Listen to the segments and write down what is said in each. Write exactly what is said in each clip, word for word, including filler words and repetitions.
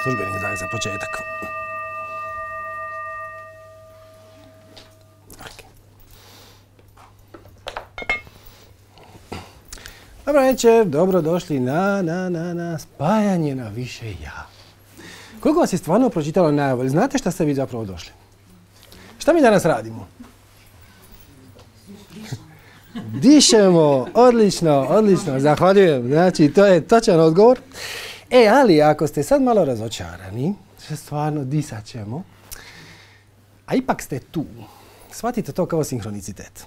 službeni znak za početak. Dobro večer, dobro došli na, na, na, na spajanje na više ja. Koliko vas je stvarno pročitalo najavu? Znate šta ste vi zapravo došli? Šta mi danas radimo? Dišemo, odlično, odlično, zahvaljujem. Znači, to je točan odgovor. E, ali ako ste sad malo razočarani, stvarno disat ćemo, a ipak ste tu, shvatite to kao sinhronicitet.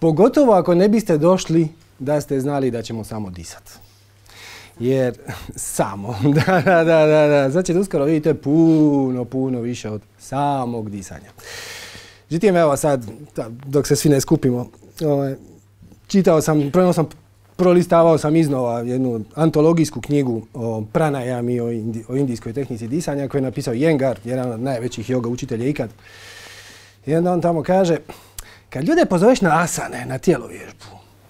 Pogotovo ako ne biste došli da ste znali da ćemo samo disat. Jer samo, da, da, da, da, da, sad ćete uskoro vidite puno, puno više od samog disanja. Međutim, evo sad, dok se svi ne skupimo, ovaj, čitao sam, prvo sam prolistavao sam iznova jednu antologijsku knjigu o pranajami, o, indi, o indijskoj tehnici disanja koju je napisao Iyengar, jedan od najvećih yoga učitelja ikad. I onda on tamo kaže, kad ljude pozoveš na asane, na tijelovježbu,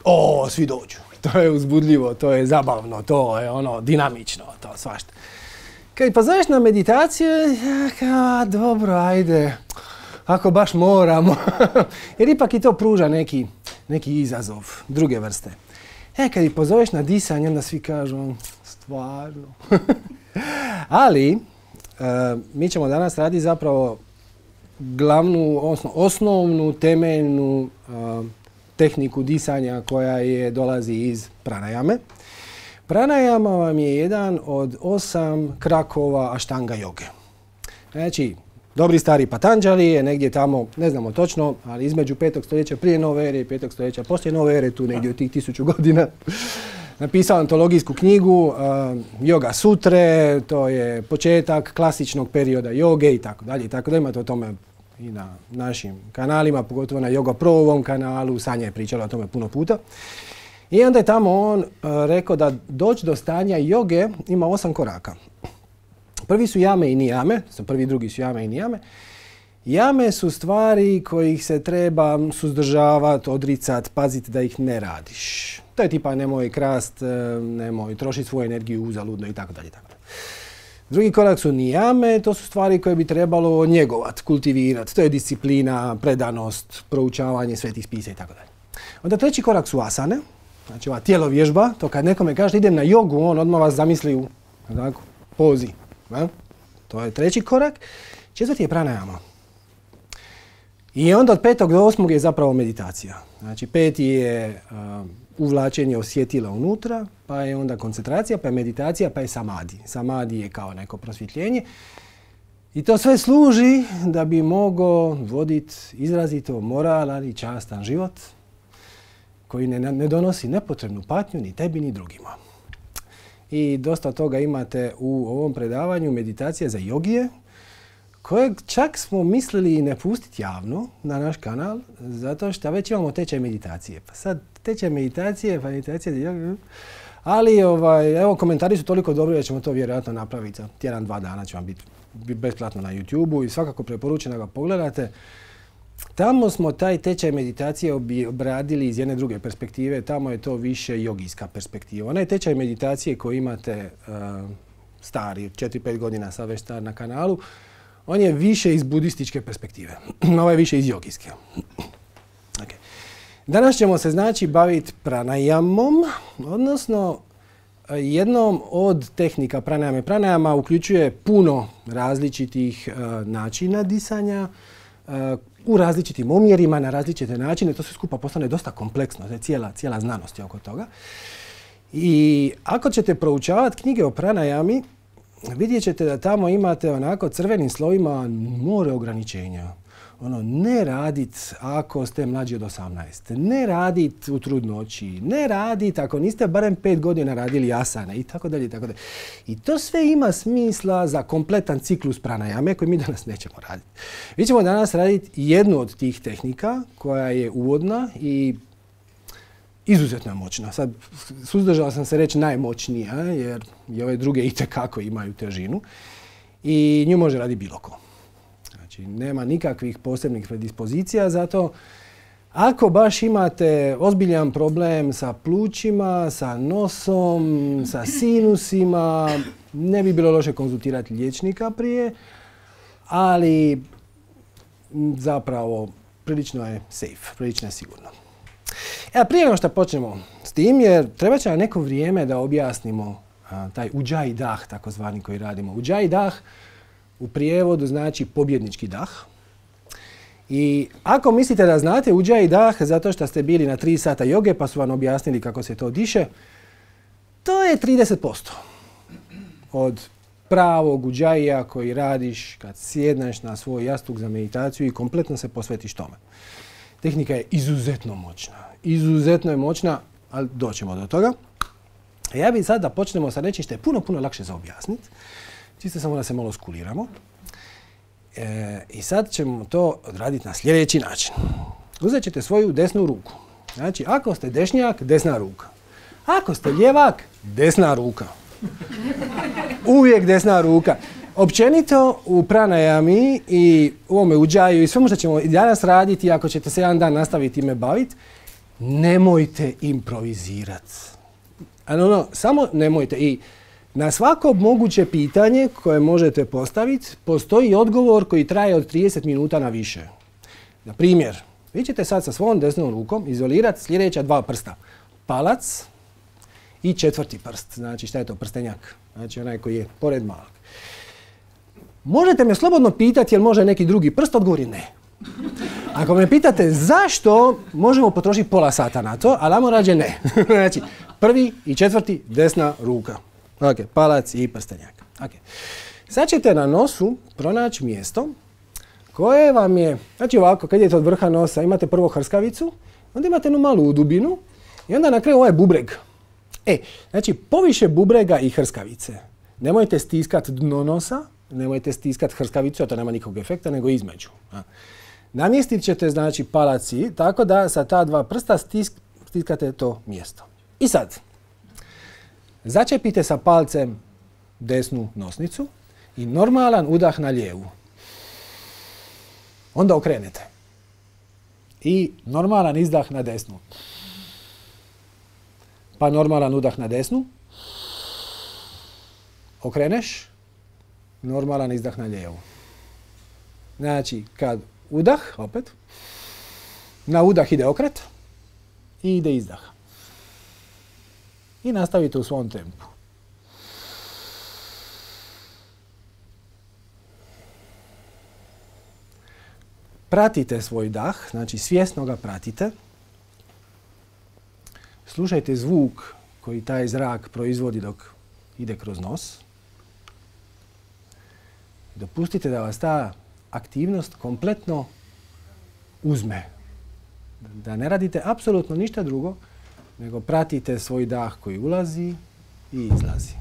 o, svi dođu. To je uzbudljivo, to je zabavno, to je ono dinamično, to svašta. Kad pozoveš na meditaciju, ja kao, dobro, ajde, ako baš moramo. Jer ipak i to pruža neki, neki izazov druge vrste. E, kad ih pozoveš na disanje, onda svi kažu, stvarno. Ali, uh, mi ćemo danas raditi zapravo glavnu, osno, osnovnu, temeljnu uh, tehniku disanja koja je dolazi iz pranajame. Pranajama vam je jedan od osam krakova aštanga joge. Znači, dobri stari Patanjali je negdje tamo, ne znamo točno, ali između petog stoljeća prije nove ere i petog stoljeća poslije nove ere, tu negdje od tih tisuću godina, napisao antologijsku knjigu uh, Yoga Sutre, to je početak klasičnog perioda joge i tako dalje i tako da imate o tome i na našim kanalima, pogotovo na Yoga Pro-ovom kanalu, Sanja je pričala o tome puno puta. I onda je tamo on uh, rekao da doći do stanja joge ima osam koraka. Prvi su jame i nijame, prvi i drugi su jame i nijame. Jame su stvari kojih se treba suzdržavati, odricati, paziti da ih ne radiš. To je tipa nemoj krast, nemoj trošiti svoju energiju uzaludno i tako dalje. Drugi korak su nijame, to su stvari koje bi trebalo njegovati, kultivirati. To je disciplina, predanost, proučavanje svetih spisa i tako dalje. Onda treći korak su asane, znači ova tijelovježba, to kad nekome kaže idem na jogu, on odmah vas zamisli u tako, pozi. Ne? To je treći korak. Četvrti je pranajama. I onda od petog do osmog je zapravo meditacija. Znači peti je uh, uvlačenje osjetila unutra, pa je onda koncentracija, pa je meditacija, pa je samadi. Samadi je kao neko prosvjetljenje. I to sve služi da bi mogao voditi izrazito moralan i častan život koji ne, ne donosi nepotrebnu patnju ni tebi ni drugima. I dosta toga imate u ovom predavanju meditacije za jogije, kojeg čak smo mislili i ne pustiti javno na naš kanal, zato što već imamo tečaj meditacije. Pa sad tečaj meditacije, pa meditacija za jogu, ali ovaj, evo komentari su toliko dobri da ćemo to vjerojatno napraviti za tjedan, dva dana će vam biti besplatno na YouTubeu i svakako preporučujem da ga pogledate. Tamo smo taj tečaj meditacije obradili iz jedne druge perspektive, tamo je to više jogijska perspektiva. Onaj tečaj meditacije koji imate uh, stari, četiri pet godina sad već star na kanalu, on je više iz budističke perspektive, ovo je više iz jogijske. Okay. Danas ćemo se znači baviti pranajamom, odnosno jednom od tehnika pranajame. Pranajama uključuje puno različitih uh, načina disanja, uh, u različitim omjerima, na različite načine, to sve skupa postane dosta kompleksno, to je cijela, cijela znanost je oko toga. I ako ćete proučavati knjige o pranajami, vidjet ćete da tamo imate onako crvenim slovima more ograničenja. Ono, ne radit ako ste mlađi od osamnaest, ne radit u trudnoći, ne radit ako niste barem pet godina radili asane i tako dalje i tako dalje. I to sve ima smisla za kompletan ciklus pranajame koji mi danas nećemo raditi. Mi ćemo danas raditi jednu od tih tehnika koja je uvodna i izuzetno je moćna. Sad, suzdržao sam se reći najmoćnija jer i ove druge itekako imaju težinu i nju može raditi bilo ko. Znači, nema nikakvih posebnih predispozicija, zato ako baš imate ozbiljan problem sa plućima, sa nosom, sa sinusima, Ne bi bilo loše konzultirati liječnika prije, ali zapravo prilično je safe, prilično je sigurno. E, prije nego što počnemo s tim, jer treba će nam neko vrijeme da objasnimo a, taj Ujjayi dah, takozvani koji radimo. Ujjayi dah u prijevodu znači pobjednički dah. I ako mislite da znate Ujjayi dah zato što ste bili na tri sata joge pa su vam objasnili kako se to diše, to je trideset posto od pravog Ujjayija koji radiš kad sjedneš na svoj jastuk za meditaciju i kompletno se posvetiš tome. Tehnika je izuzetno moćna. Izuzetno je moćna, ali doćemo do toga. Ja bih sad da počnemo sa nečim što je puno, puno lakše za objasniti. Čisto samo da se malo skuliramo. E, I sad ćemo to odraditi na sljedeći način. Uzet ćete svoju desnu ruku. Znači, ako ste dešnjak, desna ruka. Ako ste ljevak, desna ruka. Uvijek desna ruka. Općenito u pranajami i u ovome Ujjayu i svemu što ćemo danas raditi, ako ćete se jedan dan nastaviti ime baviti, nemojte improvizirati. Ano, samo nemojte. I na svako moguće pitanje koje možete postaviti, postoji odgovor koji traje od trideset minuta na više. Na primjer, vi ćete sad sa svojom desnom rukom izolirati sljedeća dva prsta. Palac i četvrti prst. Znači, šta je to? Prstenjak. Znači, onaj koji je pored malog. Možete me slobodno pitati jel može neki drugi prst, odgovor je ne. Ako me pitate zašto, možemo potrošiti pola sata na to, ali ajmo rađe ne. Znači, prvi i četvrti, desna ruka. Ok, palac i prstenjak. Okay. Sad ćete na nosu pronaći mjesto koje vam je, znači ovako, kad idete od vrha nosa, imate prvo hrskavicu, onda imate jednu malu dubinu i onda na kraju ovaj bubreg. E, znači, poviše bubrega i hrskavice. Nemojte stiskati dno nosa, nemojte stiskati hrskavicu, a to nema nikakvog efekta, nego između. A. Namjestit ćete, znači, palaci, tako da sa ta dva prsta stisk, stiskate to mjesto. I sad, začepite sa palcem desnu nosnicu i normalan udah na lijevu. Onda okrenete. I normalan izdah na desnu. Pa normalan udah na desnu. Okreneš. Normalan izdah na lijevu. Znači, kad udah, opet, na udah ide okret i ide izdah. I nastavite u svom tempu. Pratite svoj dah, znači svjesno ga pratite. Slušajte zvuk koji taj zrak proizvodi dok ide kroz nos. Dopustite da vas ta aktivnost kompletno uzme. Da ne radite apsolutno ništa drugo, nego pratite svoj dah koji ulazi i izlazi.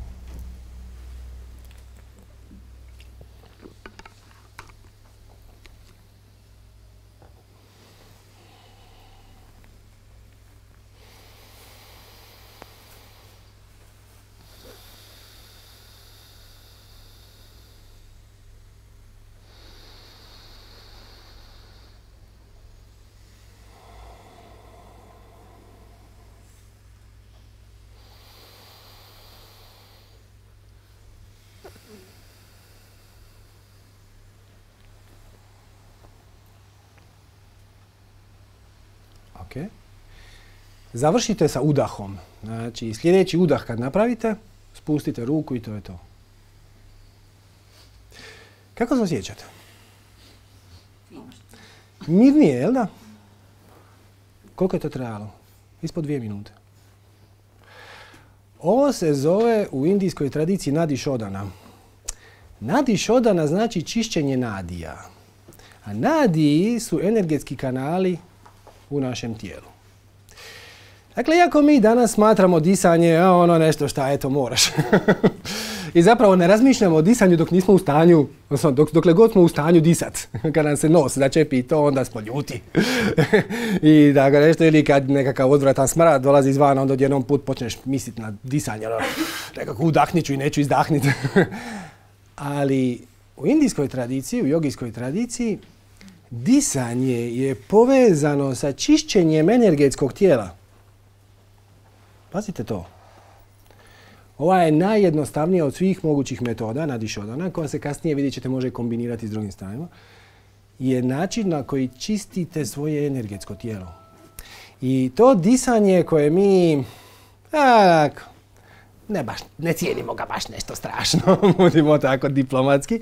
Okay. Završite sa udahom. Znači, sljedeći udah kad napravite, spustite ruku i to je to. Kako se osjećate? Mirnije, jel da? Koliko je to trajalo? Ispod dvije minute. Ovo se zove u indijskoj tradiciji nadi šodana. Nadi šodana znači čišćenje nadija. A nadiji su energetski kanali u našem tijelu. Dakle, iako mi danas smatramo disanje, a ono nešto šta, eto, moraš. I zapravo ne razmišljamo o disanju dok nismo u stanju, odnosno dok, dokle god smo u stanju disat. Kad nam se nos začepi to, onda smo ljuti. I da ga nešto, ili kad nekakav odvratan smrad dolazi izvana, onda odjednom put počneš misliti na disanje. Nekako udahnit ću i neću izdahniti. Ali u indijskoj tradiciji, u jogijskoj tradiciji, disanje je povezano sa čišćenjem energetskog tijela. Pazite to. Ova je najjednostavnija od svih mogućih metoda, nadišodana, koja se kasnije, vidjet ćete, može kombinirati s drugim stavima, je način na koji čistite svoje energetsko tijelo. I to disanje koje mi, a, ne, baš, ne cijenimo ga baš nešto strašno, budimo tako diplomatski,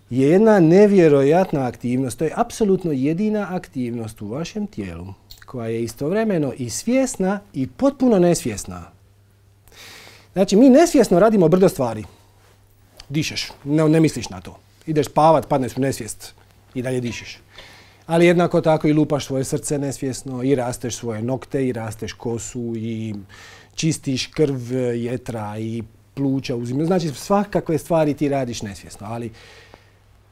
je jedna nevjerojatna aktivnost. To je apsolutno jedina aktivnost u vašem tijelu koja je istovremeno i svjesna i potpuno nesvjesna. Znači, mi nesvjesno radimo brdo stvari. Dišeš, ne, ne misliš na to. Ideš spavat, padneš u nesvijest i dalje dišeš. Ali jednako tako i lupaš svoje srce nesvjesno i rasteš svoje nokte i rasteš kosu i čistiš krv, jetra i pluća. Znači, svakakve stvari ti radiš nesvjesno. Ali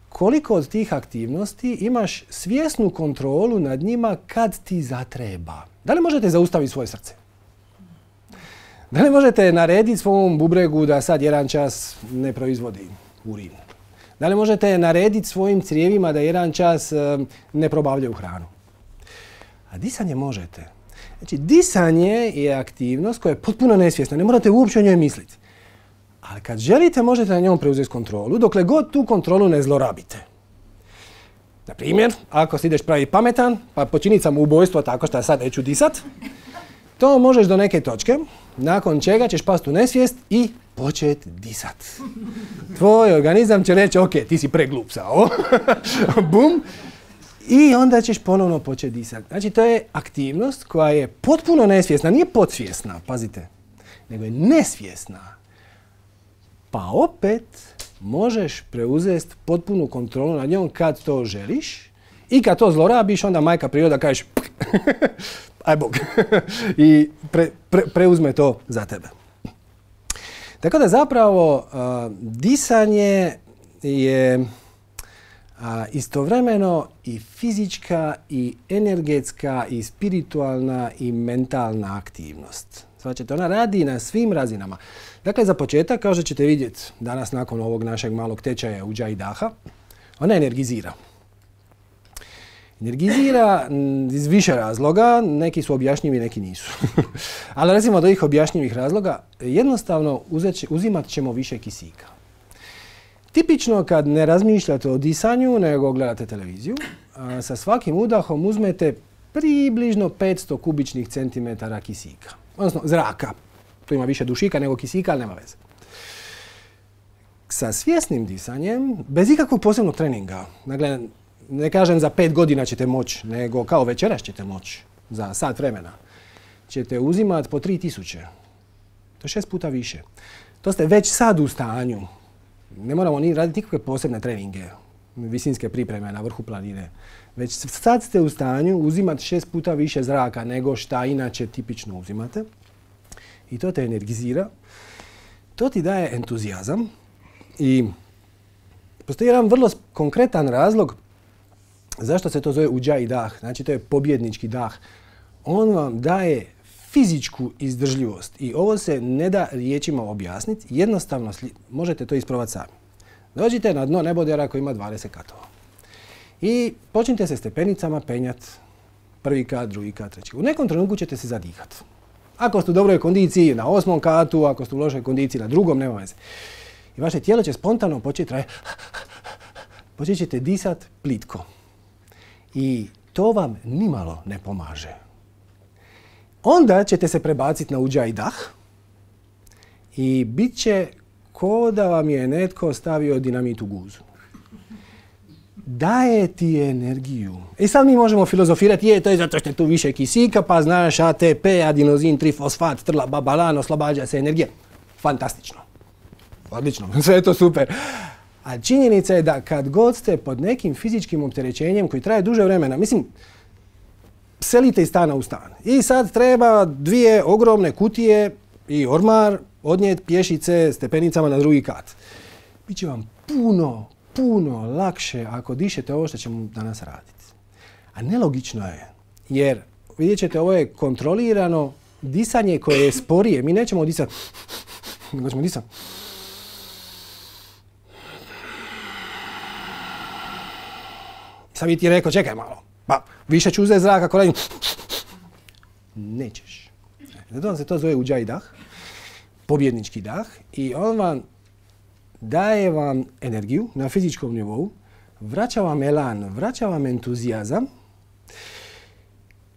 koliko od tih aktivnosti imaš svjesnu kontrolu nad njima kad ti zatreba? Da li možete zaustaviti svoje srce? Da li možete narediti svom bubregu da sad jedan čas ne proizvodi urin? Da li možete narediti svojim crijevima da jedan čas ne probavljaju hranu? A disanje možete. Znači, disanje je aktivnost koja je potpuno nesvjesna. Ne morate uopće o njoj misliti. Ali kad želite, možete na njom preuzeti kontrolu, dokle god tu kontrolu ne zlorabite. Na primjer, ako si ideš pravi pametan, pa počiniti samoubojstvo tako što sad neću disat, to možeš do neke točke, nakon čega ćeš pasti u nesvijest i početi disat. Tvoj organizam će reći, ok, ti si preglup za ovo. Bum. I onda ćeš ponovno početi disati. Znači, to je aktivnost koja je potpuno nesvjesna, nije podsvjesna, pazite, nego je nesvjesna. Pa opet možeš preuzeti potpunu kontrolu nad njom kad to želiš i kad to zlorabiš, onda majka priroda kažeš aj bog i pre, pre, preuzme to za tebe. Tako da zapravo uh, disanje je uh, istovremeno i fizička i energetska i spiritualna i mentalna aktivnost. Svačete, ona radi na svim razinama. Dakle, za početak, kao što ćete vidjeti danas nakon ovog našeg malog tečaja Udža i Daha, ona energizira. Energizira iz više razloga, neki su objašnjivi, neki nisu. Ali recimo od ovih objašnjivih razloga, jednostavno uzet, uzimat ćemo više kisika. Tipično kad ne razmišljate o disanju, nego gledate televiziju, a, sa svakim udahom uzmete približno petsto kubičnih centimetara kisika. Odnosno zraka. Tu ima više dušika nego kisika, ali nema veze. Sa svjesnim disanjem, bez ikakvog posebnog treninga, dakle, ne kažem za pet godina ćete moći, nego kao večeras ćete moći, za sat vremena, ćete uzimati po tri tisuće. To je šest puta više. To ste već sad u stanju. Ne moramo ni raditi nikakve posebne treninge, visinske pripreme na vrhu planine. Već sad ste u stanju uzimati šest puta više zraka nego šta inače tipično uzimate. I to te energizira. To ti daje entuzijazam. I postoji jedan vrlo konkretan razlog zašto se to zove Udža i Dah. Znači, to je pobjednički dah. On vam daje fizičku izdržljivost. I ovo se ne da riječima objasniti. Jednostavno možete to isprobati sami. Dođite na dno nebodera koji ima dvadeset katova. I počnite se stepenicama penjati. Prvi kat, drugi kat, treći. U nekom trenutku ćete se zadihati. Ako ste u dobroj kondiciji na osmom katu, ako ste u lošoj kondiciji na drugom, nema veze. I vaše tijelo će spontano početi raditi. Počet ćete disati plitko. I to vam nimalo ne pomaže. Onda ćete se prebaciti na Udža i Dah i bit će ko da vam je netko stavio dinamit u guzu. Daje ti energiju. I sad mi možemo filozofirati, je, to je zato što je tu više kisika, pa znaš A T P, adenozin, trifosfat, trla, babalan, oslobađa se energija. Fantastično. Odlično, sve je to super. A činjenica je da kad god ste pod nekim fizičkim opterećenjem koji traje duže vremena, mislim, selite iz stana u stan. I sad treba dvije ogromne kutije i ormar odnijeti pješice stepenicama na drugi kat. Biće vam puno, puno lakše ako dišete ovo što ćemo danas raditi. A nelogično je, jer vidjet ćete, ovo je kontrolirano disanje koje je sporije. Mi nećemo disati, nego ćemo disati. Sad bi ti rekao, čekaj malo, pa više ću uzeti zrak ako radim. Nećeš. Zato se to zove Udža i Dah. pobjednički dah i on vam daje vam energiju na fizičkom nivou, vraća vam elan, vraća vam entuzijazam,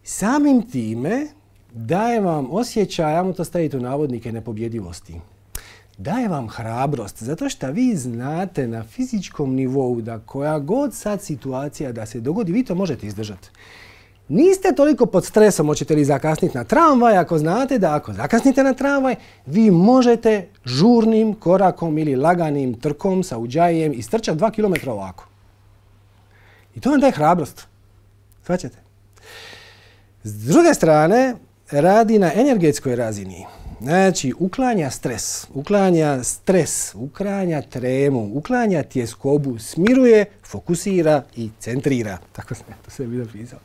samim time daje vam osjećaj, ajmo to staviti u navodnike, nepobjedivosti. Daje vam hrabrost, zato što vi znate na fizičkom nivou da koja god sad situacija da se dogodi, vi to možete izdržati. Niste toliko pod stresom, hoćete li zakasniti na tramvaj, ako znate da ako zakasnite na tramvaj, vi možete žurnim korakom ili laganim trkom sa uđajem istrčati dva kilometra ovako. I to vam daje hrabrost. Shvaćate? S druge strane, radi na energetskoj razini. Znači, uklanja stres, uklanja stres, uklanja tremu, uklanja tjeskobu, smiruje, fokusira i centrira. Tako sam to sve bio pisao.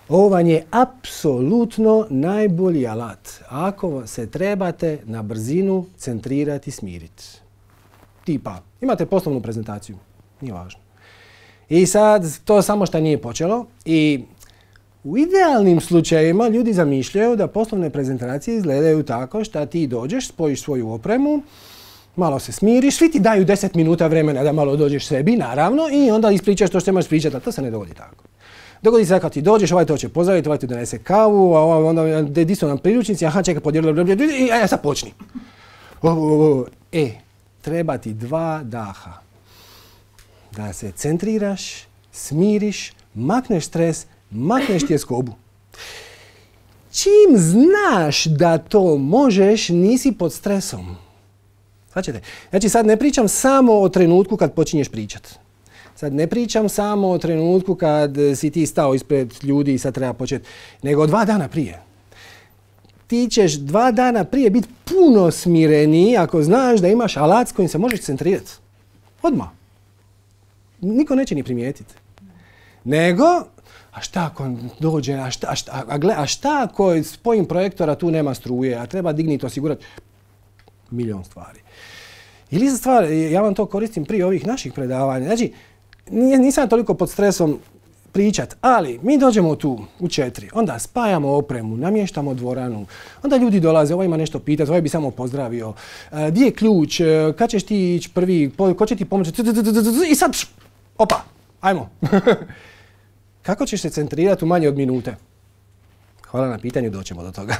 Ovo vam je apsolutno najbolji alat ako se trebate na brzinu centrirati i smiriti. Tipa, imate poslovnu prezentaciju, nije važno. I sad, to samo što nije počelo i u idealnim slučajevima ljudi zamišljaju da poslovne prezentacije izgledaju tako što ti dođeš, spojiš svoju opremu, malo se smiriš, svi ti daju deset minuta vremena da malo dođeš sebi, naravno, i onda ispričaš to što imaš pričati, a to se ne dogodi tako. Dogodi se kad ti dođeš, ovaj to će pozdraviti, ovaj ti donese kavu, a ovaj onda di su nam priručnici, aha čekaj podijeli, i a sad počni. E, treba ti dva daha. Da se centriraš, smiriš, makneš stres, makneš tjeskobu. Čim znaš da to možeš, nisi pod stresom. Shvaćate? Znači sad ne pričam samo o trenutku kad počinješ pričati. Sad ne pričam samo o trenutku kad si ti stao ispred ljudi i sad treba početi, nego dva dana prije. Ti ćeš dva dana prije biti puno smireniji ako znaš da imaš alat s kojim se možeš centrirati. Odmah. Niko neće ni primijetiti. Nego, a šta ako dođe, a šta, a šta, a gle, a šta ako spojim projektora tu nema struje, a treba digniti, osigurati milion stvari. Ili za stvar, ja vam to koristim prije ovih naših predavanja. Znači, nisam toliko pod stresom pričat, ali mi dođemo tu u četiri, onda spajamo opremu, namještamo dvoranu, onda ljudi dolaze, ovaj ima nešto pitati, ovaj bi samo pozdravio, di je ključ, kad ćeš ti ići prvi, ko će ti pomoći, i sad, opa, ajmo. Kako ćeš se centrirati u manje od minute? Hvala na pitanju, doćemo do toga.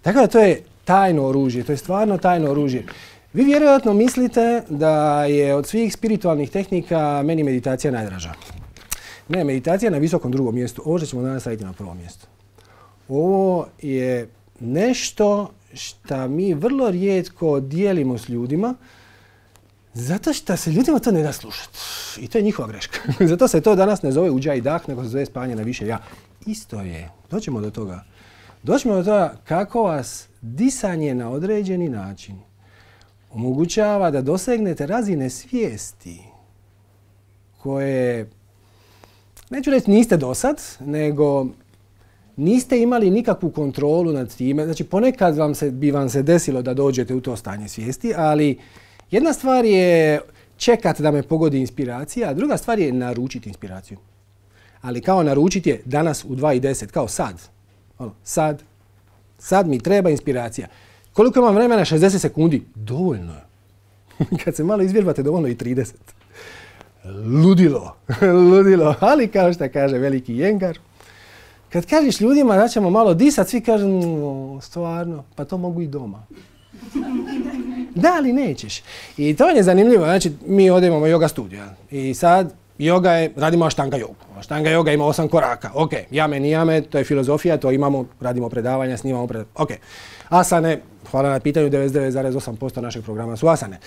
Tako da to je tajno oružje, to je stvarno tajno oružje. Vi vjerojatno mislite da je od svih spiritualnih tehnika meni meditacija najdraža. Ne, meditacija na visokom drugom mjestu. Ovo što ćemo danas staviti na prvom mjestu. Ovo je nešto što mi vrlo rijetko dijelimo s ljudima, zato što se ljudima to ne da slušati. I to je njihova greška. Zato se to danas ne zove uđaj i dah, nego se zove spanje na više ja. Isto je. Doćemo do toga. Doćemo do toga kako vas disanje na određeni način omogućava da dosegnete razine svijesti koje, neću reći niste dosad, nego niste imali nikakvu kontrolu nad time. Znači ponekad vam se, bi vam se desilo da dođete u to stanje svijesti, ali jedna stvar je čekat da me pogodi inspiracija, a druga stvar je naručiti inspiraciju. Ali kao naručiti je danas u dva i deset, kao sad. Ono, sad, sad mi treba inspiracija. Koliko imam vremena? šezdeset sekundi. Dovoljno je. Kad se malo izvježbate, dovoljno i trideset. Ludilo. Ludilo. Ali kao što kaže veliki Jengar, kad kažeš ljudima da ćemo malo disat, svi kažu, no, stvarno, pa to mogu i doma. Da, ali nećeš. I to je zanimljivo. Znači, mi ovdje imamo yoga studio. I sad, yoga je, radimo aštanga jogu. Aštanga joga ima osam koraka. Ok, jame, nijame, to je filozofija, to imamo, radimo predavanja, snimamo predavanja. Ok. Asane, hvala na pitanju, devedeset devet zarez osam posto našeg programa su asane.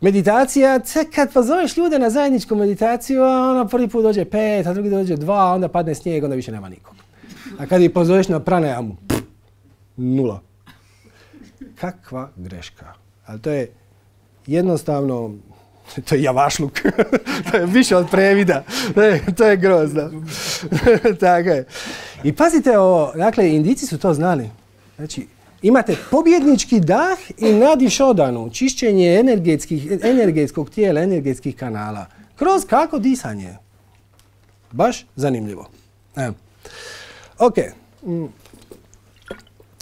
Meditacija, kad pozoveš ljude na zajedničku meditaciju, ona prvi put dođe pet, a drugi dođe dva, onda padne snijeg, onda više nema nikog. A kad ih pozoveš na pranajamu, nula. Kakva greška. Ali to je jednostavno, to je javašluk. To je više od previda. To je, to je grozno. Tako je. I pazite ovo, dakle, Indijci su to znali. Znači, imate pobjednički dah i nadišodanu, čišćenje energetskih, energetskog tijela, energetskih kanala. Kroz kako disanje. Baš zanimljivo. Evo. Ok.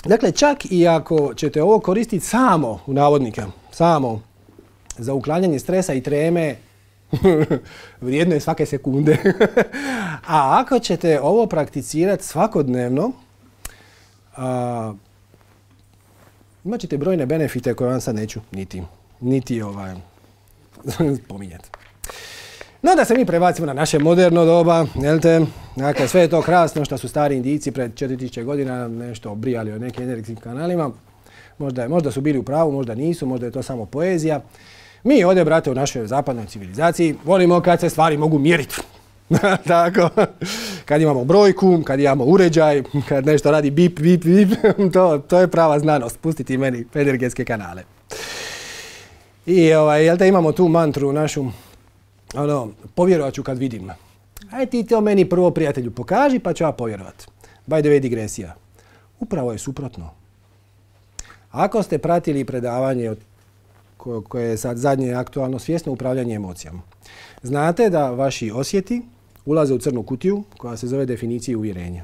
Dakle, čak i ako ćete ovo koristiti samo, u navodnike, samo za uklanjanje stresa i treme, vrijedno je svake sekunde. A ako ćete ovo prakticirati svakodnevno, a, imat ćete brojne benefite koje vam sad neću niti, niti ovaj, spominjati. No da se mi prebacimo na naše moderno doba, jel te? Dakle, sve je to krasno što su stari Indijci pred četiri tisuće godina nešto obrijali o nekim energetskim kanalima. Možda, možda su bili u pravu, možda nisu, možda je to samo poezija. Mi ovdje, brate, u našoj zapadnoj civilizaciji volimo kad se stvari mogu mjeriti. Tako, kad imamo brojku, kad imamo uređaj, kad nešto radi bip, bip, bip, to, to je prava znanost, pustiti meni energetske kanale. I ovaj, jel te, imamo tu mantru našu, ono, povjerovat ću kad vidim. Aj ti to meni prvo, prijatelju, pokaži pa ću ja povjerovat. By the way, digresija. Upravo je suprotno. Ako ste pratili predavanje koje je sad zadnje aktualno, svjesno upravljanje emocijama, znate da vaši osjeti ulaze u crnu kutiju koja se zove definicija uvjerenja.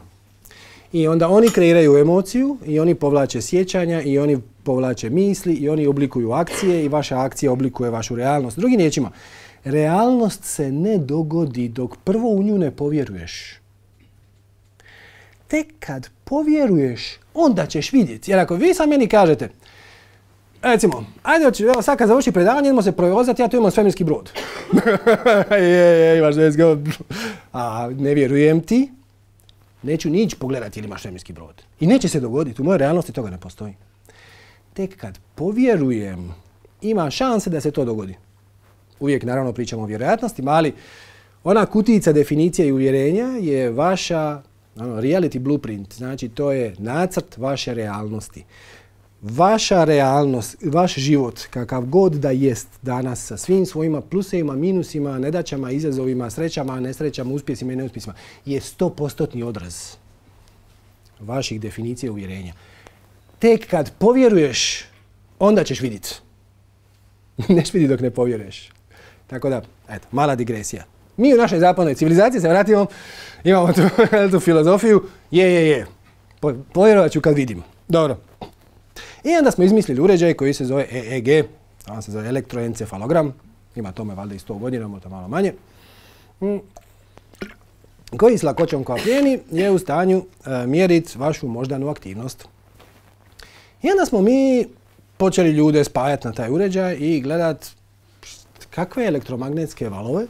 I onda oni kreiraju emociju i oni povlače sjećanja i oni povlače misli i oni oblikuju akcije i vaša akcija oblikuje vašu realnost. Drugim riječima, realnost se ne dogodi dok prvo u nju ne povjeruješ. Tek kad povjeruješ, onda ćeš vidjeti. Jer ako vi sad meni kažete, recimo, ajde, evo sad kad završi predavanje, idemo se provozati, ja tu imam svemirski brod. je, je, imaš let's go. A ne vjerujem ti, neću ni ići pogledati ili imaš svemirski brod. I neće se dogoditi, u mojoj realnosti toga ne postoji. Tek kad povjerujem, ima šanse da se to dogodi. Uvijek naravno pričamo o vjerojatnostima, ali ona kutijica definicija i uvjerenja je vaša ono, reality blueprint, znači to je nacrt vaše realnosti. Vaša realnost, vaš život, kakav god da jest danas sa svim svojima plusevima, minusima, nedaćama, izazovima, srećama, nesrećama, uspjesima i neuspjesima, je sto postotni odraz vaših definicija i uvjerenja. Tek kad povjeruješ, onda ćeš vidjeti. Neš vidi dok ne povjeruješ. Tako da, eto, mala digresija. Mi u našoj zapadnoj civilizaciji se vratimo, imamo tu, tu filozofiju, je, je, je, po, povjerovat ću kad vidim. Dobro. I onda smo izmislili uređaj koji se zove E E G, on se zove elektroencefalogram, ima tome valjda i sto godina, možda malo manje, koji s lakoćom koja plijeni je u stanju e, mjeriti vašu moždanu aktivnost. I onda smo mi počeli ljude spajati na taj uređaj i gledati kakve elektromagnetske valove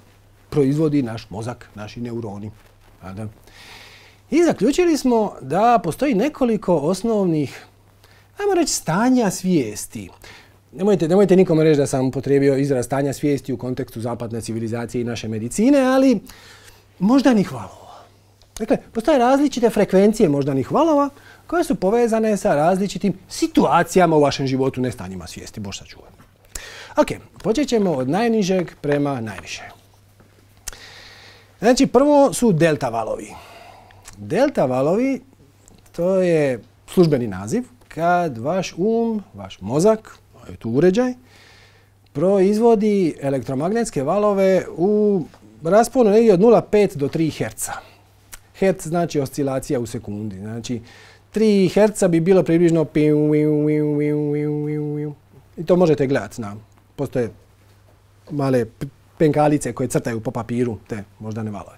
proizvodi naš mozak, naši neuroni. I zaključili smo da postoji nekoliko osnovnih, ajmo reći, stanja svijesti. Nemojte, nemojte nikome reći da sam upotrijebio izraz stanja svijesti u kontekstu zapadne civilizacije i naše medicine, ali moždanih valova. Dakle, postoje različite frekvencije moždanih valova koje su povezane sa različitim situacijama u vašem životu, ne stanjima svijesti, bož sačuvaj. Ok, počet ćemo od najnižeg prema najviše. Znači, prvo su delta valovi. Delta valovi, to je službeni naziv kad vaš um, vaš mozak, je tu uređaj, proizvodi elektromagnetske valove u rasponu negdje od nula zarez pet do tri herca. Herc znači oscilacija u sekundi. Znači, tri herca bi bilo približno i to možete gledati. Postoje male penkalice koje crtaju po papiru te moždane valove.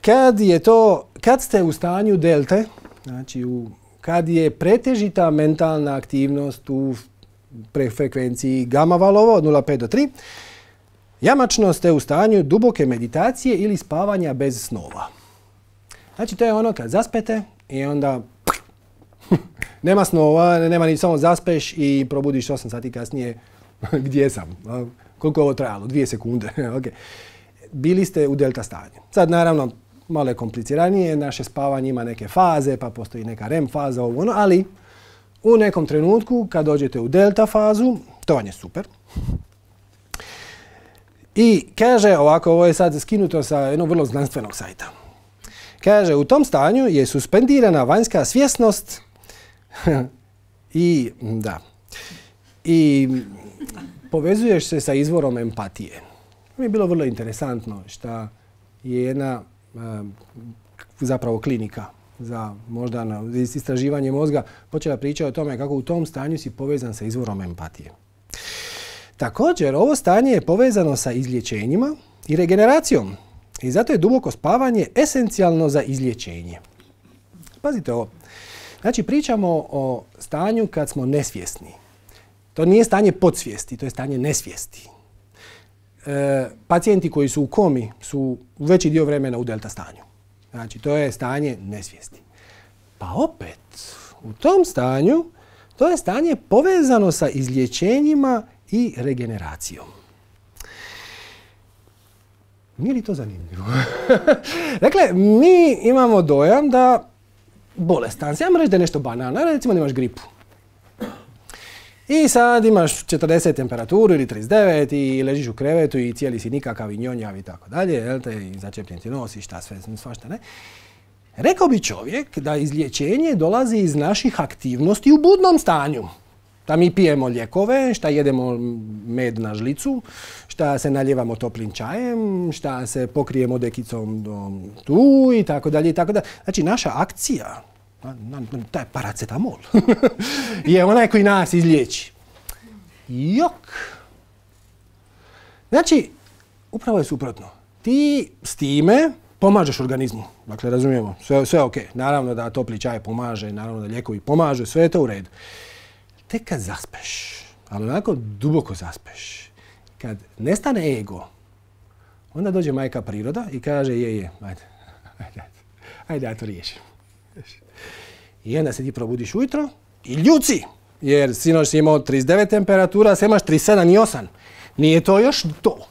Kad je to, kad ste u stanju delte, znači u, kad je pretežita mentalna aktivnost u frekvenciji gama valova od nula zarez pet do tri, jamačno ste u stanju duboke meditacije ili spavanja bez snova. Znači to je ono kad zaspete i onda nema snova, nema ni samo zaspeš i probudiš osam sati kasnije. Gdje sam? Koliko je ovo trajalo? Dvije sekunde. Okay. Bili ste u delta stanju. Sad naravno malo je kompliciranije, naše spavanje ima neke faze, pa postoji neka R E M faza, ovo ono, ali u nekom trenutku kad dođete u delta fazu, to vam je super. I kaže ovako, ovo je sad skinuto sa jednog vrlo znanstvenog sajta. Kaže, u tom stanju je suspendirana vanjska svjesnost i, da, i povezuješ se sa izvorom empatije. Mi je bilo vrlo interesantno što je jedna zapravo klinika za možda istraživanje mozga počela pričati o tome kako u tom stanju si povezan sa izvorom empatije. Također, ovo stanje je povezano sa izlječenjima i regeneracijom i zato je duboko spavanje esencijalno za izlječenje. Pazite ovo. Znači, pričamo o stanju kad smo nesvjesni. To nije stanje podsvijesti, to je stanje nesvijesti. E, pacijenti koji su u komi su veći dio vremena u delta stanju. Znači, to je stanje nesvijesti. Pa opet, u tom stanju, to je stanje povezano sa izlječenjima i regeneracijom. Nije li to zanimljivo? Dakle, mi imamo dojam da bolestan si, ajmo reći da je nešto banalno, recimo da imaš gripu. I sad imaš četrdeset temperaturu ili trideset devet i ležiš u krevetu i cijeli si nikakav i njonjav i tako dalje, jel te, i začepljen ti nos i šta sve, svašta ne. Rekao bi čovjek da izlječenje dolazi iz naših aktivnosti u budnom stanju. Da mi pijemo lijekove, šta jedemo med na žlicu, šta se naljevamo toplim čajem, šta se pokrijemo dekicom tu i tako dalje i tako dalje. Znači, naša akcija, taj paracetamol, je onaj koji nas izliječi. Jok! Znači, upravo je suprotno. Ti s time pomažeš organizmu. Dakle, razumijemo, sve, sve ok. Naravno da topli čaj pomaže, naravno da lijekovi pomaže, sve je to u redu. Tek kad zaspeš, ali onako duboko zaspeš, kad nestane ego, onda dođe majka priroda i kaže je, je, ajde, ajde, ajde, ja to riješim. I onda se ti probudiš ujutro i ljuci, jer sinoć si imao trideset devet temperatura, sad imaš trideset sedam i osam. Nije to još to.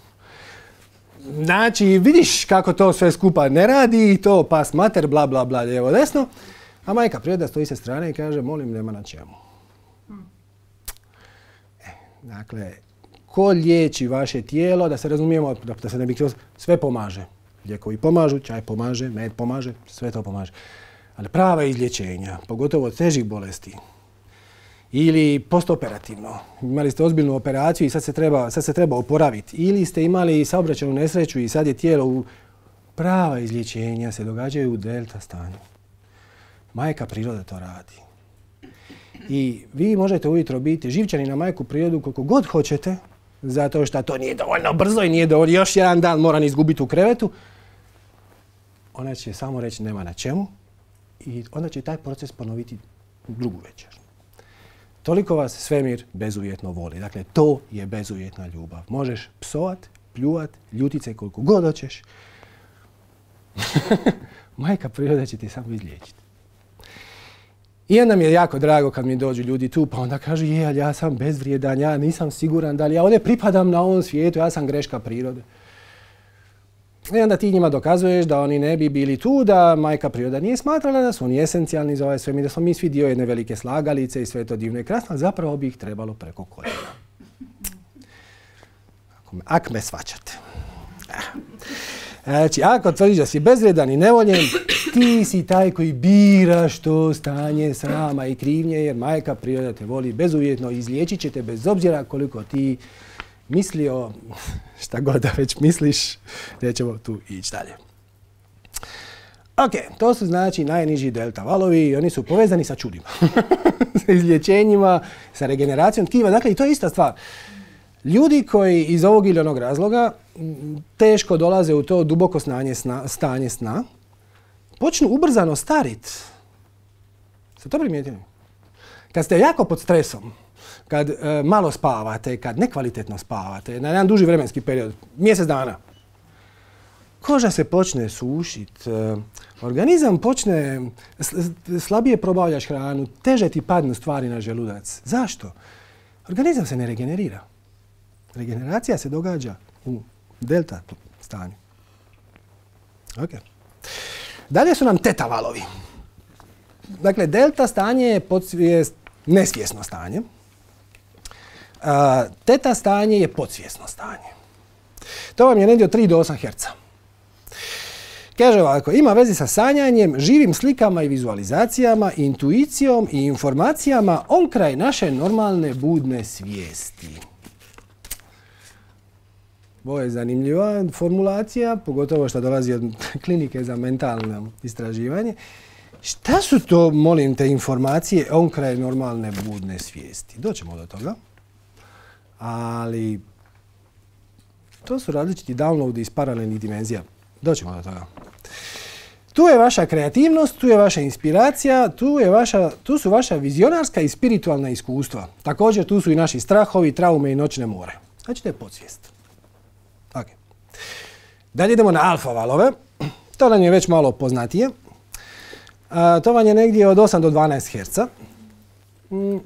Znači, vidiš kako to sve skupa ne radi, to pas mater, bla, bla, bla, lijevo, desno, a majka priroda stoji sa strane i kaže, molim, nema na čemu. Dakle, ko liječi vaše tijelo, da se razumijemo, da se ne bi sve pomaže. Lijekovi pomažu, čaj pomaže, med pomaže, sve to pomaže. Ali prava izlječenja, pogotovo od težih bolesti, ili postoperativno, imali ste ozbiljnu operaciju i sad se treba, sad se treba oporaviti, ili ste imali saobraćajnu nesreću i sad je tijelo u... Prava izlječenja se događaju u delta stanju. Majka priroda to radi. I vi možete ujutro biti živčani na majku prirodu koliko god hoćete, zato što to nije dovoljno brzo i nije dovoljno, još jedan dan moram izgubiti u krevetu. Ona će samo reći nema na čemu i onda će taj proces ponoviti drugu večer. Toliko vas svemir bezuvjetno voli. Dakle, to je bezuvjetna ljubav. Možeš psovat, pljuvat, ljutit se koliko god hoćeš. Majka priroda će ti samo izliječiti. I onda mi je jako drago kad mi dođu ljudi tu, pa onda kažu, je, ali ja sam bezvrijedan, ja nisam siguran da li ja ovdje pripadam na ovom svijetu, ja sam greška prirode. I onda ti njima dokazuješ da oni ne bi bili tu, da majka priroda nije smatrala da su oni esencijalni za ovaj svemir, da smo mi svi dio jedne velike slagalice i sve to divno i krasno, zapravo bi ih trebalo preko koljena. Ak me svačate. Znači, ako tvrdiš da si bezvrijedan i nevoljen, ti si taj koji biraš to stanje srama i krivnje, jer majka priroda te voli bezuvjetno i izliječit će te bez obzira koliko ti mislio, šta god da već misliš, nećemo tu ići dalje. Ok, to su znači najniži delta valovi i oni su povezani sa čudima, sa izlječenjima, sa regeneracijom tkiva. Dakle, i to je ista stvar. Ljudi koji iz ovog ili onog razloga teško dolaze u to duboko stanje sna, stanje sna, počnu ubrzano stariti. Ste to primijetili? Kad ste jako pod stresom, kad e, malo spavate, kad nekvalitetno spavate, na jedan duži vremenski period, mjesec dana, koža se počne sušiti, e, organizam počne, slabije probavljaš hranu, teže ti padnu stvari na želudac. Zašto? Organizam se ne regenerira. Regeneracija se događa u delta stanju. Okay. Dalje su nam teta valovi. Dakle, delta stanje je, je nesvjesno stanje. A, teta stanje je podsvjesno stanje. To vam je negdje od tri do osam herca. Kaže ovako, ima veze sa sanjanjem, živim slikama i vizualizacijama, intuicijom i informacijama onkraj naše normalne budne svijesti. Ovo je zanimljiva formulacija, pogotovo što dolazi od klinike za mentalno istraživanje. Šta su to, molim te, informacije onkraj normalne budne svijesti? Doćemo do toga. Ali to su različiti downloadi iz paralelnih dimenzija. Doćemo do toga. Tu je vaša kreativnost, tu je vaša inspiracija, tu, je vaša, tu su vaša vizionarska i spiritualna iskustva. Također tu su i naši strahovi, traume i noćne more. Znači to je podsvijest. Okay. Dalje idemo na alfa valove. To nam je već malo poznatije. A, to vam je negdje od osam do dvanaest herca. Mm.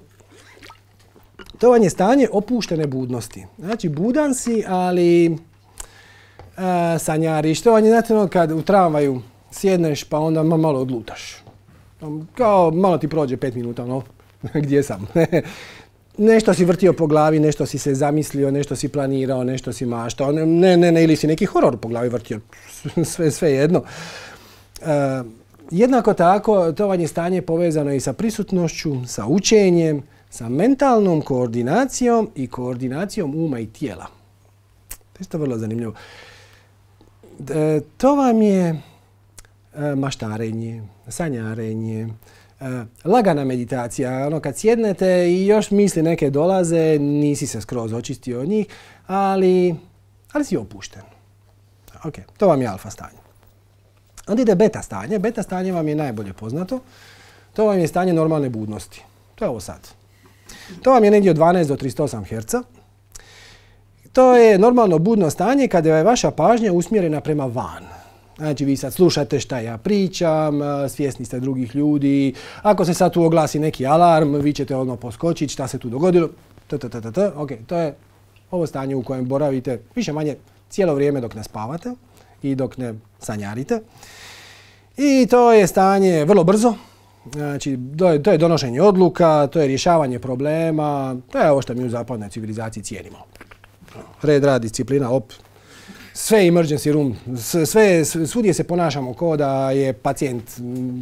To vam je stanje opuštene budnosti. Znači budan si, ali a, sanjariš. To vam je, znate, ono kad u tramvaju sjedneš pa onda malo odlutaš. Kao malo ti prođe pet minuta, no, gdje sam? Nešto si vrtio po glavi, nešto si se zamislio, nešto si planirao, nešto si maštao. Ne, ne, ne, ili si neki horor po glavi vrtio. Sve, sve jedno. E, jednako tako, to vam je stanje povezano i sa prisutnošću, sa učenjem, sa mentalnom koordinacijom i koordinacijom uma i tijela. To je isto vrlo zanimljivo. E, to vam je maštarenje, sanjarenje, lagana meditacija. Ono kad sjednete i još misli neke dolaze, nisi se skroz očistio od njih, ali, ali si opušten. Ok, to vam je alfa stanje. Onda ide beta stanje. Beta stanje vam je najbolje poznato. To vam je stanje normalne budnosti. To je ovo sad. To vam je negdje od dvanaest do trideset osam herca. To je normalno budno stanje kada je vaša pažnja usmjerena prema van. Znači vi sad slušate šta ja pričam, svjesni ste drugih ljudi. Ako se sad tu oglasi neki alarm, vi ćete odmah poskočiti šta se tu dogodilo. Ok, to je ovo stanje u kojem boravite više manje cijelo vrijeme dok ne spavate i dok ne sanjarite. I to je stanje vrlo brzo. Znači, to je donošenje odluka, to je rješavanje problema. To je ovo što mi u zapadnoj civilizaciji cijenimo. Red, rad, disciplina, op. Sve emergency room, sve, svudje se ponašamo kao da je pacijent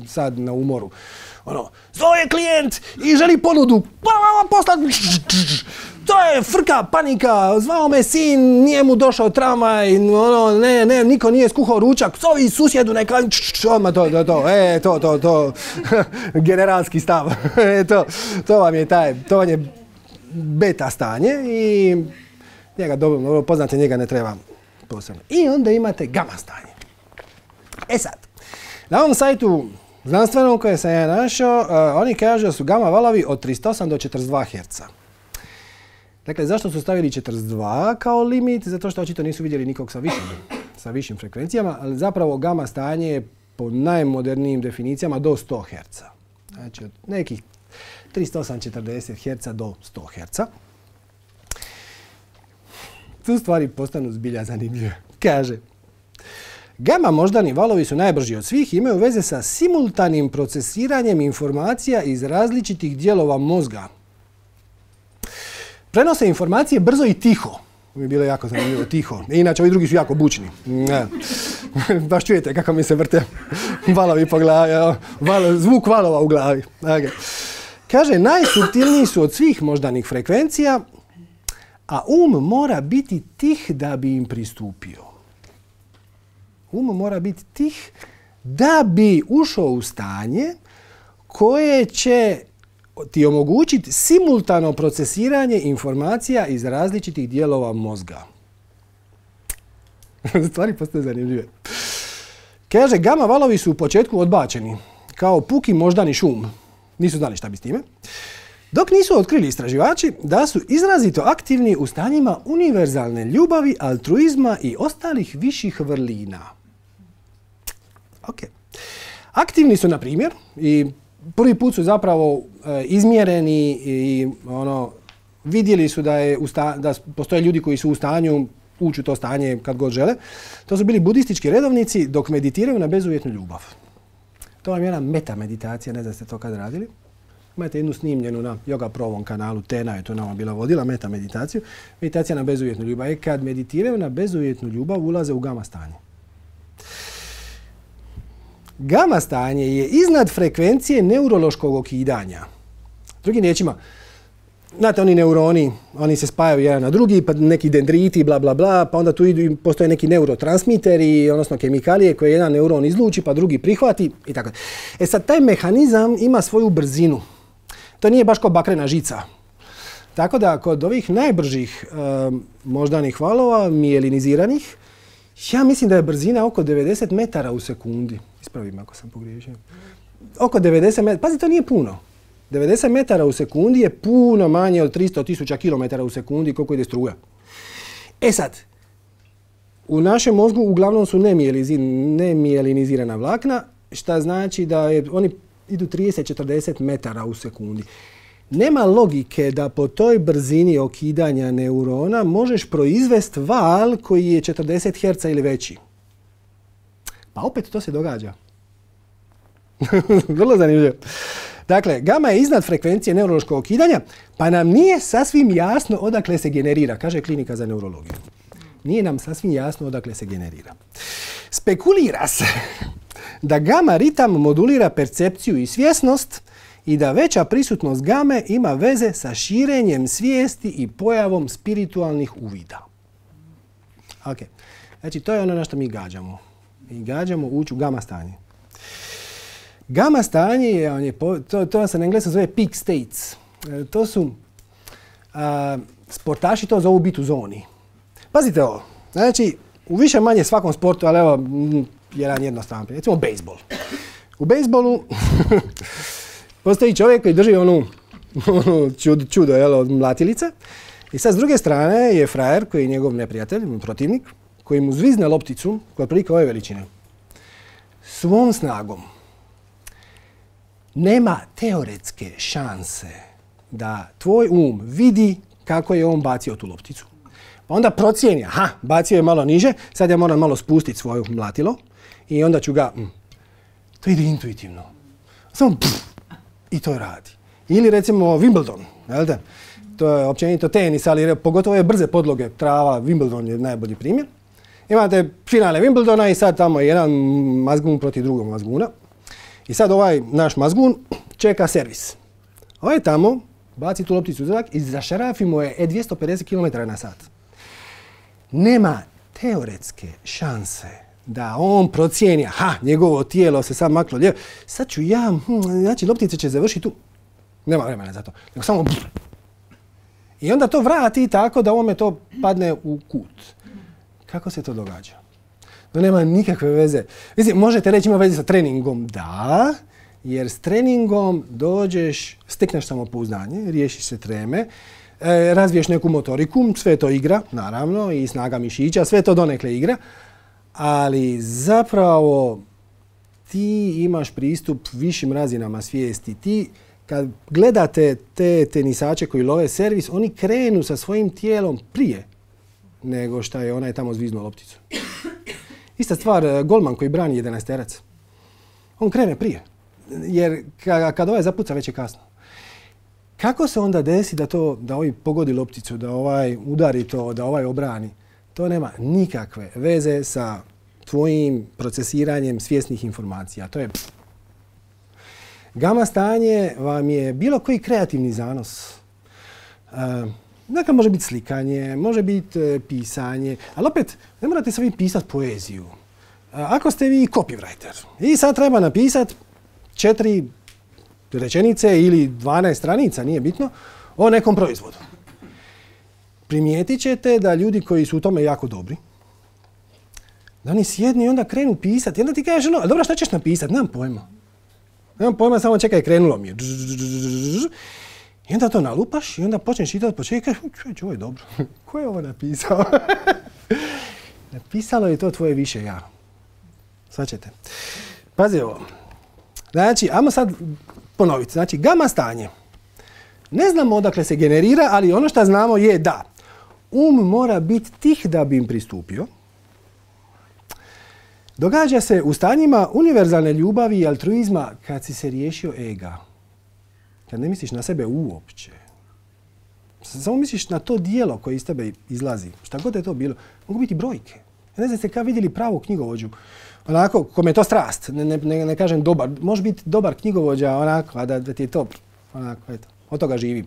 sad na umoru. Ono, zove klijent i želi ponudu, poslati, to je frka, panika, zvao me sin, nije mu došao tramvaj, ono, ne, ne, niko nije skuhao ručak, zovi susjedu neka, odmah to, to, to, e, to, to, to, generalski stav, e, to, to vam je taj, to vam je beta stanje i njega dobro poznate, njega ne treba posebno. I onda imate gama stanje. E sad, na ovom sajtu znanstvenom koje sam ja našao, uh, oni kažu da su gama valovi od trideset osam do četrdeset dva herca. Dakle, zašto su stavili četrdeset dva kao limit? Zato što očito nisu vidjeli nikog sa višim, sa višim frekvencijama, ali zapravo gama stanje je po najmodernijim definicijama do sto herca. Znači, od nekih trideset osam do četrdeset herca do sto herca. Tu stvari postanu zbilja zanimljive. Kaže, gama moždani valovi su najbrži od svih i imaju veze sa simultanim procesiranjem informacija iz različitih dijelova mozga. Prenose informacije brzo i tiho. Mi je bilo jako zanimljivo, tiho. Inače, ovi drugi su jako bučni. Baš čujete kako mi se vrte valovi po glavi. Valo, zvuk valova u glavi. Okay. Kaže, najsuptilniji su od svih moždanih frekvencija, a um mora biti tih da bi im pristupio. Um mora biti tih da bi ušao u stanje koje će ti omogućiti simultano procesiranje informacija iz različitih dijelova mozga. Stvari postaju zanimljive. Kaže, gama valovi su u početku odbačeni kao puki moždani šum. Nisu znali šta bi s time. Dok nisu otkrili istraživači da su izrazito aktivni u stanjima univerzalne ljubavi, altruizma i ostalih viših vrlina. Ok. Aktivni su, na primjer, i prvi put su zapravo e, izmjereni i ono, vidjeli su da, je u sta, da postoje ljudi koji su u stanju ući u to stanje kad god žele. To su bili budistički redovnici dok meditiraju na bezuvjetnu ljubav. To vam je jedna meta meditacija, ne znam ste to kad radili. Imate jednu snimljenu na Yoga Provom kanalu, Tena je to nama bila vodila, meta meditaciju. Meditacija na bezuvjetnu ljubav. E kad meditiraju na bezuvjetnu ljubav, ulaze u gama stanje. Gama stanje je iznad frekvencije neurološkog okidanja. Drugim riječima, znate, oni neuroni, oni se spajaju jedan na drugi, pa neki dendriti, bla, bla, bla, pa onda tu idu, postoje neki neurotransmiteri, odnosno kemikalije koje jedan neuron izluči, pa drugi prihvati i tako. E sad, taj mehanizam ima svoju brzinu. To nije baš kao bakrena žica. Tako da, kod ovih najbržih e, moždanih valova, mijeliniziranih, ja mislim da je brzina oko devedeset metara u sekundi. Ispravim ako sam pogriješio. Oko devedeset metara. Pazi, to nije puno. devedeset metara u sekundi je puno manje od tristo tisuća kilometara u sekundi koliko ide struja. E sad, u našem mozgu uglavnom su nemijelinizirana vlakna, što znači da je, oni idu trideset do četrdeset metara u sekundi. Nema logike da po toj brzini okidanja neurona možeš proizvesti val koji je četrdeset herca ili veći. Pa opet to se događa. Vrlo zanimljivo. Dakle, gama je iznad frekvencije neurološkog okidanja, pa nam nije sasvim jasno odakle se generira, kaže klinika za neurologiju. Nije nam sasvim jasno odakle se generira. Spekulira se da gama ritam modulira percepciju i svjesnost i da veća prisutnost game ima veze sa širenjem svijesti i pojavom spiritualnih uvida. Ok, znači to je ono na što mi gađamo. Mi gađamo ući u gama stanje. Gama stanje je, on je to, to se na engleskom zove peak states. E, to su, a, sportaši to zovu biti u zoni. Pazite ovo, znači u više manje svakom sportu, ali evo jedan jednostavan primjer, recimo bejsbol. U bejsbolu postoji čovjek koji drži onu, onu čudo, čudo jel, od mlatilice i sad s druge strane je frajer koji je njegov neprijatelj, protivnik, koji mu zvizne lopticu koja je prilike ove veličine. Svom snagom nema teoretske šanse da tvoj um vidi kako je on bacio tu lopticu. Pa onda procijeni, aha, bacio je malo niže, sad ja moram malo spustiti svoje mlatilo i onda ću ga, mm, to ide intuitivno. Samo pff, i to radi. Ili recimo Wimbledon, jel da? To je općenito tenis, ali pogotovo ove brze podloge, trava, Wimbledon je najbolji primjer. Imate finale Wimbledona i sad tamo je jedan mazgun protiv drugog mazguna. I sad ovaj naš mazgun čeka servis. Ovaj tamo baci tu lopticu u zrak i zašarafi mu je dvjesto pedeset kilometara na sat. Nema teoretske šanse da on procijeni, aha, njegovo tijelo se sad maklo lijevo, sad ću ja, hm, znači loptica će završiti tu. Nema vremena za to. Nego samo... I onda to vrati tako da ovome to padne u kut. Kako se to događa? To nema nikakve veze. Mislim, možete reći ima veze sa treningom. Da, jer s treningom dođeš, stekneš samopouzdanje, riješiš se treme, e, razviješ neku motoriku, sve to igra, naravno, i snaga mišića, sve to donekle igra, ali zapravo ti imaš pristup višim razinama svijesti. Ti, kad gledate te tenisače koji love servis, oni krenu sa svojim tijelom prije nego što je onaj tamo zviznuo lopticu. Ista stvar, golman koji brani jedanaesterac. On krene prije. Jer kad ovaj zapuca, već je kasno. Kako se onda desi da to, da ovaj pogodi lopticu, da ovaj udari to, da ovaj obrani? To nema nikakve veze sa tvojim procesiranjem svjesnih informacija. To je... Gama stanje vam je bilo koji kreativni zanos. Uh, Dakle, može biti slikanje, može biti e, pisanje, ali opet ne morate se vi pisati poeziju. E, ako ste vi copywriter i sad treba napisati četiri rečenice ili dvanaest stranica, nije bitno, o nekom proizvodu. Primijetit ćete da ljudi koji su u tome jako dobri, da oni sjednu i onda krenu pisati. I onda ti kažeš, no, dobro, šta ćeš napisati? Nemam pojma. Nemam pojma, samo čekaj, krenulo mi je. I onda to nalupaš i onda počneš čitati od početka i kažeš, čovječ, ovo je dobro. Ko je ovo napisao? Napisalo je to tvoje više ja. Svačete. Pazi ovo. Znači, ajmo sad ponoviti. Znači, gama stanje. Ne znamo odakle se generira, ali ono što znamo je da um mora biti tih da bi im pristupio. Događa se u stanjima univerzalne ljubavi i altruizma kad si se riješio ega. Kad ne misliš na sebe uopće. Samo misliš na to dijelo koje iz tebe izlazi. Šta god je to bilo. Mogu biti brojke. Ja ne znam ste kad vidjeli pravu knjigovođu. Onako, kome je to strast. Ne, ne, ne kažem dobar. Može biti dobar knjigovođa onako, a da, da ti je to. Onako, eto. Od toga živim.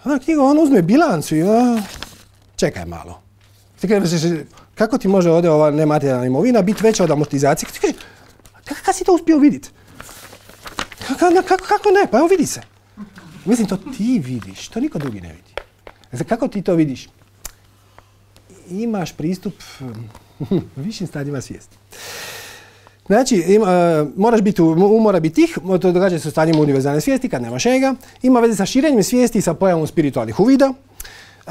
Onda knjiga, on uzme bilancu i a, čekaj malo. Kako ti može ovdje ova nematerijalna imovina biti veća od amortizacije? Kako si to uspio vidjeti? Kako, kako, kako ne? Pa evo vidi se. Mislim, to ti vidiš, to niko drugi ne vidi. Znači, kako ti to vidiš? Imaš pristup višim stadijima svijesti. Znači, ima, moraš biti, mora biti tih, to događa se u stanjima univerzalne svijesti kad nemaš ega. Ima veze sa širenjem svijesti i sa pojavom spiritualnih uvida. E,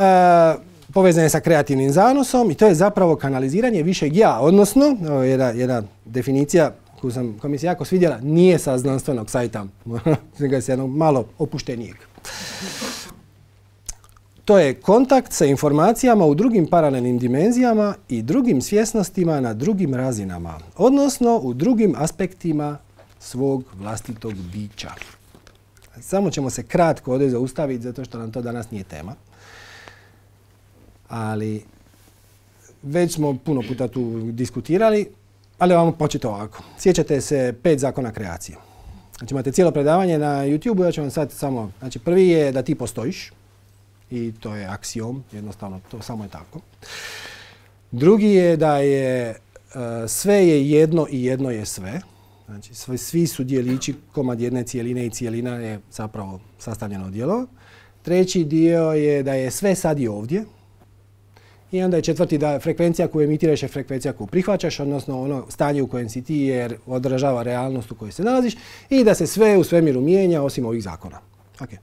povezan je sa kreativnim zanosom i to je zapravo kanaliziranje višeg ja, odnosno, ovo je jedna, jedna definicija koju, sam, koju mi se jako svidjela, nije sa znanstvenog sajta, nego se jednog malo opuštenijeg. To je kontakt sa informacijama u drugim paralelnim dimenzijama i drugim svjesnostima na drugim razinama, odnosno u drugim aspektima svog vlastitog bića. Samo ćemo se kratko ovdje zaustaviti, zato što nam to danas nije tema. Ali već smo puno puta tu diskutirali, ali vam početi ovako. Sjećate se pet zakona kreacije. Znači imate cijelo predavanje na YouTube-u, ja ću vam sad samo, znači prvi je da ti postojiš i to je aksiom, jednostavno to samo je tako. Drugi je da je uh, sve je jedno i jedno je sve. Znači sve, svi su dijelići komad jedne cijeline i cijelina je zapravo sastavljeno od dijelova. Treći dio je da je sve sad i ovdje. I onda je četvrti da frekvencija koju emitiraš je frekvencija koju prihvaćaš, odnosno ono stanje u kojem si ti jer odražava realnost u kojoj se nalaziš i da se sve u svemiru mijenja osim ovih zakona. Okay.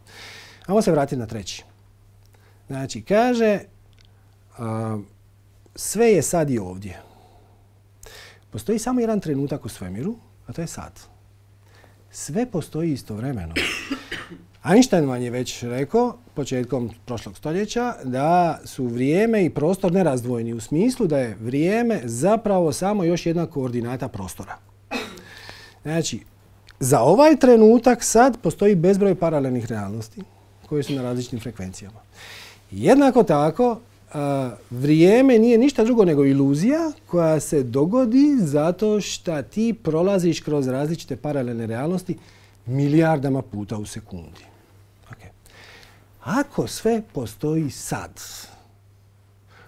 Ajmo se vratiti na treći. Znači, kaže, a, sve je sad i ovdje. Postoji samo jedan trenutak u svemiru, a to je sad. Sve postoji istovremeno. Einstein vam je već rekao, početkom prošlog stoljeća, da su vrijeme i prostor nerazdvojni u smislu da je vrijeme zapravo samo još jedna koordinata prostora. Znači, za ovaj trenutak sad postoji bezbroj paralelnih realnosti koje su na različitim frekvencijama. Jednako tako, a, vrijeme nije ništa drugo nego iluzija koja se dogodi zato što ti prolaziš kroz različite paralelne realnosti milijardama puta u sekundi. Okay. Ako sve postoji sad,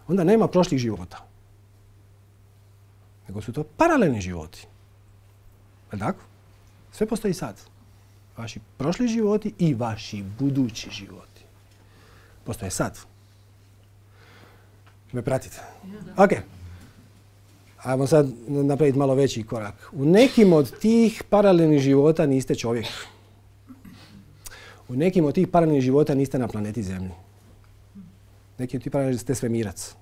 onda nema prošlih života. Nego su to paralelni životi. Je tako? Sve postoji sad. Vaši prošli životi i vaši budući životi. Postoje sad. Me pratite? Ok. Ajmo sad napraviti malo veći korak. U nekim od tih paralelnih života niste čovjek. U nekim od tih paralelnih života niste na planeti Zemlji. Neki od tih paralelnih ste svemirac.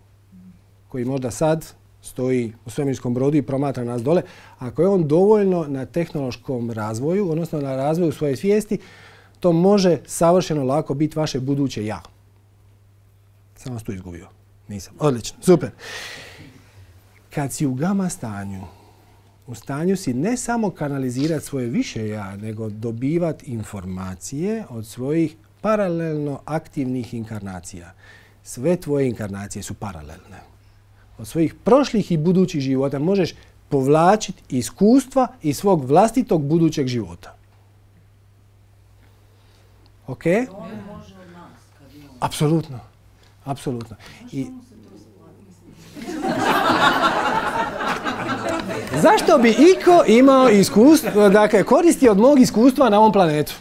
Koji možda sad stoji u svemirskom brodu i promatra nas dole. Ako je on dovoljno na tehnološkom razvoju, odnosno na razvoju svoje svijesti, to može savršeno lako biti vaše buduće ja. Sam vas tu izgubio. Nisam. Odlično. Super. Kad si u gama stanju, u stanju si ne samo kanalizirati svoje više ja, nego dobivati informacije od svojih paralelno aktivnih inkarnacija. Sve tvoje inkarnacije su paralelne. Od svojih prošlih i budućih života možeš povlačiti iskustva iz svog vlastitog budućeg života. Ok? Apsolutno. Apsolutno. I zašto bi iko imao iskustvo, dakle, koristi od mog iskustva na ovom planetu?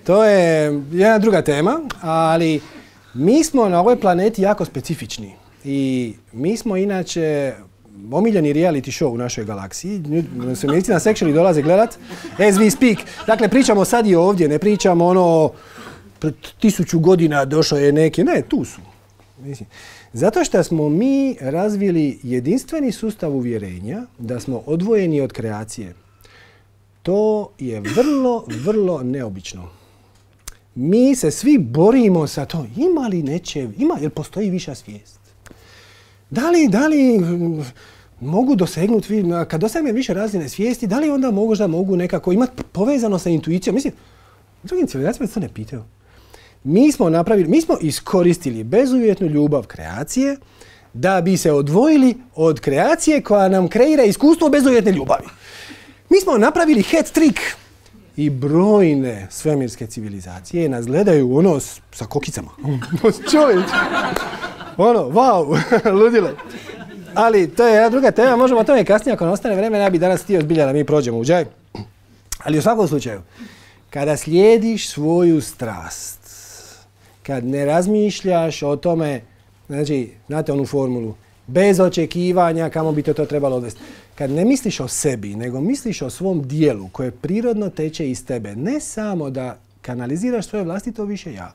To je jedna druga tema, ali mi smo na ovoj planeti jako specifični. I mi smo inače omiljeni reality show u našoj galaksiji. Svemirsci nas actually dolaze gledat as we speak. Dakle, pričamo sad i ovdje, ne pričamo ono pred tisuću godina došao je neki. Ne, tu su. Mislim, zato što smo mi razvili jedinstveni sustav uvjerenja da smo odvojeni od kreacije. To je vrlo, vrlo neobično. Mi se svi borimo sa to. Ima li neće, ima, jer postoji viša svijest? Da li, da li mogu dosegnuti, kad dosegnem više razine svijesti, da li onda mogu da mogu nekako imati povezano sa intuicijom? Mislim, drugim civilizacijama se to ne pitaju. Mi smo napravili, mi smo iskoristili bezuvjetnu ljubav kreacije da bi se odvojili od kreacije koja nam kreira iskustvo bezuvjetne ljubavi. Mi smo napravili hat trick. I brojne svemirske civilizacije nas gledaju ono s, sa kokicama. Čovječ! Ono, wow, ludilo. Ali to je jedna druga tema, možemo o tome kasnije ako ne ostane vremena, ja bih danas htio zbilja da mi prođemo u džaj. Ali u svakom slučaju, kada slijediš svoju strast, kad ne razmišljaš o tome, znači, znate onu formulu, bez očekivanja kamo bi te to trebalo odvesti. Kad ne misliš o sebi, nego misliš o svom dijelu koje prirodno teče iz tebe, ne samo da kanaliziraš svoje vlastito više ja,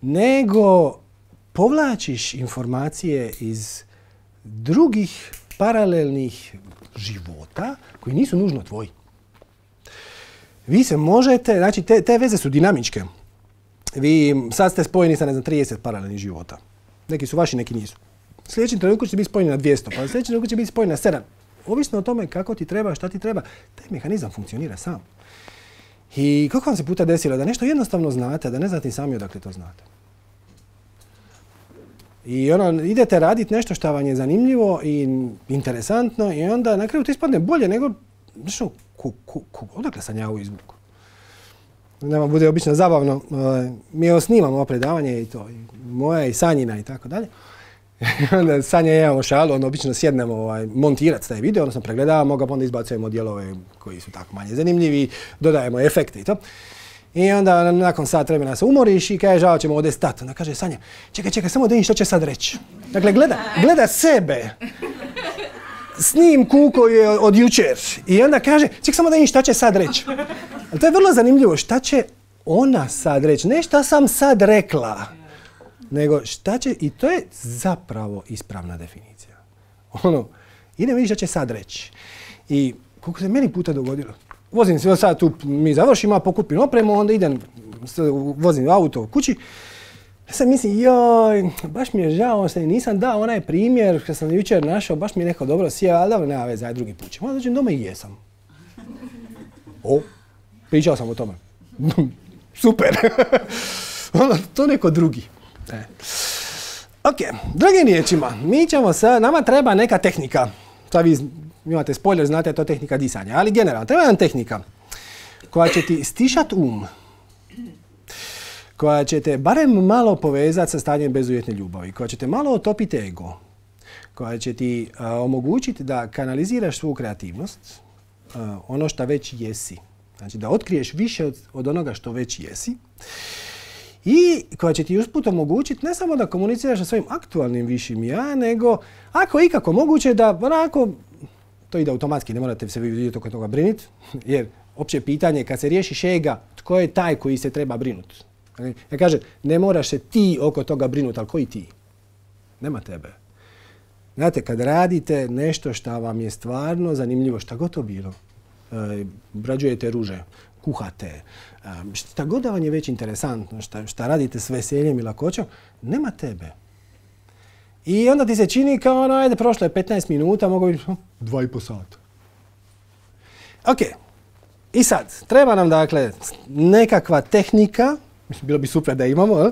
nego povlačiš informacije iz drugih paralelnih života koji nisu nužno tvoji. Vi se možete, znači te, te veze su dinamičke. Vi sad ste spojeni sa, ne znam, trideset paralelnih života. Neki su vaši, neki nisu. Sljedećem trenutku će biti spojeni na dvjesto, pa sljedećem trenutku će biti spojeni na sedam. Ovisno o tome kako ti treba, šta ti treba, taj mehanizam funkcionira sam. I kako vam se puta desilo da nešto jednostavno znate, da ne znate sami odakle to znate. I ono, idete raditi nešto što vam je zanimljivo i interesantno i onda na kraju to ispadne bolje nego, što, ku, ku, ku, odakle sam ja ovo izvuku. Nama bude obično zabavno, mi evo snimamo ovo predavanje i to, i moja i Sanjina i tako dalje. Onda Sanja i ja imamo šalu, onda obično sjednemo ovaj, montirati taj video, odnosno pregledavamo ga, pa onda izbacujemo dijelove koji su tako manje zanimljivi, dodajemo efekte i to. I onda nakon sat vremena se umoriš i kaže, žao ćemo ovdje stati. Onda kaže Sanja, čekaj, čekaj, samo da vidim što će sad reći. Dakle, gleda, gleda sebe. Snimku koji je od jučer. I onda kaže, čekaj, samo da vidim što će sad reći. Ali to je vrlo zanimljivo, šta će ona sad reći. Ne šta sam sad rekla, nego šta će, i to je zapravo ispravna definicija. Ono, idem vidjeti što će sad reći. I koliko se meni puta dogodilo, vozim se sad tu, mi završimo, pokupim opremu, onda idem, vozim auto kući. Ja sam mislim, joj, baš mi je žao, što nisam dao onaj primjer što sam jučer našao, baš mi je neko dobro sjeo, ali dobro, nema veze, aj drugi put ćemo. Onda dođem doma i jesam. O, pričao sam o tome. Super. Ono, to neko drugi. E. Ok, drugim riječima, mi ćemo sad, nama treba neka tehnika. Sad vi imate spoiler, znate, to je tehnika disanja, ali generalno, treba jedna tehnika koja će ti stišat um, koja će te barem malo povezati sa stanjem bezuvjetne ljubavi, koja će te malo otopiti ego, koja će ti uh, omogućiti da kanaliziraš svu kreativnost, uh, ono što već jesi. Znači da otkriješ više od, od onoga što već jesi. I koja će ti usput omogućiti ne samo da komuniciraš sa svojim aktualnim višim ja, nego ako je ikako moguće da onako, to ide automatski, ne morate se vi vidjeti oko toga brinuti, jer opće pitanje kad se riješiš ega, tko je taj koji se treba brinuti? Ja kažem, ne moraš se ti oko toga brinuti, ali koji ti? Nema tebe. Znate, kad radite nešto što vam je stvarno zanimljivo, šta god to bilo, e, obrađujete ruže, kuhate, šta god da vam je već interesantno, šta, šta radite s veseljem i lakoćom, nema tebe. I onda ti se čini kao ono, ajde, prošlo je petnaest minuta, mogu biti dva i po sata. Ok, i sad, treba nam dakle nekakva tehnika, mislim, bilo bi super da imamo,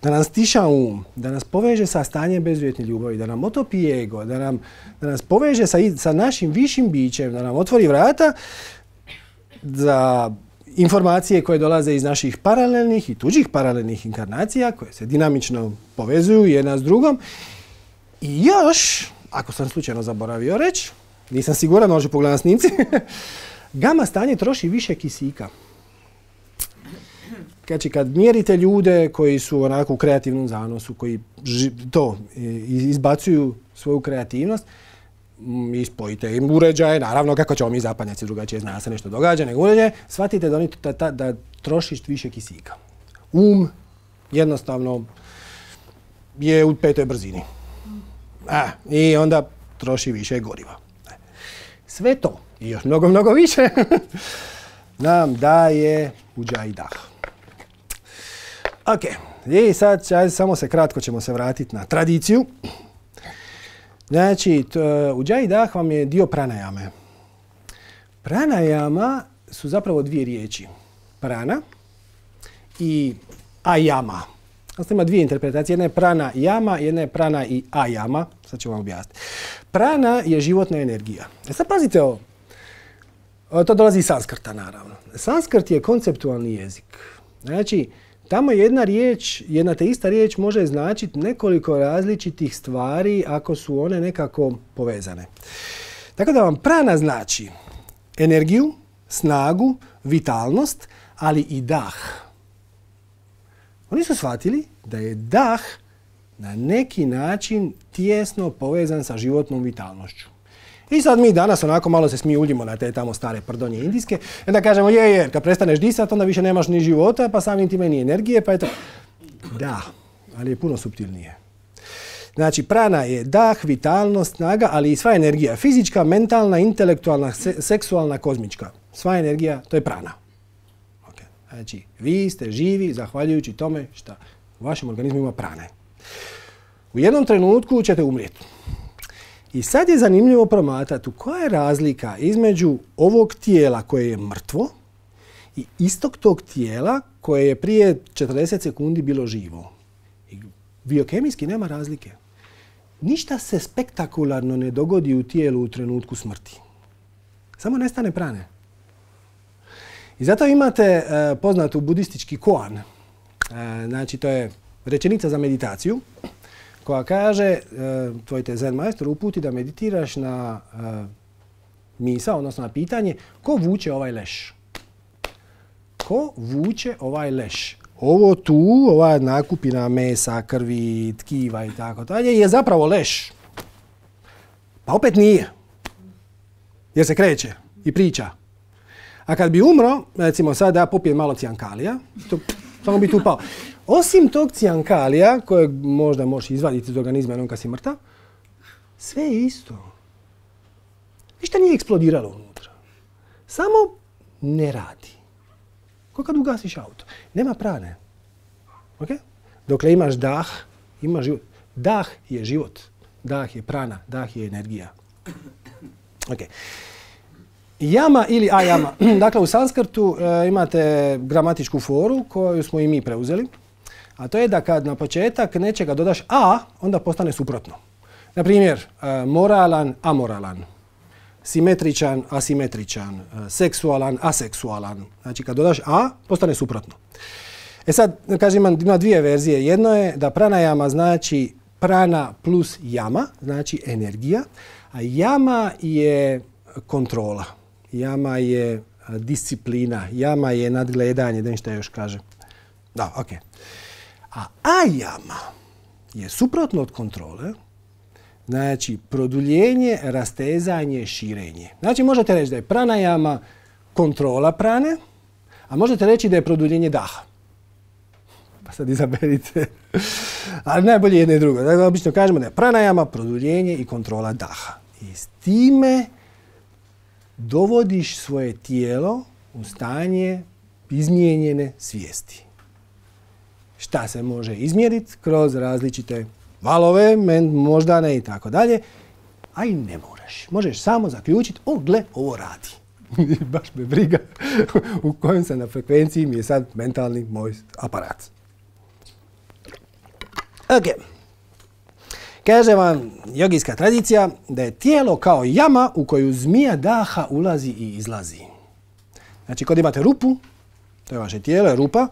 da nam stiša um, da nas poveže sa stanjem bezuvjetne ljubavi, da nam otopi ego, da, nam, da nas poveže sa, sa našim višim bićem, da nam otvori vrata za informacije koje dolaze iz naših paralelnih i tuđih paralelnih inkarnacija, koje se dinamično povezuju jedna s drugom. I još, ako sam slučajno zaboravio reći, nisam siguran, može pogledati na snimci, gama stanje troši više kisika. Znači, kad mjerite ljude koji su onako u kreativnom zanosu, koji to izbacuju svoju kreativnost, i spojite im uređaje, naravno kako ćemo mi zapadnjaci drugačije zna se nešto događa nego uređaje, shvatite da, oni, da, da, da trošiš više kisika. Um jednostavno je u petoj brzini. A, i onda troši više goriva. Sve to i još mnogo, mnogo više nam daje uđaj i dah. Ok, i sad samo se kratko ćemo se vratiti na tradiciju. Znači, uđaj dah vam je dio pranajame. Pranajama su zapravo dvije riječi. Prana i ajama. Znači, ima dvije interpretacije. Jedna je prana jama, jedna je prana i ajama. Sad ću vam objasniti. Prana je životna energija. E sad pazite ovo. To dolazi iz sanskrta, naravno. Sanskrt je konceptualni jezik. Znači, tamo jedna riječ, jedna te ista riječ može značiti nekoliko različitih stvari ako su one nekako povezane. Tako da vam prana znači energiju, snagu, vitalnost, ali i dah. Oni su shvatili da je dah na neki način tijesno povezan sa životnom vitalnošću. I sad mi danas onako malo se smijuljimo na te tamo stare prdonje indijske. I onda kažemo, je, je, kad prestaneš disati, onda više nemaš ni života, pa samim time ni energije, pa eto. Da, ali je puno suptilnije. Znači, prana je dah, vitalnost, snaga, ali i sva energija. Fizička, mentalna, intelektualna, se, seksualna, kozmička. Sva energija, to je prana. Okay. Znači, vi ste živi zahvaljujući tome što u vašem organizmu ima prane. U jednom trenutku ćete umrijeti. I sad je zanimljivo promatrati koja je razlika između ovog tijela koje je mrtvo i istog tog tijela koje je prije četrdeset sekundi bilo živo. I biokemijski nema razlike. Ništa se spektakularno ne dogodi u tijelu u trenutku smrti. Samo nestane prane. I zato imate uh, poznatu budistički koan. Uh, znači, to je rečenica za meditaciju koja kaže, uh, tvoj te zen majstor uputi da meditiraš na uh, misao, odnosno na pitanje, ko vuče ovaj leš? Ko vuče ovaj leš? Ovo tu, ova nakupina mesa, krvi, tkiva i tako dalje, je zapravo leš. Pa opet nije. Jer se kreće i priča. A kad bi umro, recimo sad da ja popijem malo cijankalija, to, samo bi tu pao. Osim tog cijankalija, kojeg možda možeš izvaditi iz organizma jednom kad si mrtav, sve je isto. Ništa nije eksplodiralo unutra. Samo ne radi. Ko kad ugasiš auto. Nema prane. Okay? Dokle imaš dah, imaš život. Dah je život. Dah je prana. Dah je energija. Okay. Jama ili ajama. Dakle, u sanskrtu e, imate gramatičku foru koju smo i mi preuzeli. A to je da kad na početak nečega dodaš a, onda postane suprotno. Na primjer, e, moralan, amoralan. Simetričan, asimetričan. E, seksualan, aseksualan. Znači, kad dodaš a, postane suprotno. E sad, kažem, ima, ima dvije verzije. Jedno je da pranajama znači prana plus jama, znači energija. A jama je kontrola. Jama je disciplina. Jama je nadgledanje. Da ništa još kaže. Da, ok. A ajama je suprotno od kontrole. Znači, produljenje, rastezanje, širenje. Znači, možete reći da je pranajama kontrola prane, a možete reći da je produljenje daha. Pa sad izaberite. Ali najbolje jedno i drugo. Dakle, obično kažemo da je pranajama produljenje i kontrola daha. I s time dovodiš svoje tijelo u stanje izmijenjene svijesti. Šta se može izmjeriti kroz različite valove, moždane i tako dalje, a i ne moraš. Možeš samo zaključiti, o, gle, ovo radi. Baš me briga u kojem sam na frekvenciji mi je sad mentalni moj aparat. Ok. Kaže vam jogijska tradicija da je tijelo kao jama u koju zmija daha ulazi i izlazi. Znači, kod imate rupu, to je vaše tijelo, je rupa,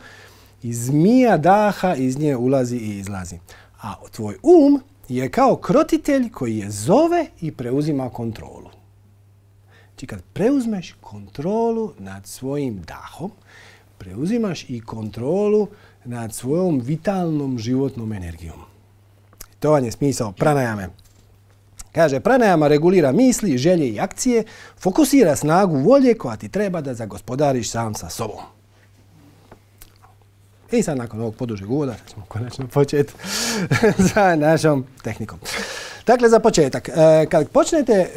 i zmija daha iz nje ulazi i izlazi. A tvoj um je kao krotitelj koji je zove i preuzima kontrolu. Znači, kad preuzmeš kontrolu nad svojim dahom, preuzimaš i kontrolu nad svojom vitalnom životnom energijom. To vam je smisao pranajame. Kaže, pranajama regulira misli, želje i akcije, fokusira snagu volje koja ti treba da zagospodariš sam sa sobom. I sad nakon ovog podužeg uvoda ćemo konačno početi sa našom tehnikom. Dakle, za početak, kad počnete,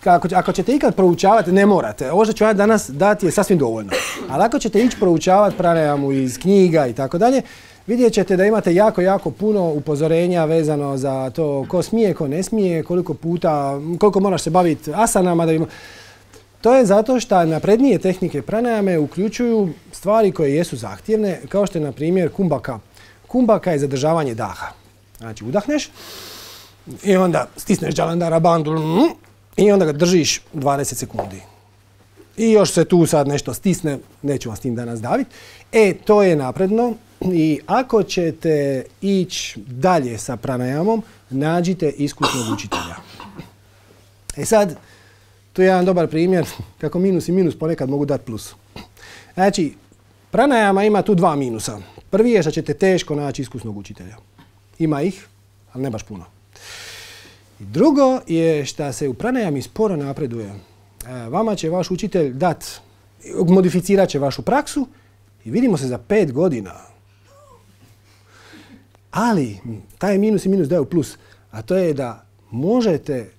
ako, ako ćete ikad proučavati, ne morate, ovo što ću ja danas dati je sasvim dovoljno, ali ako ćete ići proučavati pranajamu iz knjiga i tako dalje, vidjet ćete da imate jako, jako puno upozorenja vezano za to ko smije, ko ne smije, koliko puta, koliko moraš se baviti asanama. Da ima... To je zato što naprednije tehnike pranajame uključuju stvari koje jesu zahtjevne, kao što je, na primjer, kumbhaka. Kumbhaka je zadržavanje daha. Znači, udahneš i onda stisneš Jalandhara bandhu i onda ga držiš dvadeset sekundi. i još se tu sad nešto stisne, neću vas s tim danas daviti. E, to je napredno i ako ćete ići dalje sa pranajamom, nađite iskusnog učitelja. E sad, to je jedan dobar primjer kako minus i minus ponekad mogu dati plus. Znači, pranajama ima tu dva minusa. Prvi je što ćete teško naći iskusnog učitelja. Ima ih, ali ne baš puno. I drugo je što se u pranajami sporo napreduje. Vama će vaš učitelj dat, modificirat će vašu praksu i vidimo se za pet godina. Ali, taj minus i minus daju plus, a to je da možete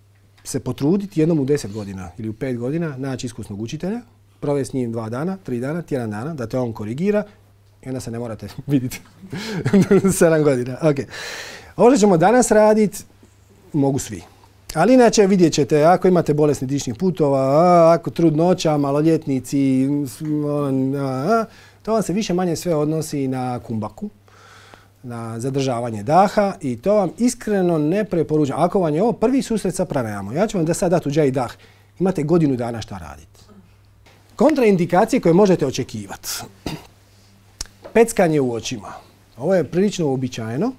se potruditi jednom u deset godina ili u pet godina naći iskusnog učitelja, provesti s njim dva dana, tri dana, tjedan dana, da te on korigira i onda se ne morate vidjeti sedam godina. Okay. Ovo što ćemo danas raditi, mogu svi. Ali inače vidjet ćete, ako imate bolesni dišnih putova, ako trudnoća, maloljetnici, to vam se više manje sve odnosi na kumbaku, na zadržavanje daha i to vam iskreno ne preporučam. Ako vam je ovo prvi susret sa pranajamom, ja ću vam da sad dati Ujjayi dah, imate godinu dana šta raditi. Kontraindikacije koje možete očekivati. Peckanje u očima. Ovo je prilično uobičajeno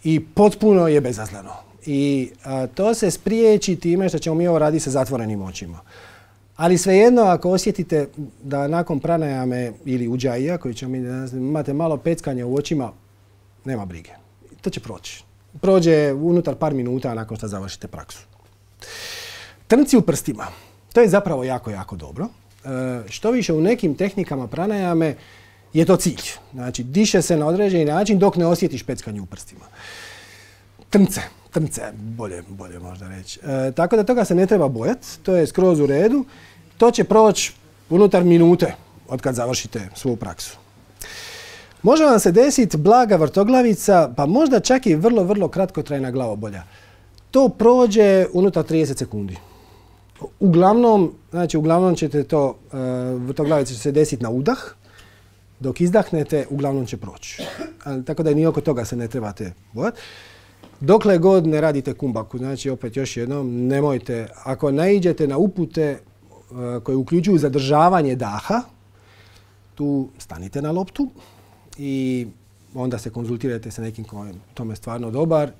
i potpuno je bezazleno. I a, to se spriječi time što ćemo mi ovo raditi sa zatvorenim očima. Ali svejedno, ako osjetite da nakon pranajame ili Ujjayi, koji ćemo mi danas, imate malo peckanje u očima, nema brige. To će proći. Prođe unutar par minuta nakon što završite praksu. Trnci u prstima. To je zapravo jako, jako dobro. E, što više u nekim tehnikama pranajame je to cilj. Znači, diše se na određeni način dok ne osjetiš peckanje u prstima. Trnce. Trnce, bolje, bolje možda reći. E, tako da toga se ne treba bojati. To je skroz u redu. To će proći unutar minute od kad završite svu praksu. Može vam se desiti blaga vrtoglavica, pa možda čak i vrlo, vrlo kratkotrajna glavobolja. To prođe unutar trideset sekundi. Uglavnom, znači uglavnom ćete to, uh, vrtoglavica će se desiti na udah, dok izdahnete, uglavnom će proći. Ali, tako da ni oko toga se ne trebate bojati. Dokle god ne radite kumbaku, znači opet još jednom, nemojte, ako naiđete na upute uh, koje uključuju zadržavanje daha, tu stanite na loptu i onda se konzultirajte sa nekim koji je tome stvarno dobar.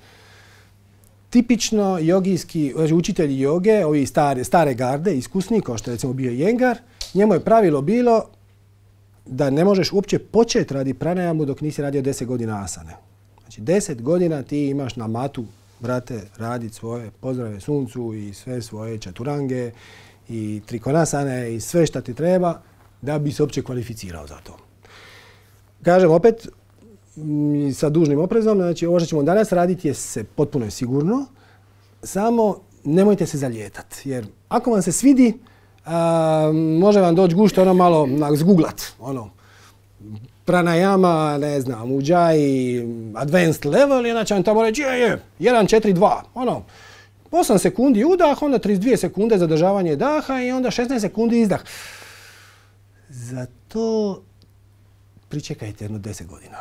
Tipično jogijski, znači učitelji joge, ovi stare, stare garde, iskusni, kao što je recimo bio Iyengar, njemu je pravilo bilo da ne možeš uopće početi radi pranajamu dok nisi radio deset godina asane. Znači deset godina ti imaš na matu, brate, raditi svoje pozdrave suncu i sve svoje čaturange i trikonasane i sve što ti treba da bi se uopće kvalificirao za to. Kažem opet, sa dužnim oprezom, znači ovo što ćemo danas raditi je se potpuno je sigurno, samo nemojte se zalijetati, jer ako vam se svidi, a, može vam doći gušt ono malo zguglat, ono, pranajama, ne znam, Ujjayi, advanced level, inače vam tamo reći, je, je, jedan, četiri, dva, ono, osam sekundi udah, onda trideset dvije sekunde zadržavanje daha i onda šesnaest sekundi izdah. Zato pričekajte jedno deset godina.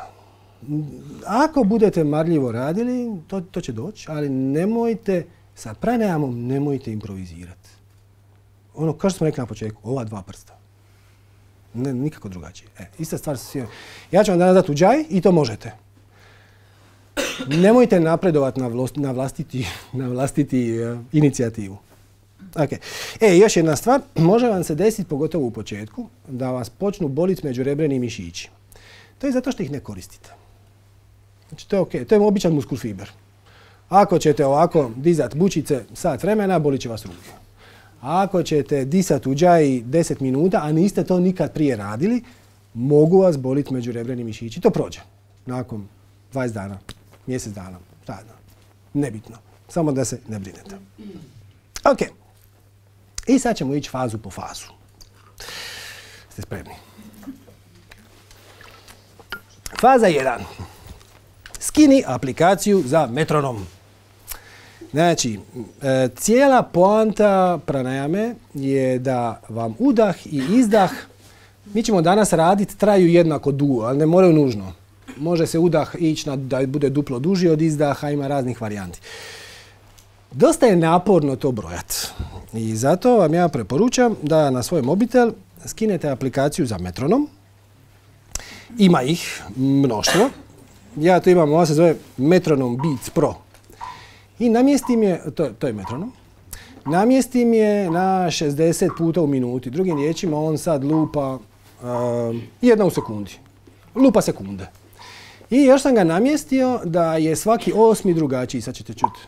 Ako budete marljivo radili, to, to će doći, ali nemojte, sa pranajamom nemojte improvizirati. Ono, kao što smo rekli na početku, ova dva prsta. Ne, nikako drugačije. E, ista stvar sa svima. Ja ću vam danas dati Ujjayi i to možete. Nemojte napredovati na, vlost, na vlastiti, na vlastiti uh, inicijativu. Okay. E, još jedna stvar, može vam se desiti, pogotovo u početku, da vas počnu boliti međurebreni mišići. To je zato što ih ne koristite. Znači, to je okej, to je običan muskul fiber. Ako ćete ovako dizati bučice sat vremena, bolit će vas ruke. Ako ćete disati Ujjayi deset minuta, a niste to nikad prije radili, mogu vas boliti međurebreni mišići. To prođe. Nakon dvadeset dana, mjesec dana, šta dana. Nebitno. Samo da se ne brinete. Ok. I sad ćemo ići fazu po fazu. Ste spremni? Faza jedan. Skini aplikaciju za metronom. Znači, e, cijela poanta pranajame je da vam udah i izdah, mi ćemo danas raditi, traju jednako dugo, ali ne moraju nužno. Može se udah ići na, da bude duplo duži od izdaha, ima raznih varijanti. Dosta je naporno to brojati. I zato vam ja preporučam da na svoj mobitel skinete aplikaciju za metronom. Ima ih mnoštvo. Ja to imam, ovo se zove Metronom Beats Pro. I namjestim je, to, to je metronom, namjestim je na šezdeset puta u minuti. Drugim riječima, on sad lupa uh, jedna u sekundi. Lupa sekunde. I još sam ga namjestio da je svaki osmi drugačiji. Sad ćete čuti.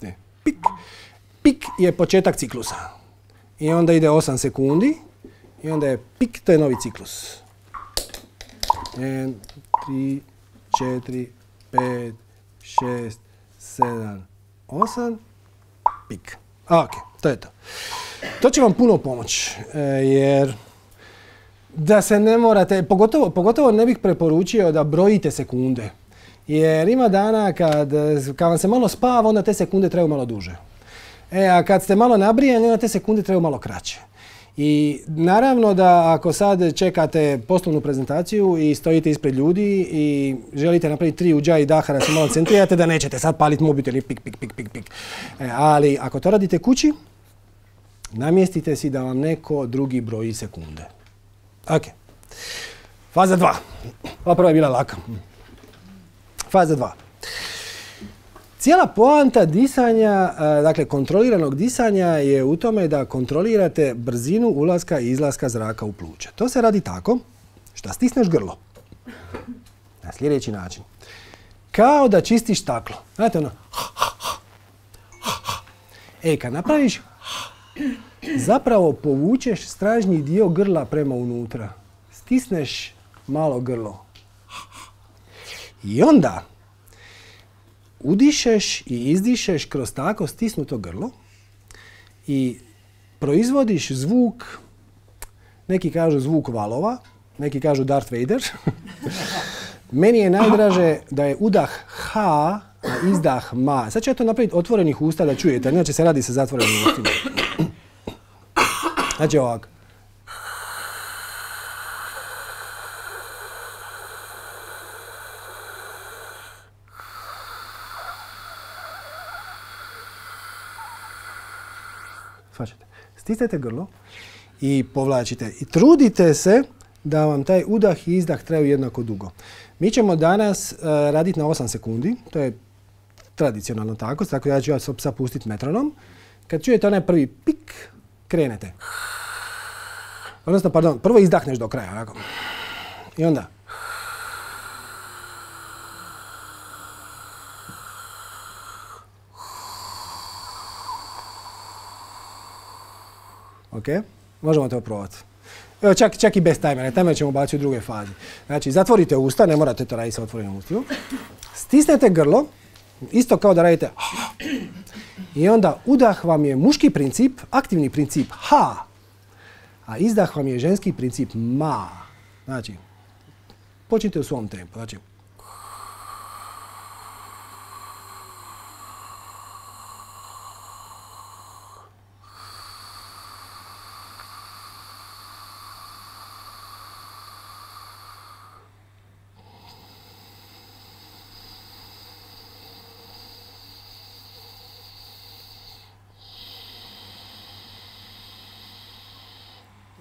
Ne, pik. Pik je početak ciklusa. I onda ide osam sekundi. I onda je pik, to je novi ciklus. jedan, tri, četiri, pet, šest, sedam, osam, pik. Ok, to je to. To će vam puno pomoći, jer da se ne morate, pogotovo, pogotovo ne bih preporučio da brojite sekunde. Jer ima dana kad, kad vam se malo spava, onda te sekunde traju malo duže. E, a kad ste malo nabrijani, onda te sekunde traju malo kraće. I naravno da ako sad čekate poslovnu prezentaciju i stojite ispred ljudi i želite napraviti tri uđa i daha da se malo centrirate, da nećete sad paliti mobitel i pik, pik, pik, pik, pik. E, ali ako to radite kući, namjestite si da vam neko drugi broji sekunde. Ok. Faza dva. Ova prva je bila laka. Faza dva. Cijela poanta disanja, dakle kontroliranog disanja je u tome da kontrolirate brzinu ulaska i izlaska zraka u pluća. To se radi tako što stisneš grlo. Na sljedeći način. Kao da čistiš staklo. Znate ono. E, kad napraviš, zapravo povučeš stražnji dio grla prema unutra. Stisneš malo grlo. I onda udišeš i izdišeš kroz tako stisnuto grlo i proizvodiš zvuk, neki kažu zvuk valova, neki kažu Darth Vader. Meni je najdraže da je udah ha, a izdah ma. Sad ću ja to napraviti otvorenih usta da čujete, inače se radi sa zatvorenim ustima. Znači ovako. Stisnete grlo i povlačite. I trudite se da vam taj udah i izdah traju jednako dugo. Mi ćemo danas uh, raditi na osam sekundi. To je tradicionalno tako. Tako ja ću ja sad pustiti metronom. Kad čujete onaj prvi pik, krenete. Odnosno, pardon, prvo izdahneš do kraja. Ovako. I onda. Ok, možemo to probati. Evo, čak, čak i bez tajmera. Tajmer ćemo baciti u drugoj fazi. Znači, zatvorite usta, ne morate to raditi sa otvorenim ustima. Stisnete grlo, isto kao da radite i onda udah vam je muški princip, aktivni princip ha, a izdah vam je ženski princip ma. Znači, počnite u svom tempu. Znači,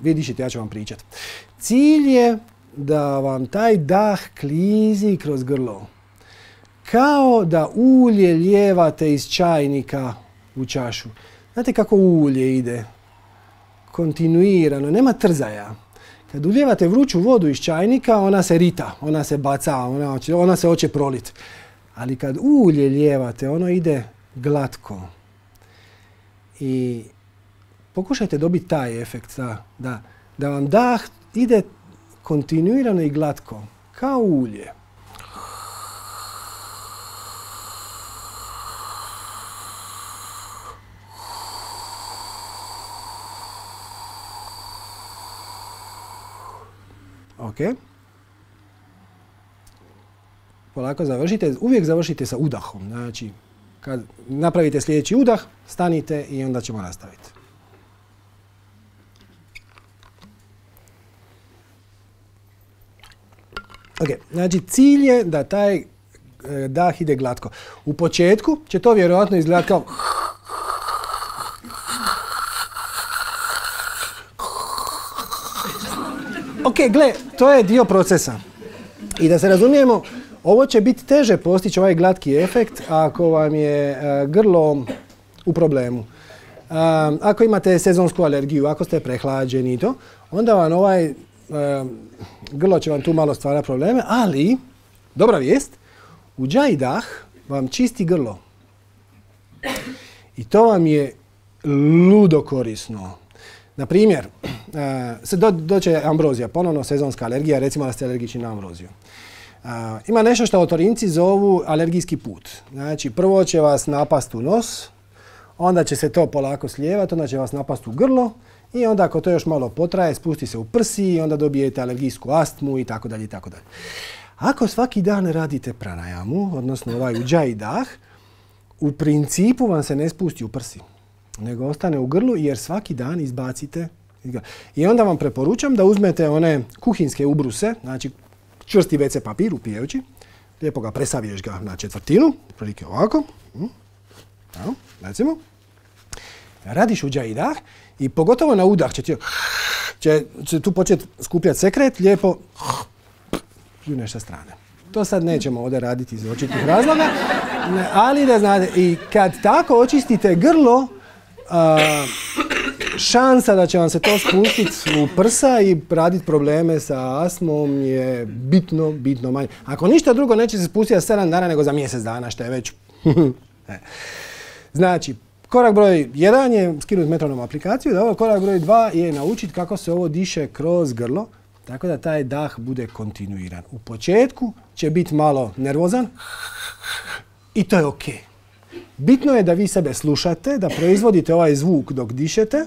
vi dišite, ja ću vam pričati. Cilj je da vam taj dah klizi kroz grlo. Kao da ulje lijevate iz čajnika u čašu. Znate kako ulje ide? Kontinuirano, nema trzaja. Kad ulijevate vruću vodu iz čajnika, ona se rita, ona se baca, ona, ona se hoće prolit. Ali kad ulje lijevate, ono ide glatko. I pokušajte dobiti taj efekt, da, da, da vam dah ide kontinuirano i glatko, kao ulje. Ok. Polako završite, uvijek završite sa udahom. Znači, kad napravite sljedeći udah, stanite i onda ćemo nastaviti. Ok, znači cilj je da taj dah ide glatko. U početku će to vjerojatno izgledati kao... Ok, gle, to je dio procesa. I da se razumijemo, ovo će biti teže postići ovaj glatki efekt ako vam je uh, grlo u problemu. Uh, ako imate sezonsku alergiju, ako ste prehlađeni i to, onda vam ovaj uh, grlo će vam tu malo stvara probleme, ali, dobra vijest, uđaj dah vam čisti grlo. I to vam je ludo korisno. Na primjer, se do, doće ambrozija, ponovno sezonska alergija, recimo da ste alergični na ambroziju. Uh, ima nešto što otorinci zovu alergijski put. Znači, prvo će vas napast u nos, onda će se to polako slijevati, onda će vas napast u grlo i onda ako to još malo potraje, spusti se u prsi i onda dobijete alergijsku astmu i tako dalje i tako dalje. Ako svaki dan radite pranajamu, odnosno ovaj uđaj dah, u principu vam se ne spusti u prsi, nego ostane u grlu jer svaki dan izbacite. I onda vam preporučam da uzmete one kuhinske ubruse, znači čvrsti ve ce papir upijajući, lijepo ga presaviješ ga na četvrtinu, prilike ovako, evo, recimo, radiš uđaj dah i pogotovo na udah će, ti, će, će tu početi skupljati sekret, lijepo pljuneš sa strane. To sad nećemo ovdje raditi iz očitih razloga, ali da znate, i kad tako očistite grlo, a, šansa da će vam se to spustiti u prsa i raditi probleme sa astmom je bitno, bitno manje. Ako ništa drugo, neće se spustiti za sedam dana nego za mjesec dana, što je već. Znači, korak broj jedan je skinuti metronom aplikaciju, da ovo korak broj dva je naučiti kako se ovo diše kroz grlo, tako da taj dah bude kontinuiran. U početku će biti malo nervozan i to je ok. Bitno je da vi sebe slušate, da proizvodite ovaj zvuk dok dišete,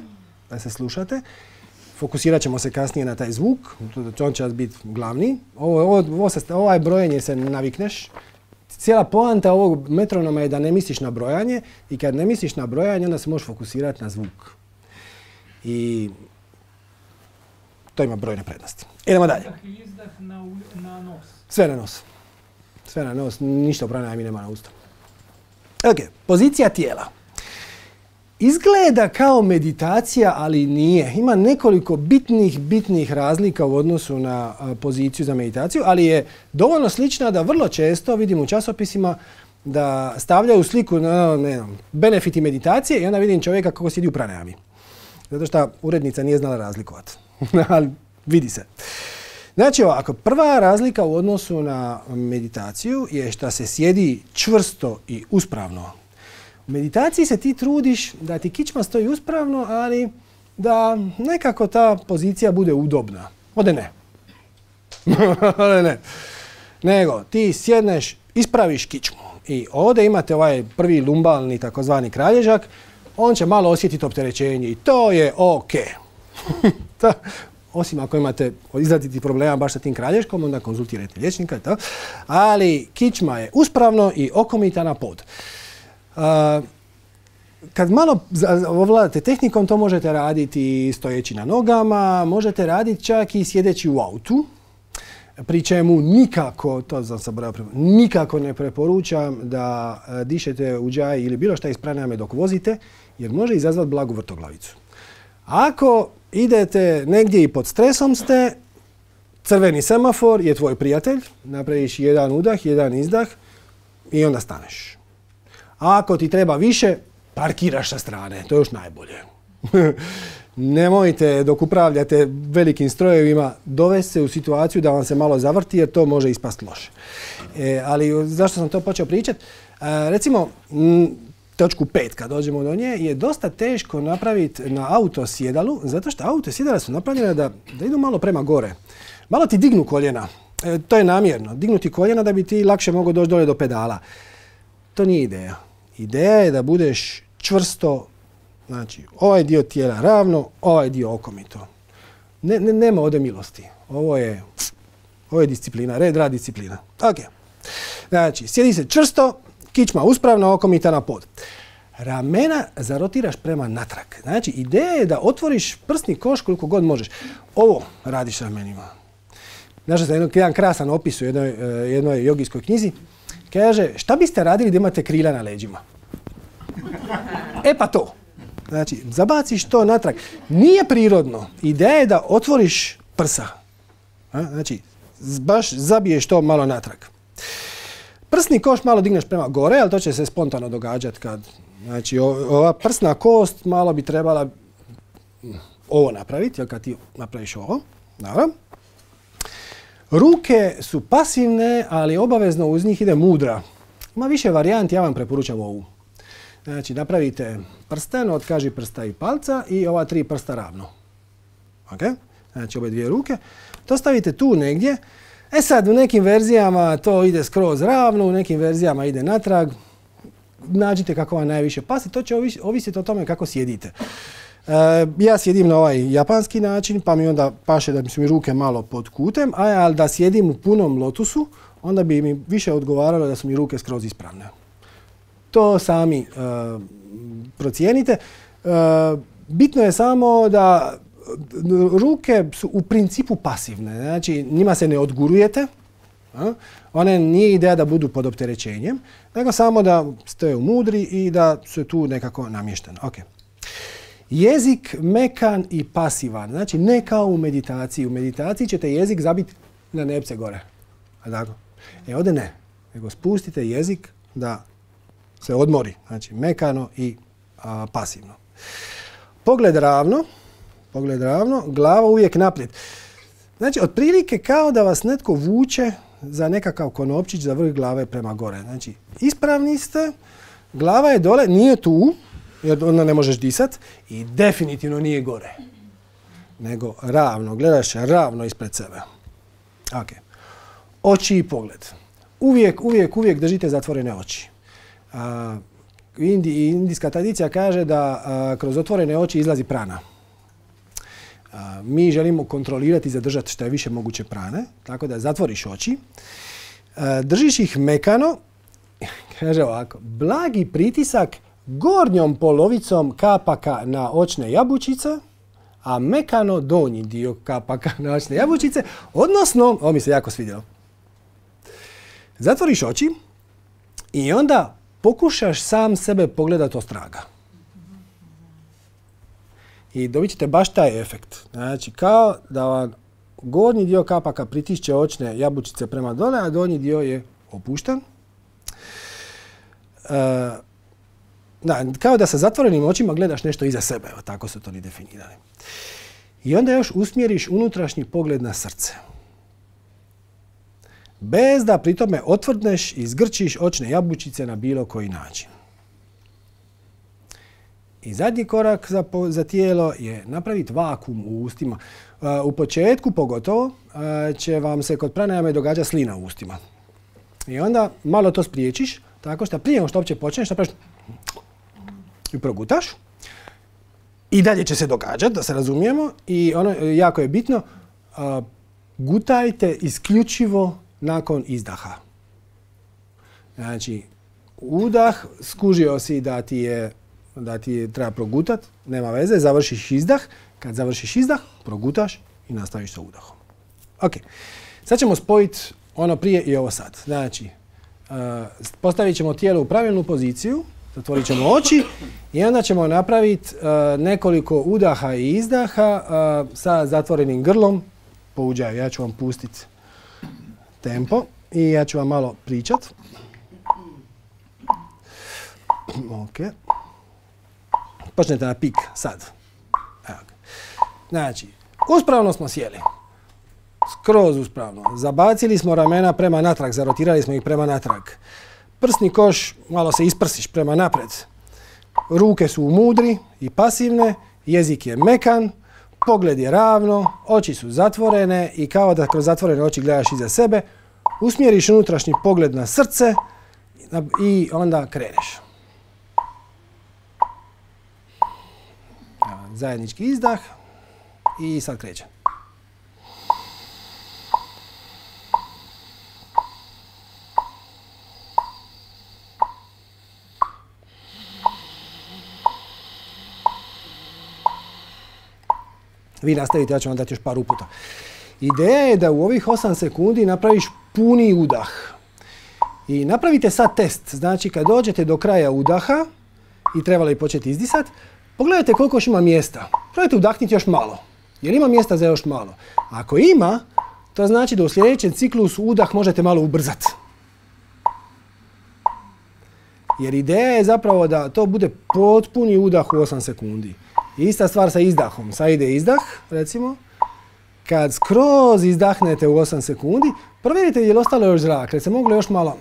da se slušate. Fokusirat ćemo se kasnije na taj zvuk, on će biti glavni. Ovo, ovo, ovo se, ovaj brojenje se navikneš. Cijela poanta ovog metronoma je da ne misliš na brojanje i kad ne misliš na brojanje, onda se možeš fokusirati na zvuk. I to ima brojne prednosti. Idemo dalje. Sve na nos. Sve na nos, ništa pranajami nema na usta. Ok, pozicija tijela. Izgleda kao meditacija, ali nije. Ima nekoliko bitnih, bitnih razlika u odnosu na a, poziciju za meditaciju, ali je dovoljno slična da vrlo često vidim u časopisima da stavljaju sliku na ne znam, benefiti meditacije i onda vidim čovjeka kako sjedi u pranajami. Zato što urednica nije znala razlikovati. Ali vidi se. Znači ovako, prva razlika u odnosu na meditaciju je što se sjedi čvrsto i uspravno. U meditaciji se ti trudiš da ti kičma stoji uspravno, ali da nekako ta pozicija bude udobna. Ode ne. Ode ne. Nego, ti sjedneš, ispraviš kičmu i ovdje imate ovaj prvi lumbalni takozvani kralježak, on će malo osjetiti opterećenje i to je ok. Osim ako imate izraziti problema baš sa tim kralješkom, onda konzultirajte liječnika. To. Ali kičma je uspravno i okomita na pod. Uh, kad malo ovladate tehnikom, to možete raditi stojeći na nogama, možete raditi čak i sjedeći u autu. Pri čemu nikako, to sam zaboravio, nikako ne preporučam da dišete u džaj ili bilo šta iz pranajame dok vozite, jer može izazvati blagu vrtoglavicu. Ako idete negdje i pod stresom ste, crveni semafor je tvoj prijatelj, napraviš jedan udah, jedan izdah i onda staneš. A ako ti treba više, parkiraš sa strane, to je još najbolje. Nemojte dok upravljate velikim strojevima dovesti se u situaciju da vam se malo zavrti jer to može ispast loše. E, ali zašto sam to počeo pričati? E, recimo, m, točku pet kad dođemo do nje je dosta teško napraviti na auto sjedalu zato što auto sjedala su napravljene da, da idu malo prema gore. Malo ti dignu koljena. E, to je namjerno. Dignuti koljena da bi ti lakše mogao doći dole do pedala. To nije ideja. Ideja je da budeš čvrsto, znači ovaj dio tijela ravno, ovaj dio okomito. Ne, ne, nema ovdje milosti. Ovo je, ovo je disciplina, red, rad, disciplina. Ok. Znači, sjedi se čvrsto, kičma uspravno, okomita na pod. Ramena zarotiraš prema natrag. Znači, ideja je da otvoriš prsni koš koliko god možeš. Ovo radiš ramenima. Znaš da sam jedan krasan opis u jednoj, jednoj jogijskoj knjizi. Kaže, šta biste radili da imate krila na leđima? E pa to. Znači, zabaciš to natrag. Nije prirodno. Ideja je da otvoriš prsa. Znači, baš zabiješ to malo natrag. Prsni koš malo digneš prema gore, ali to će se spontano događati kad... Znači, ova prsna kost malo bi trebala ovo napraviti, jer kad ti napraviš ovo, dobro. Ruke su pasivne, ali obavezno uz njih ide mudra. Ima više varijanti, ja vam preporučam ovu. Znači, napravite prsten od kaži prsta i palca i ova tri prsta ravno. Ok? Znači, ove dvije ruke. To stavite tu negdje. E sad, u nekim verzijama to ide skroz ravno, u nekim verzijama ide natrag. Nađite kako vam najviše pasi, to će ovisiti o tome kako sjedite. E, ja sjedim na ovaj japanski način, pa mi onda paše da su mi ruke malo pod kutem, a ali da sjedim u punom lotusu, onda bi mi više odgovaralo da su mi ruke skroz ispravne. To sami e, procijenite. E, bitno je samo da ruke su u principu pasivne, znači njima se ne odgurujete. A? One nije ideja da budu pod opterećenjem, nego samo da ste mudri i da su tu nekako namješteni. Okay. Jezik mekan i pasivan, znači ne kao u meditaciji. U meditaciji ćete jezik zabiti na nepce gore. A tako? E ovdje ne, nego spustite jezik da se odmori, znači mekano i a, pasivno. Pogled ravno, pogled ravno, glava uvijek naprijed. Znači, otprilike kao da vas netko vuče za nekakav konopčić za vrh glave prema gore. Znači, ispravni ste, glava je dole, nije tu, jer onda ne možeš disat, i definitivno nije gore. Nego ravno, gledaš ravno ispred sebe. Ok. Oči i pogled. Uvijek, uvijek, uvijek držite zatvorene oči. A, Indi, indijska tradicija kaže da a, kroz otvorene oči izlazi prana. A, mi želimo kontrolirati i zadržati što je više moguće prane, tako da zatvoriš oči. A, držiš ih mekano, kaže ovako, blagi pritisak gornjom polovicom kapaka na očne jabučice, a mekano donji dio kapaka na očne jabučice, odnosno, ovo mi se jako svidjelo, zatvoriš oči i onda pokušaš sam sebe pogledati ostraga. I dobit ćete baš taj efekt. Znači, kao da vam gornji dio kapaka pritišće očne jabučice prema dole, a donji dio je opušten. E, da, kao da sa zatvorenim očima gledaš nešto iza sebe. Evo, tako su to ni definirali. I onda još usmjeriš unutrašnji pogled na srce. Bez da pri tome otvrdneš i zgrčiš očne jabučice na bilo koji način. I zadnji korak za, za tijelo je napraviti vakuum u ustima. Uh, u početku pogotovo uh, će vam se kod pranajame događa slina u ustima. I onda malo to spriječiš, tako što prije što uopće počneš, napraviš i progutaš. I dalje će se događati, da se razumijemo. I ono jako je bitno, uh, gutajte isključivo nakon izdaha. Znači, udah, skužio si da ti je da ti treba progutat, nema veze, završiš izdah. Kad završiš izdah, progutaš i nastaviš sa udahom. Ok, sad ćemo spojiti ono prije i ovo sad. Znači, uh, postavit ćemo tijelo u pravilnu poziciju, zatvorit ćemo oči i onda ćemo napraviti uh, nekoliko udaha i izdaha uh, sa zatvorenim grlom po uđaju. Ja ću vam pustiti tempo i ja ću vam malo pričat. Ok. Počnete na pik sad. Evo. Znači, uspravno smo sjeli. Skroz uspravno. Zabacili smo ramena prema natrag, zarotirali smo ih prema natrag. Prsni koš, malo se isprsiš prema napred. Ruke su mudri i pasivne, jezik je mekan, pogled je ravno, oči su zatvorene i kao da kroz zatvorene oči gledaš iza sebe, usmjeriš unutrašnji pogled na srce i onda kreneš. Zajednički izdah i sad kreće. Vi nastavite, ja ću vam dati još par uputa. Ideja je da u ovih osam sekundi napraviš puni udah. I napravite sad test. Znači, kad dođete do kraja udaha i trebali početi izdisati, pogledajte koliko još ima mjesta. Probajte udahniti još malo. Jer ima mjesta za još malo. Ako ima, to znači da u sljedećem ciklusu udah možete malo ubrzati. Jer ideja je zapravo da to bude potpuni udah u osam sekundi. Ista stvar sa izdahom. Sad ide izdah, recimo. Kad skroz izdahnete u osam sekundi, provjerite je li ostalo još zrak, jer se moglo još malo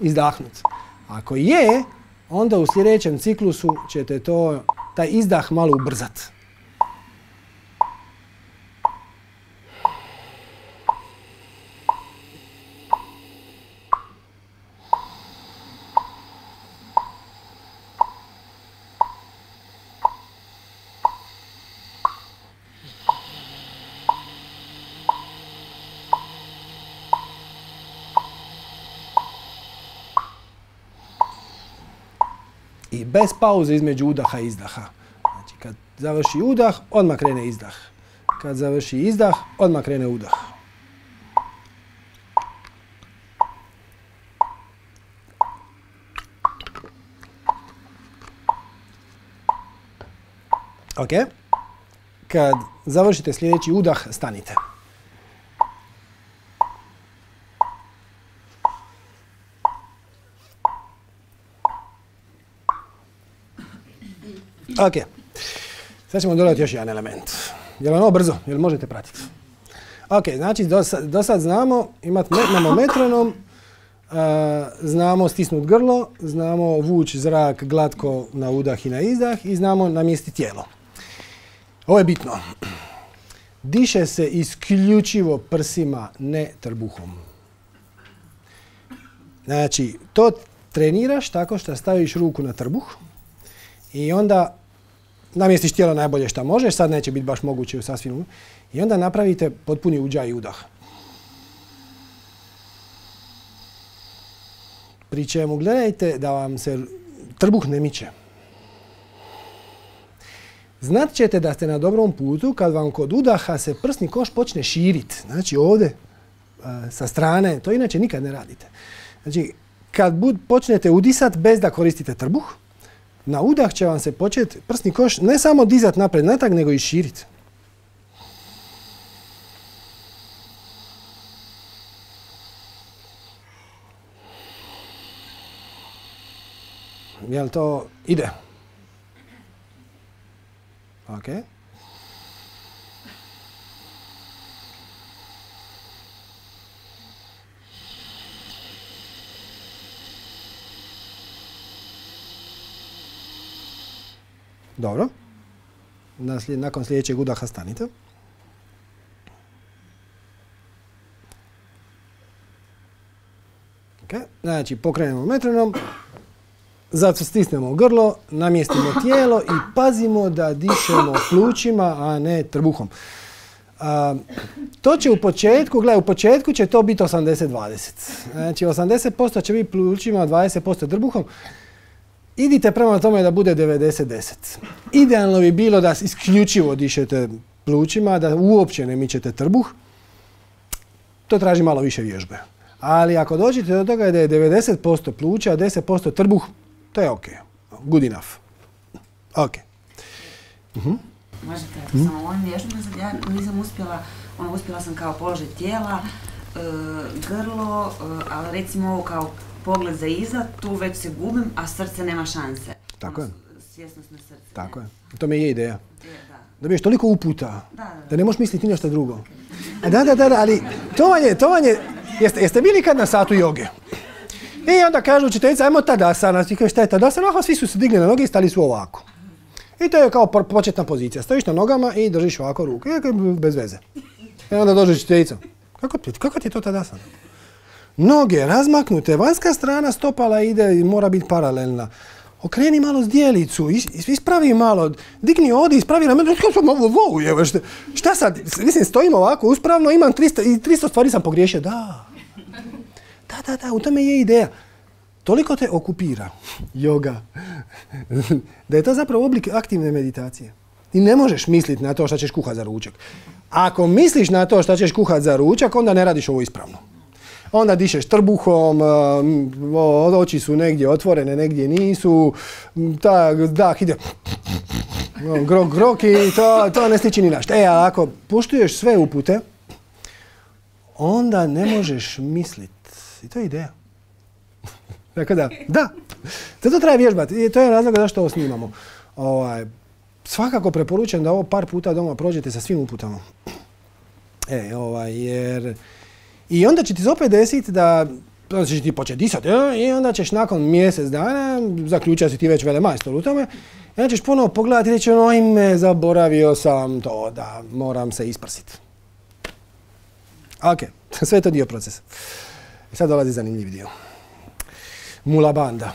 izdahnuti. Ako je, onda u sljedećem ciklusu ćete to, taj izdah malo ubrzati. I bez pauze između udaha i izdaha. Znači, kad završi udah, odmah krene izdah. Kad završi izdah, odmah krene udah. Ok. Kad završite sljedeći udah, stanite. Ok, sad ćemo dodati još jedan element. Je li ono brzo? Je li možete pratiti? Ok, znači do, do sad znamo, imamo metronom, uh, znamo stisnuti grlo, znamo vući zrak glatko na udah i na izdah i znamo namjestiti tijelo. Ovo je bitno. Diše se isključivo prsima, ne trbuhom. Znači, to treniraš tako što staviš ruku na trbuh i onda namjestiš tijelo najbolje što možeš, sad neće biti baš moguće u sasvim. I onda napravite potpuni uđaj i udah. Pri čemu gledajte da vam se trbuh ne miče. Znat ćete da ste na dobrom putu kad vam kod udaha se prsni koš počne širiti. Znači ovdje, sa strane, to inače nikad ne radite. Znači, kad bud, počnete udisati bez da koristite trbuh, na udah će vam se početi prsni koš ne samo dizati napred natrag, nego i širiti. Jel to ide? Ok. Dobro. Nakon sljedećeg udaha stanite. Okay. Znači, pokrenemo metronom, zato stisnemo grlo, namjestimo tijelo i pazimo da dišemo plućima, a ne trbuhom. A, to će u početku, gledaj, u početku će to biti osamdeset dvadeset. Znači, osamdeset posto će biti plućima, dvadeset posto trbuhom. Idite prema tome da bude devedeset deset. Idealno bi bilo da isključivo dišete plućima, da uopće ne mičete trbuh. To traži malo više vježbe. Ali ako dođete do toga da je devedeset posto pluća, a deset posto trbuh, to je ok. Good enough. Ok. Uh-huh. Možete, mm-hmm. samo ovim vježbama, ja nisam uspjela, ono, uspjela sam kao položaj tijela, e, grlo, e, ali recimo ovo kao pogled za iza, tu već se gubim, a srce nema šanse. Tako je. Svjesnost na srce. Tako je. To mi je ideja. Da. Da biješ toliko uputa, da, da, da. da ne možeš misliti nešto drugo. A da, da, da, da, ali to vam je, to vam je, jeste, jeste bili kad na satu joge? I onda kažu učiteljica, ajmo tadasana, ti kažeš šta je tadasana, aha, svi su se digli na noge i stali su ovako. I to je kao početna pozicija. Stojiš na nogama i držiš ovako ruke, bez veze. I onda dođe učiteljica, kako, kako ti je to tadasana? Noge razmaknute, vanjska strana stopala ide i mora biti paralelna. Okreni malo zdjelicu, ispravi malo, digni ovdje, ispravi na mene, šta sad, mislim, stojim ovako uspravno, imam tristo, i tristo stvari sam pogriješio, da. Da, da, da, u tome je ideja. Toliko te okupira yoga, da je to zapravo oblik aktivne meditacije. Ti ne možeš misliti na to šta ćeš kuhati za ručak. Ako misliš na to šta ćeš kuhati za ručak, onda ne radiš ovo ispravno. Onda dišeš trbuhom, oči su negdje otvorene, negdje nisu, ta dah ide grok, grok i to, to ne stiči ni našta. E, ali ako poštuješ sve upute, onda ne možeš misliti. I to je ideja. Dakle, da, da. Zato treba vježbati. I to je razlog zašto ovo snimamo. Ovaj, svakako preporučujem da ovo par puta doma prođete sa svim uputama. E, ovaj, jer... I onda će ti se opet desiti da onda ćeš ti početi disati i onda ćeš nakon mjesec dana, zaključio si ti već velemajstor u tome, i onda ćeš ponovo pogledati i reći, ojme, zaboravio sam to da moram se isprsiti. Ok, sve je to dio procesa. I sad dolazi zanimljiv dio. Mula banda.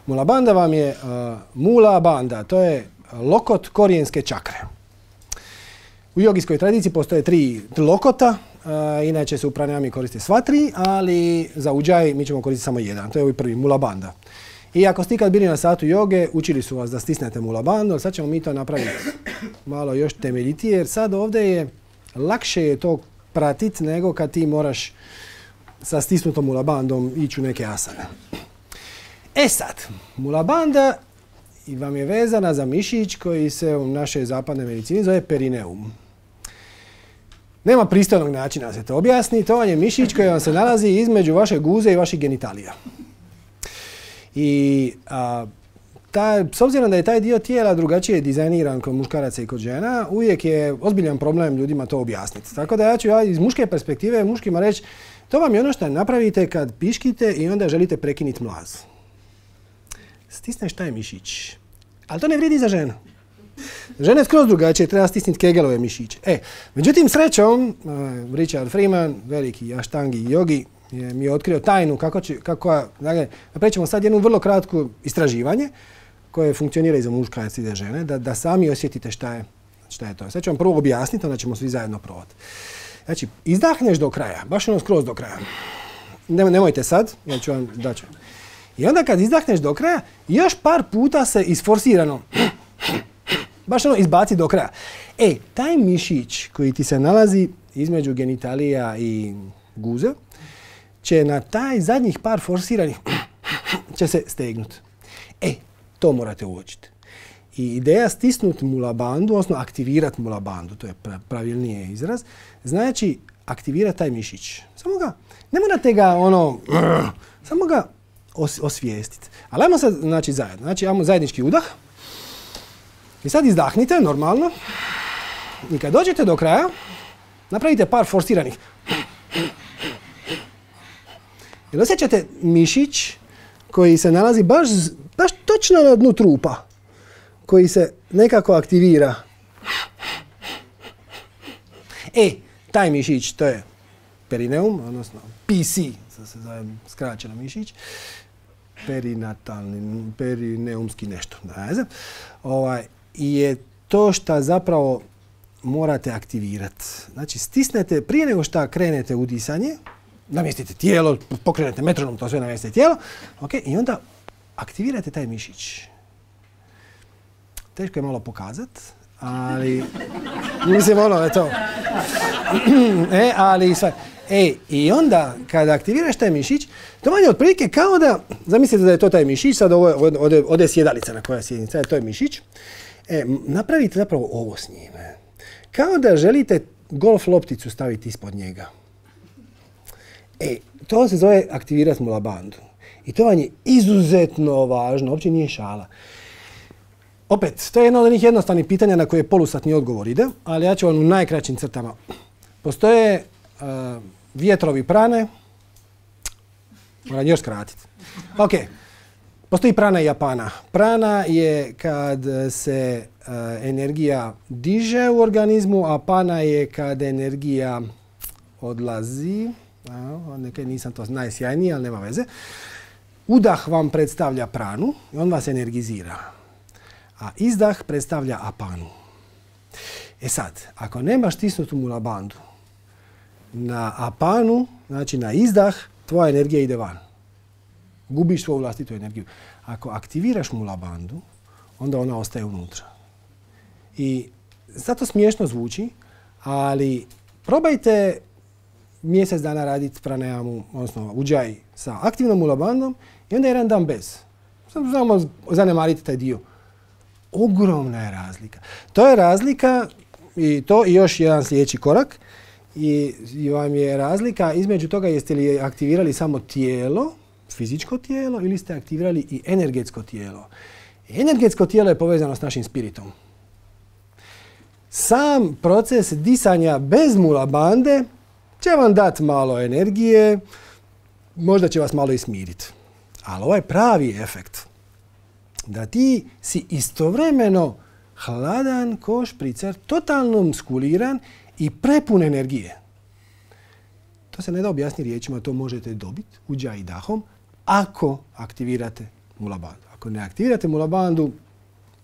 Mula banda vam je, uh, mula banda, to je lokot korijenske čakre. U jogijskoj tradiciji postoje tri lokota, uh, inače se u pranayami koriste sva tri, ali za udžaj mi ćemo koristiti samo jedan, to je ovaj prvi, mula banda. I ako ste ikad bili na satu joge, učili su vas da stisnete mula bandu, ali sad ćemo mi to napraviti malo još temeljitije, jer sad ovdje je lakše je to pratiti nego kad ti moraš sa stisnutom mula bandom ići u neke asane. E sad, mula banda vam je vezana za mišić koji se u našoj zapadnoj medicini zove perineum. Nema pristojnog načina da se to objasni, to vam je mišić koji vam se nalazi između vaše guze i vaših genitalija. I a, ta, s obzirom da je taj dio tijela drugačije dizajniran kod muškaraca i kod žena, uvijek je ozbiljan problem ljudima to objasniti. Tako da ja ću ja iz muške perspektive muškima reći, to vam je ono što napravite kad piškite i onda želite prekinuti mlaz. Stisneš taj mišić. Ali to ne vrijedi za ženu. Žene skroz drugačije, treba stisniti kegelove mišiće. E, međutim, srećom, uh, Richard Freeman, veliki aštangi jogi, je, mi je otkrio tajnu kako će, kako, dakle, napravit ćemo sad jednu vrlo kratko istraživanje koje funkcionira i za muškarce i za žene, da, da sami osjetite šta je, šta je to. Sad ću vam prvo objasniti, onda ćemo svi zajedno probati. Znači, izdahneš do kraja, baš ono skroz do kraja. Ne, nemojte sad, ja ću vam daću. I onda kad izdahneš do kraja, još par puta se isforsirano, baš ono izbaci do kraja. E, taj mišić koji ti se nalazi između genitalija i guze, će na taj zadnjih par forsiranih će se stegnuti. E, to morate uočiti. I ideja stisnuti mula bandu, odnosno aktivirati mula bandu, to je pravilniji izraz, znači aktivirati taj mišić. Samo ga, ne morate ga ono, samo ga os, osvijestiti. Ali ajmo sad, znači, zajedno. Znači, ajmo zajednički udah. I sad izdahnite, normalno. I kad dođete do kraja, napravite par forsiranih. Jer osjećate mišić koji se nalazi baš, baš točno na dnu trupa, koji se nekako aktivira. E, taj mišić, to je perineum, odnosno P C, to se zove skraćeno mišić, perinatalni, perineumski nešto, ne znam, ovaj, je to što zapravo morate aktivirati. Znači, stisnete, prije nego što krenete u disanje, namjestite tijelo, pokrenete metronom, to sve namjestite tijelo, okay, i onda aktivirate taj mišić. Teško je malo pokazati, ali mislim ono je to. e, ali sve. E, i onda kada aktiviraš taj mišić, to vam je otprilike kao da, zamislite da je to taj mišić, sad ovo je, ovdje, ovdje je sjedalica na koja je sjednica, to je mišić. E, napravite zapravo ovo s njime. Kao da želite golf lopticu staviti ispod njega. E, to se zove aktivirati mula bandu. I to vam je izuzetno važno, uopće nije šala. Opet, to je jedno od onih jednostavnih pitanja na koje polusatni odgovor ide, ali ja ću vam u najkraćim crtama. Postoje uh, vjetrovi prane, moram još skratiti. Ok, postoji prana i apana. Prana je kad se uh, energija diže u organizmu, a apana je kad energija odlazi. A, nekaj nisam to najsjajniji, ali nema veze. Udah vam predstavlja pranu i on vas energizira. A izdah predstavlja apanu. E sad, ako nemaš stisnutu mula bandu, na apanu, znači na izdah, tvoja energija ide van. Gubiš svoju vlastitu energiju. Ako aktiviraš mula bandu, onda ona ostaje unutra. I sad to smiješno zvuči, ali probajte mjesec dana raditi pranayamu, odnosno udžaj sa aktivnom mula bandom i onda jedan dan bez. Samo zanemariti taj dio. Ogromna je razlika. To je razlika i to i još jedan sljedeći korak. I, i vam je razlika između toga jeste li aktivirali samo tijelo, fizičko tijelo ili ste aktivirali i energetsko tijelo. Energetsko tijelo je povezano s našim spiritom. Sam proces disanja bez mula bande će vam dati malo energije, možda će vas malo i smiriti. Ali ovaj pravi efekt, da ti si istovremeno hladan ko špricer, totalno muskuliran i prepun energije. To se ne da objasniti riječima, to možete dobiti udžaj i dahom ako aktivirate mula bandu. Ako ne aktivirate mula bandu,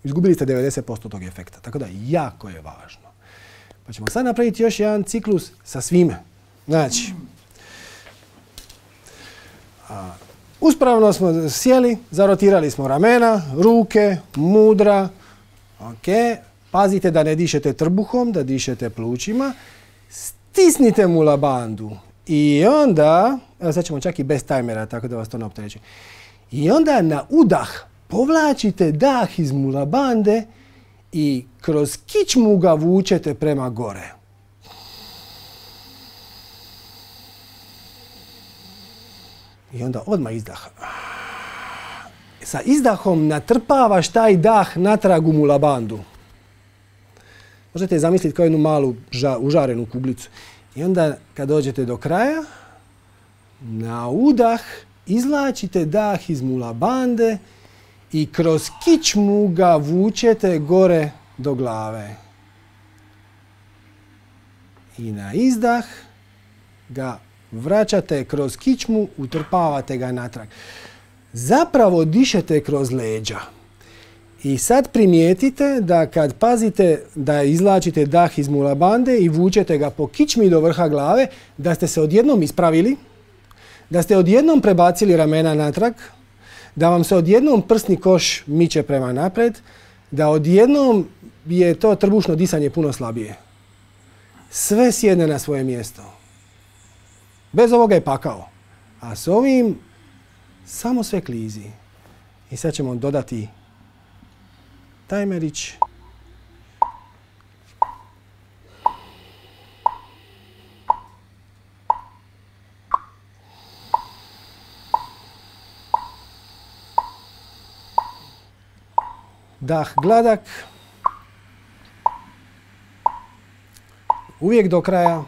izgubili ste devedeset posto tog efekta. Tako da jako je važno. Pa ćemo sad napraviti još jedan ciklus sa svime. Znači, a, uspravno smo sjeli, zarotirali smo ramena, ruke, mudra. Okay. Pazite da ne dišete trbuhom, da dišete plućima. Stisnite mula bandu. I onda, evo sad ćemo čak i bez tajmera, tako da vas to ne optereći. I onda na udah povlačite dah iz mula bande i kroz kičmu ga vučete prema gore. I onda odmah izdah. Sa izdahom natrpavaš taj dah natrag u mula bandu. Možete zamisliti kao jednu malu ža, užarenu kuglicu. I onda kad dođete do kraja, na udah izvlačite dah iz mula bande i kroz kičmu ga vučete gore do glave. I na izdah ga vraćate kroz kičmu, utrpavate ga natrag. Zapravo dišete kroz leđa. I sad primijetite da kad pazite da izvlačite dah iz mula bande i vučete ga po kičmi do vrha glave, da ste se odjednom ispravili, da ste odjednom prebacili ramena natrag, da vam se odjednom prsni koš miče prema naprijed, da odjednom je to trbušno disanje puno slabije. Sve sjedne na svoje mjesto. Bez ovoga je pakao. A s ovim samo sve klizi. I sad ćemo dodati tajmerić. Dah gladak. Uvijek do kraja.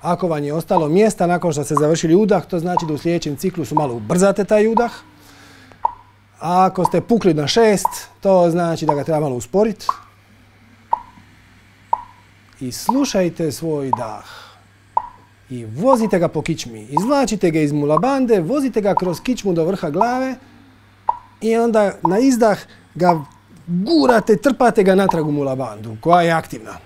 Ako vam je ostalo mjesta nakon što ste završili udah, to znači da u sljedećem ciklusu malo ubrzate taj udah. A ako ste pukli na šest, to znači da ga treba malo usporiti. I slušajte svoj dah. I vozite ga po kičmi. Izvlačite ga iz mula bande, vozite ga kroz kičmu do vrha glave. I onda na izdah ga gurate, trpate ga natrag u mula bandu, koja je aktivna.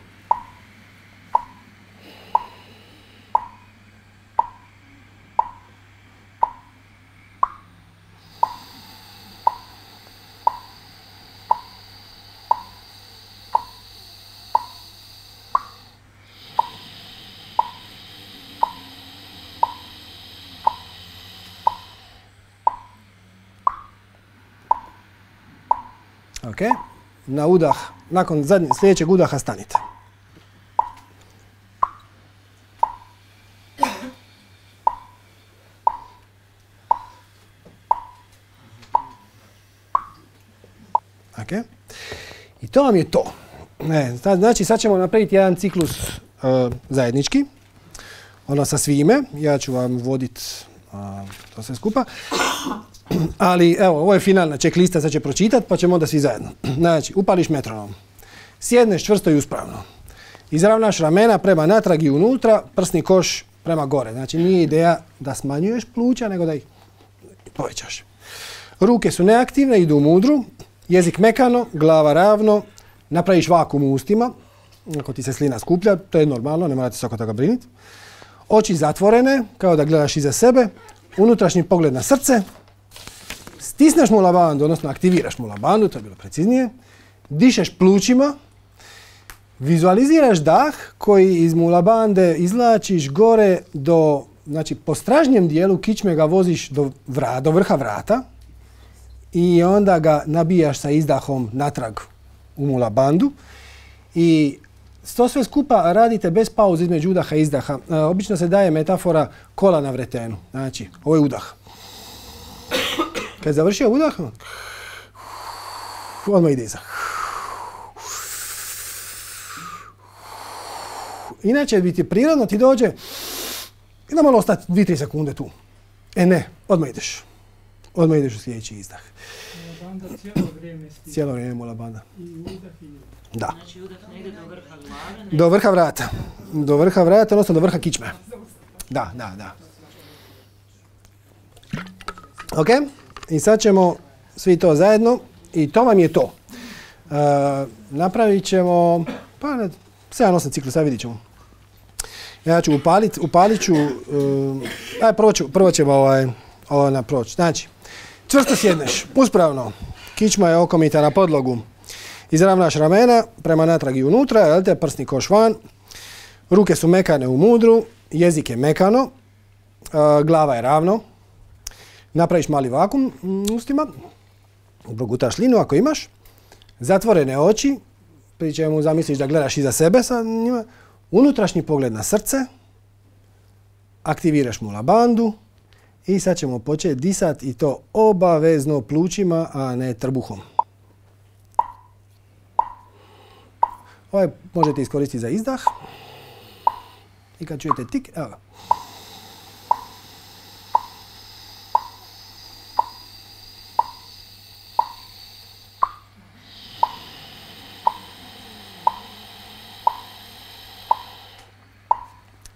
Ok, na udah, nakon zadnje, sljedećeg udaha stanite. Ok, i to vam je to. Ne, znači sad ćemo napraviti jedan ciklus uh, zajednički, ono sa svime, ja ću vam voditi uh, to sve skupa. Ali evo, ovo je finalna checklista, sad će pročitati pa ćemo onda svi zajedno. Znači, upališ metronom, sjedneš čvrsto i uspravno, izravnaš ramena prema natrag i unutra, prsni koš prema gore. Znači, nije ideja da smanjuješ pluća, nego da ih povećaš. Ruke su neaktivne, idu u mudru, jezik mekano, glava ravno, napraviš vakuum u ustima, ako ti se slina skuplja, to je normalno, ne morate se oko toga brinuti. Oči zatvorene, kao da gledaš iza sebe, unutrašnji pogled na srce, stisneš mula bandu, odnosno aktiviraš mula bandu, to je bilo preciznije, dišeš plućima, Vizualiziraš dah koji iz mulabande izvlačiš gore do, znači po stražnjem dijelu kičme ga voziš do, vra, do vrha vrata i onda ga nabijaš sa izdahom natrag u mulabandu i to sve skupa radite bez pauze između udaha i izdaha. E, obično se daje metafora kola na vretenu. Znači, ovo je udah. Kad je završio udah, odmah ide izdah. Inače bi ti prirodno ti dođe i da malo ostati dvije tri sekunde tu. E ne, odmah ideš. Odmah ideš u sljedeći izdah. Mulabanda cijelo vrijeme stiže. Cijelo vrijeme mulabanda. I udah i udah. Da. Znači udah ne ide do vrha glave, ne... Do vrha vrata. Do vrha vrata, odnosno do vrha kičme. Da, da, da. Ok? I sad ćemo svi to zajedno i to vam je to. Uh, napravit ćemo, pa ne, sedam osam ciklusa, vidit ćemo. Ja ću upalit, upalit ću, uh, aj prvo, ću, prvo ćemo ovaj, ovo naproći. Znači, čvrsto sjedneš, uspravno, kičma je okomita na podlogu. Izravnaš ramena prema natrag i unutra, jel te, prsni koš van, ruke su mekane u mudru, jezik je mekano, uh, glava je ravno. Napraviš mali vakum ustima, progutaš linu ako imaš, zatvorene oči, pri čemu zamisliš da gledaš iza sebe sa njima, unutrašnji pogled na srce, aktiviraš mulabandu i sad ćemo početi disati i to obavezno plućima, a ne trbuhom. Ovaj možete iskoristiti za izdah i kad čujete tik, evo ga.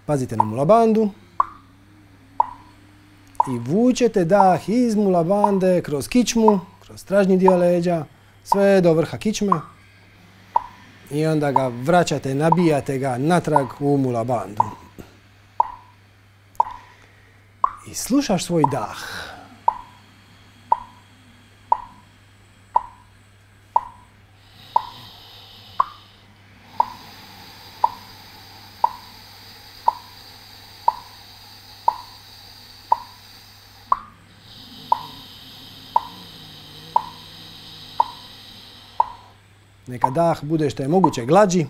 Pazite na mulabandu i vučete dah iz mulabande kroz kičmu, kroz stražnji dio leđa, sve do vrha kičme i onda ga vraćate, nabijate ga natrag u mulabandu. I slušaš svoj dah. Neka dah bude što je moguće glađi.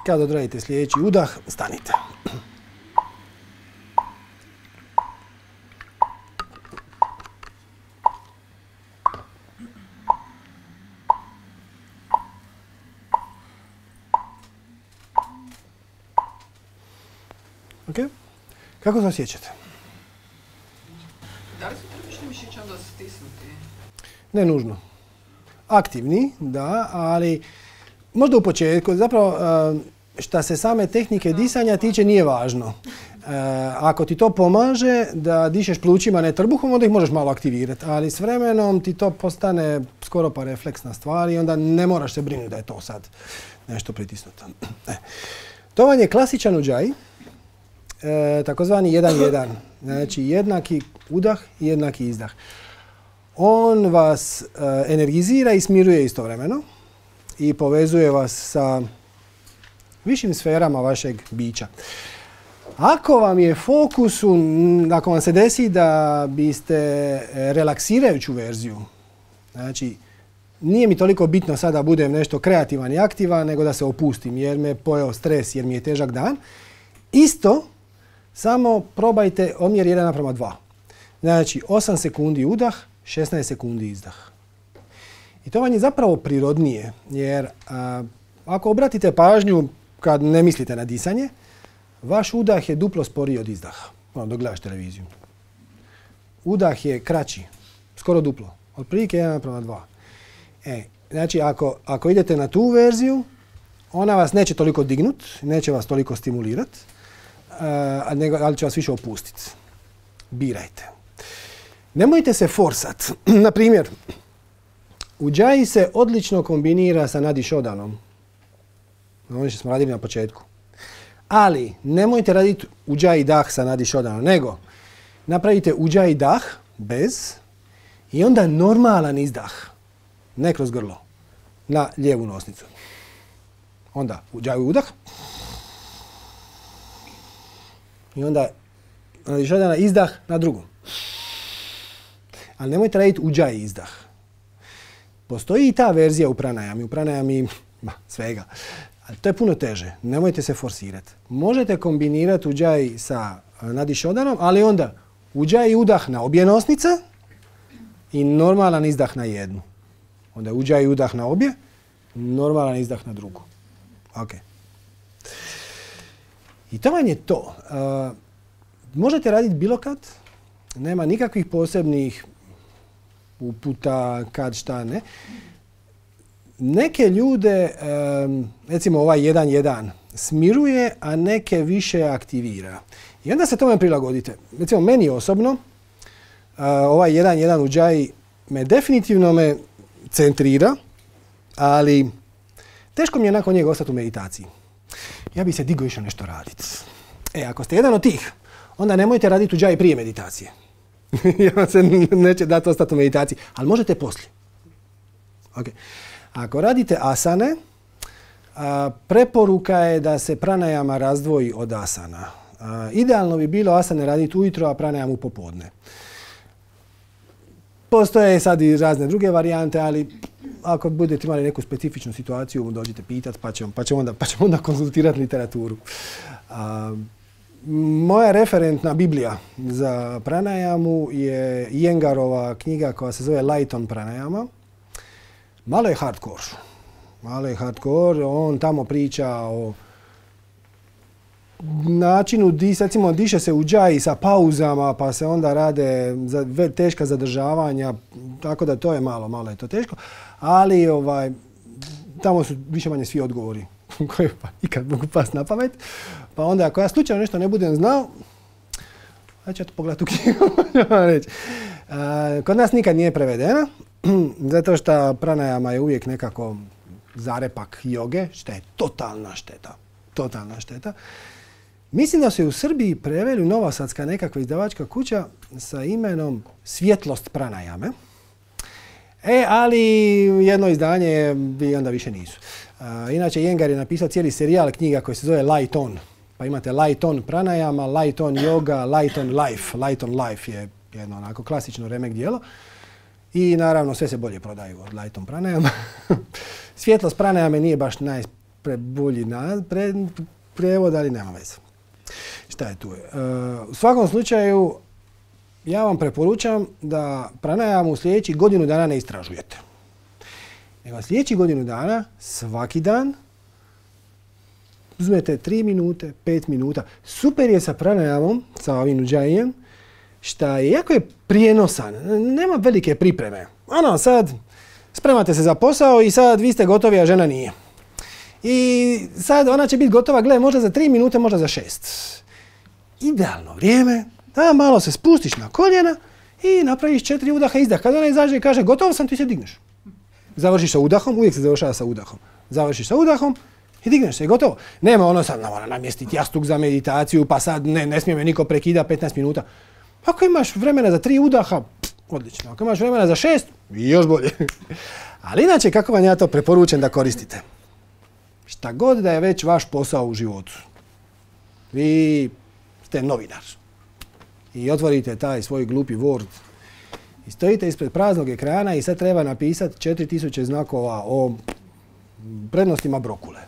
Kad odradite sljedeći udah, stanite. Ok? Kako se osjećate? Da li su trbušni mišići onda stisnuti? Ne nužno. Aktivni, da, ali možda u početku, zapravo šta se same tehnike disanja tiče nije važno. Ako ti to pomaže da dišeš plućima, ne trbuhom, onda ih možeš malo aktivirati, ali s vremenom ti to postane skoro pa refleksna stvar i onda ne moraš se brinuti da je to sad nešto pritisnuto. To vam je klasičan udžaj, takozvani jedan jedan, znači jednaki udah i jednaki izdah. On vas energizira i smiruje istovremeno i povezuje vas sa višim sferama vašeg bića. Ako vam je fokus, ako vam se desi da biste relaksirajuću verziju, znači nije mi toliko bitno sada da budem nešto kreativan i aktivan, nego da se opustim jer me pojeo stres, jer mi je težak dan. Isto, samo probajte omjer jedan naprema dva. Znači, osam sekundi udah, šesnaest sekundi izdah. I to vam je zapravo prirodnije, jer a, ako obratite pažnju kad ne mislite na disanje, vaš udah je duplo sporiji od izdaha, ono, dok gledaš televiziju. Udah je kraći, skoro duplo, otprilike jedan naprema dva. E, znači, ako, ako idete na tu verziju, ona vas neće toliko dignut, neće vas toliko stimulirat, a, nego, ali će vas više opustiti. Birajte. Nemojte se forsat. Na primjer, Ujjayi se odlično kombinira sa Nadi Shodanom. Ono što smo radili na početku. Ali nemojte raditi Ujjayi dah sa Nadi Shodanom, nego napravite Ujjayi dah bez i onda normalan izdah, ne kroz grlo, na lijevu nosnicu. Onda Ujjayi udah i onda Nadi Shodana izdah na drugu. Ali nemojte raditi Ujjayi izdah. Postoji i ta verzija u pranajami, u pranajami ma, svega. Ali to je puno teže. Nemojte se forsirati. Možete kombinirati Ujjayi sa Nadi Shodanom, ali onda Ujjayi udah na obje nosnice i normalan izdah na jednu. Onda Ujjayi udah na obje, normalan izdah na drugu. Ok. I to vam je to. Uh, možete raditi bilo kad. Nema nikakvih posebnih uputa, kad, šta, ne. Neke ljude, recimo ovaj jedan jedan, smiruje, a neke više aktivira. I onda se tome prilagodite. Recimo meni osobno, ovaj jedan jedan Ujjayi me definitivno me centrira, ali teško mi je nakon njega ostati u meditaciji. Ja bi se digao išao nešto raditi. E, ako ste jedan od tih, onda nemojte raditi Ujjayi prije meditacije. Jer vam se neće dati ostati u meditaciji, ali možete poslije. Okay. Ako radite asane, a, preporuka je da se pranajama razdvoji od asana. A, idealno bi bilo asane raditi ujutro, a pranajamu popodne. Postoje sad i razne druge varijante, ali ako budete imali neku specifičnu situaciju, dođite pitati pa ćemo, pa ćemo, onda, pa ćemo onda konzultirati literaturu. A, moja referentna Biblija za pranajamu je Iyengarova knjiga koja se zove Light on pranajama. Malo je hardcore. Malo je hardcore. On tamo priča o načinu, recimo diše se Ujjayi sa pauzama, pa se onda rade za, teška zadržavanja, tako da to je malo, malo je to teško. Ali ovaj, tamo su više manje svi odgovori koji pa ikad mogu pasti na pamet. Pa onda ako ja slučajno nešto ne budem znao, ja ću ja to pogledati u knjigu. Kod nas nikad nije prevedena, zato što pranajama je uvijek nekako zarepak joge, što je totalna šteta. Totalna šteta. Mislim da su je u Srbiji preveli novosadska nekakva izdavačka kuća sa imenom Svjetlost pranajame. E, ali jedno izdanje bi onda više nisu. Uh, inače, Iyengar je napisao cijeli serijal knjiga koji se zove Light on. Pa imate Light on pranajama, Light on yoga, Light on life. Light on life je jedno onako klasično remek djelo. I naravno sve se bolje prodaju od Light on pranajama. Svjetlost pranajame nije baš najbolji pre, prevod, ali nema veze. Šta je tu? Uh, u svakom slučaju, ja vam preporučam da pranajamu sljedećih godinu dana ne istražujete. Nego sljedećih godinu dana, svaki dan, uzmete tri minute, pet minuta. Super je sa pranajamom, sa ovim Ujjayijem, šta je jako je prijenosan. Nema velike pripreme. Ono, sad spremate se za posao i sad vi ste gotovi, a žena nije. I sad ona će biti gotova, gle, možda za tri minute, možda za šest. Idealno vrijeme da malo se spustiš na koljena i napraviš četiri udaha izdah. Kad ona izađe i kaže gotovo sam, ti se digneš. Završiš sa udahom, uvijek se završava sa udahom. Završiš sa udahom i digneš se i gotovo. Nema ono sad, mora namjestiti jastuk za meditaciju, pa sad ne, ne smije me niko prekida petnaest minuta. Ako imaš vremena za tri udaha, pff, odlično. Ako imaš vremena za šest, još bolje. Ali inače, kako vam ja to preporučujem da koristite? Šta god da je već vaš posao u životu. Vi ste novinar. I otvorite taj svoj glupi Word I stojite ispred praznog ekrana i sad treba napisati četiri tisuće znakova o prednostima brokule.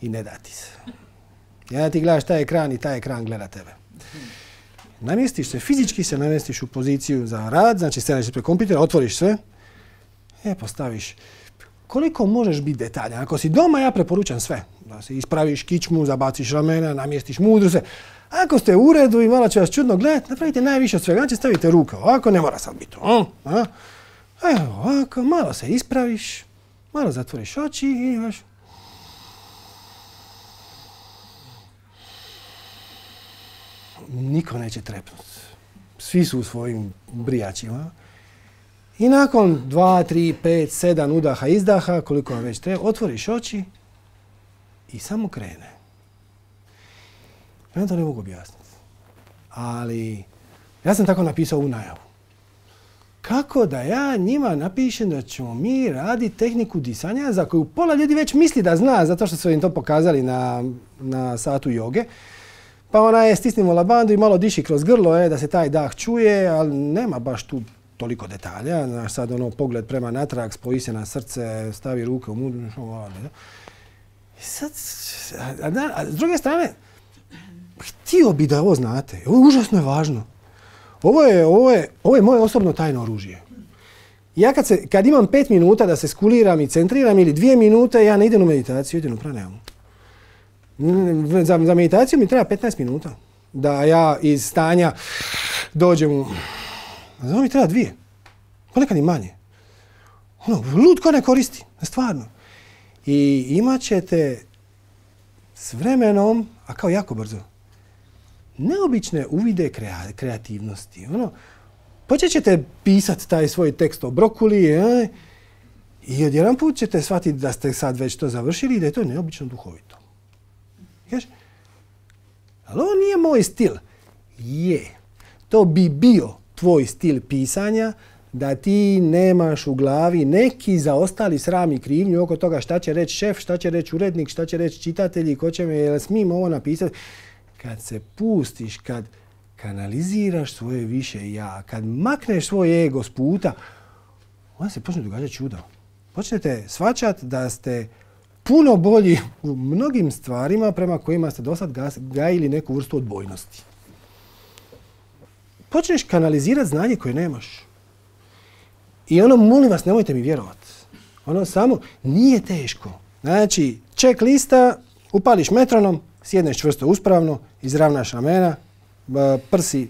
I ne da ti se. Ja ti gledaš taj ekran i taj ekran gleda tebe. Namjestiš se, fizički se namjestiš u poziciju za rad, znači staneš ispred kompjutera, otvoriš sve, e, postaviš. Koliko možeš biti detaljan? Ako si doma, ja preporučam sve. Da se ispraviš kičmu, zabaciš ramena, namjestiš mudru, sve. Ako ste u uredu i malo će vas čudno gledati, napravite najviše od svega. Znači stavite ruke ovako, ne mora sad biti to. Evo ovako, malo se ispraviš, malo zatvoriš oči i imaš. Niko neće trepnuti. Svi su u svojim brijačima. I nakon dva, tri, pet, sedam udaha, izdaha, koliko vam već treba, otvoriš oči i samo krene. Ja to ne mogu objasniti. Ali ja sam tako napisao u najavu. Kako da ja njima napišem da ćemo mi raditi tehniku disanja za koju pola ljudi već misli da zna, zato što su im to pokazali na, na satu joge. Pa ona je stisnimo labandu i malo diši kroz grlo, je, da se taj dah čuje, ali nema baš tu toliko detalja. Znaš, sad ono pogled prema natrag, spoji se na srce, stavi ruke u mudru. I sad, a, a, a s druge strane, htio bi da ovo znate. Ovo je užasno je važno. Ovo je, ovo je, ovo je moje osobno tajno oružje. Ja kad, se, kad imam pet minuta da se skuliram i centriram ili dvije minute, ja ne idem u meditaciju, idem u pranajamu. Za, za meditaciju mi treba petnaest minuta. Da ja iz stanja dođem u... Za ovo mi treba dvije. Ponekad i manje. Ono, lutko ne koristi. Stvarno. I imat ćete s vremenom, a kao jako brzo, neobične uvide krea, kreativnosti. Ono, počet ćete pisati taj svoj tekst o brokuli eh, i odjedan put ćete shvatiti da ste sad već to završili i da je to neobično duhovito. Ješ? Ali ovo nije moj stil. Je. To bi bio tvoj stil pisanja da ti nemaš u glavi neki zaostali sram i krivnju oko toga šta će reći šef, šta će reći urednik, šta će reći čitatelji, ko će me, jel smijem ovo napisati. Kad se pustiš, kad kanaliziraš svoje više ja, kad makneš svoj ego s puta, onda se počne događati čudo. Počnete shvaćati da ste puno bolji u mnogim stvarima prema kojima ste do sad gajili neku vrstu odbojnosti. Počneš kanalizirati znanje koje nemaš. I ono, molim vas, nemojte mi vjerovati. Ono samo nije teško. Znači, check lista, upališ metronom, sjedneš čvrsto uspravno, izravnaš ramena, prsi,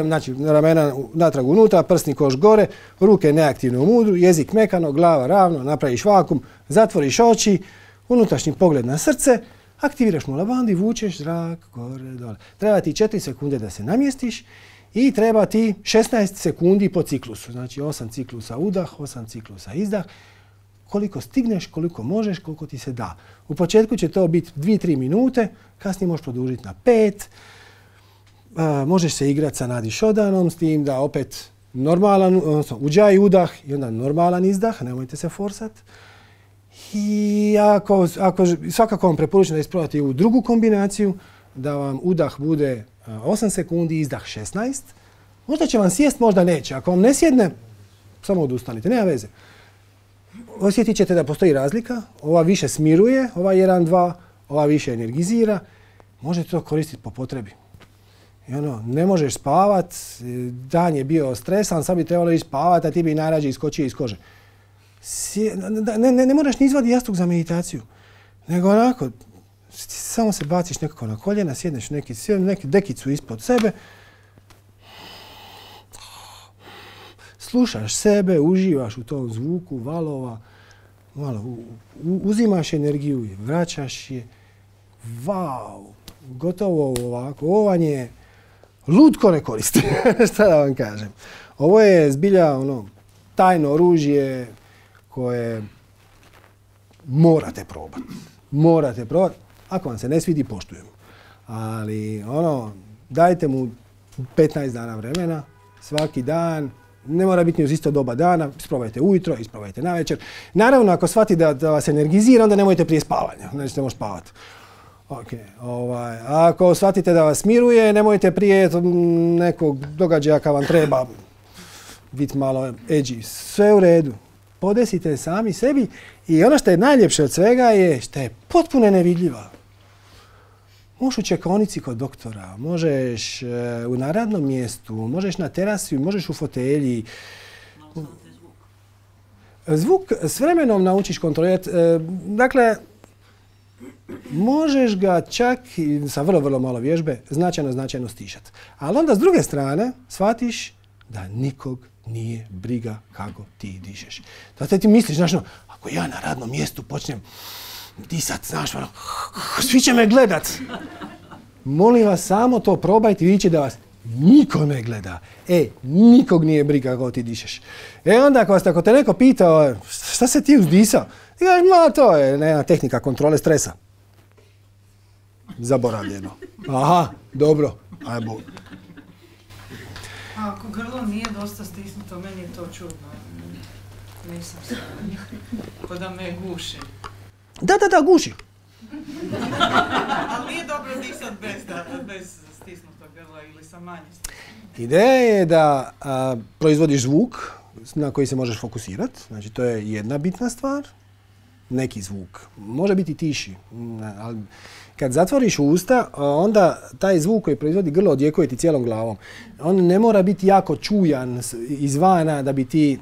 znači ramena natrag unutra, prsni koš gore, ruke neaktivno u mudru, jezik mekano, glava ravno, napraviš vakum, zatvoriš oči, unutrašnji pogled na srce, aktiviraš mu labandu i vučeš zrak gore, dole. Treba ti četiri sekunde da se namjestiš i treba ti šesnaest sekundi po ciklusu. Znači osam ciklusa udah, osam ciklusa izdah. Koliko stigneš, koliko možeš, koliko ti se da. U početku će to biti dvije do tri minute, kasnije možeš produžiti na pet. A, možeš se igrati sa Nadi Šodanom s tim da opet normalan, odnosno uđaj udah i onda normalan izdah, nemojte se forsat. I ako, ako, svakako vam preporučujem da isprobate u drugu kombinaciju, da vam udah bude osam sekundi, izdah šesnaest. Možda će vam sjest, možda neće. Ako vam ne sjedne, samo odustanite, nema veze. Osjetit ćete da postoji razlika. Ova više smiruje, ova jedan dva, ova više energizira. Možete to koristiti po potrebi. I ono, ne možeš spavat, dan je bio stresan, sad bi trebalo ići spavat, a ti bi najrađe iskočio iz kože. Sje, ne, ne, ne moraš ni izvaditi jastuk za meditaciju, nego onako, samo se baciš nekako na koljena, sjedneš neki, neki dekicu ispod sebe, slušaš sebe, uživaš u tom zvuku valova, malo u, u, uzimaš energiju i vraćaš je. Vau, gotovo ovako. Ovo vam je lutko ne koristi. Šta da vam kažem. Ovo je zbilja ono, tajno oružje koje morate probati. Morate probati. Ako vam se ne svidi, poštujem. Ali ono, dajte mu petnaest dana vremena, svaki dan. Ne mora biti ni uz isto doba dana, isprobajte ujutro, isprobajte navečer. Naravno, ako shvati da, da vas energizira, onda nemojte prije spavanja, nećete moći spavati. Okay, ovaj, ako shvatite da vas miruje, nemojte prije nekog događaja kad vam treba biti malo edgy. Sve u redu. Podesite sami sebi i ono što je najljepše od svega je što je potpuno nevidljiva. Možeš u čekaonici kod doktora, možeš uh, na radnom mjestu, možeš na terasi, možeš u fotelji. Zvuk s vremenom naučiš kontrolirati. Uh, dakle, možeš ga čak sa vrlo, vrlo malo vježbe značajno, značajno stišati. Ali onda s druge strane shvatiš da nikog nije briga kako ti dišeš. Zato ti misliš, znaš, no, ako ja na radnom mjestu počnem disat, znaš, ono, svi će me gledat. Molim vas, samo to probajte i vidjet će da vas niko ne gleda. E, nikog nije briga kako ti dišeš. E onda ako, vas, ako te neko pitao, šta se ti uzdisao? Ti kažeš, ma to je jedna tehnika kontrole stresa. Zaboravljeno. Aha, dobro, ajmo. A ako grlo nije dosta stisnuto, meni je to čudno. Nisam se... Ko da me guši. Da, da, da, guši. Ali nije dobro disat bez, da, bez stisnutog grla ili sa manje stisnutog. Ideja je da a, proizvodiš zvuk na koji se možeš fokusirati. Znači, to je jedna bitna stvar. Neki zvuk. Može biti tiši, ali kad zatvoriš usta, onda taj zvuk koji proizvodi grlo odjekuje ti cijelom glavom. On ne mora biti jako čujan izvana da bi ti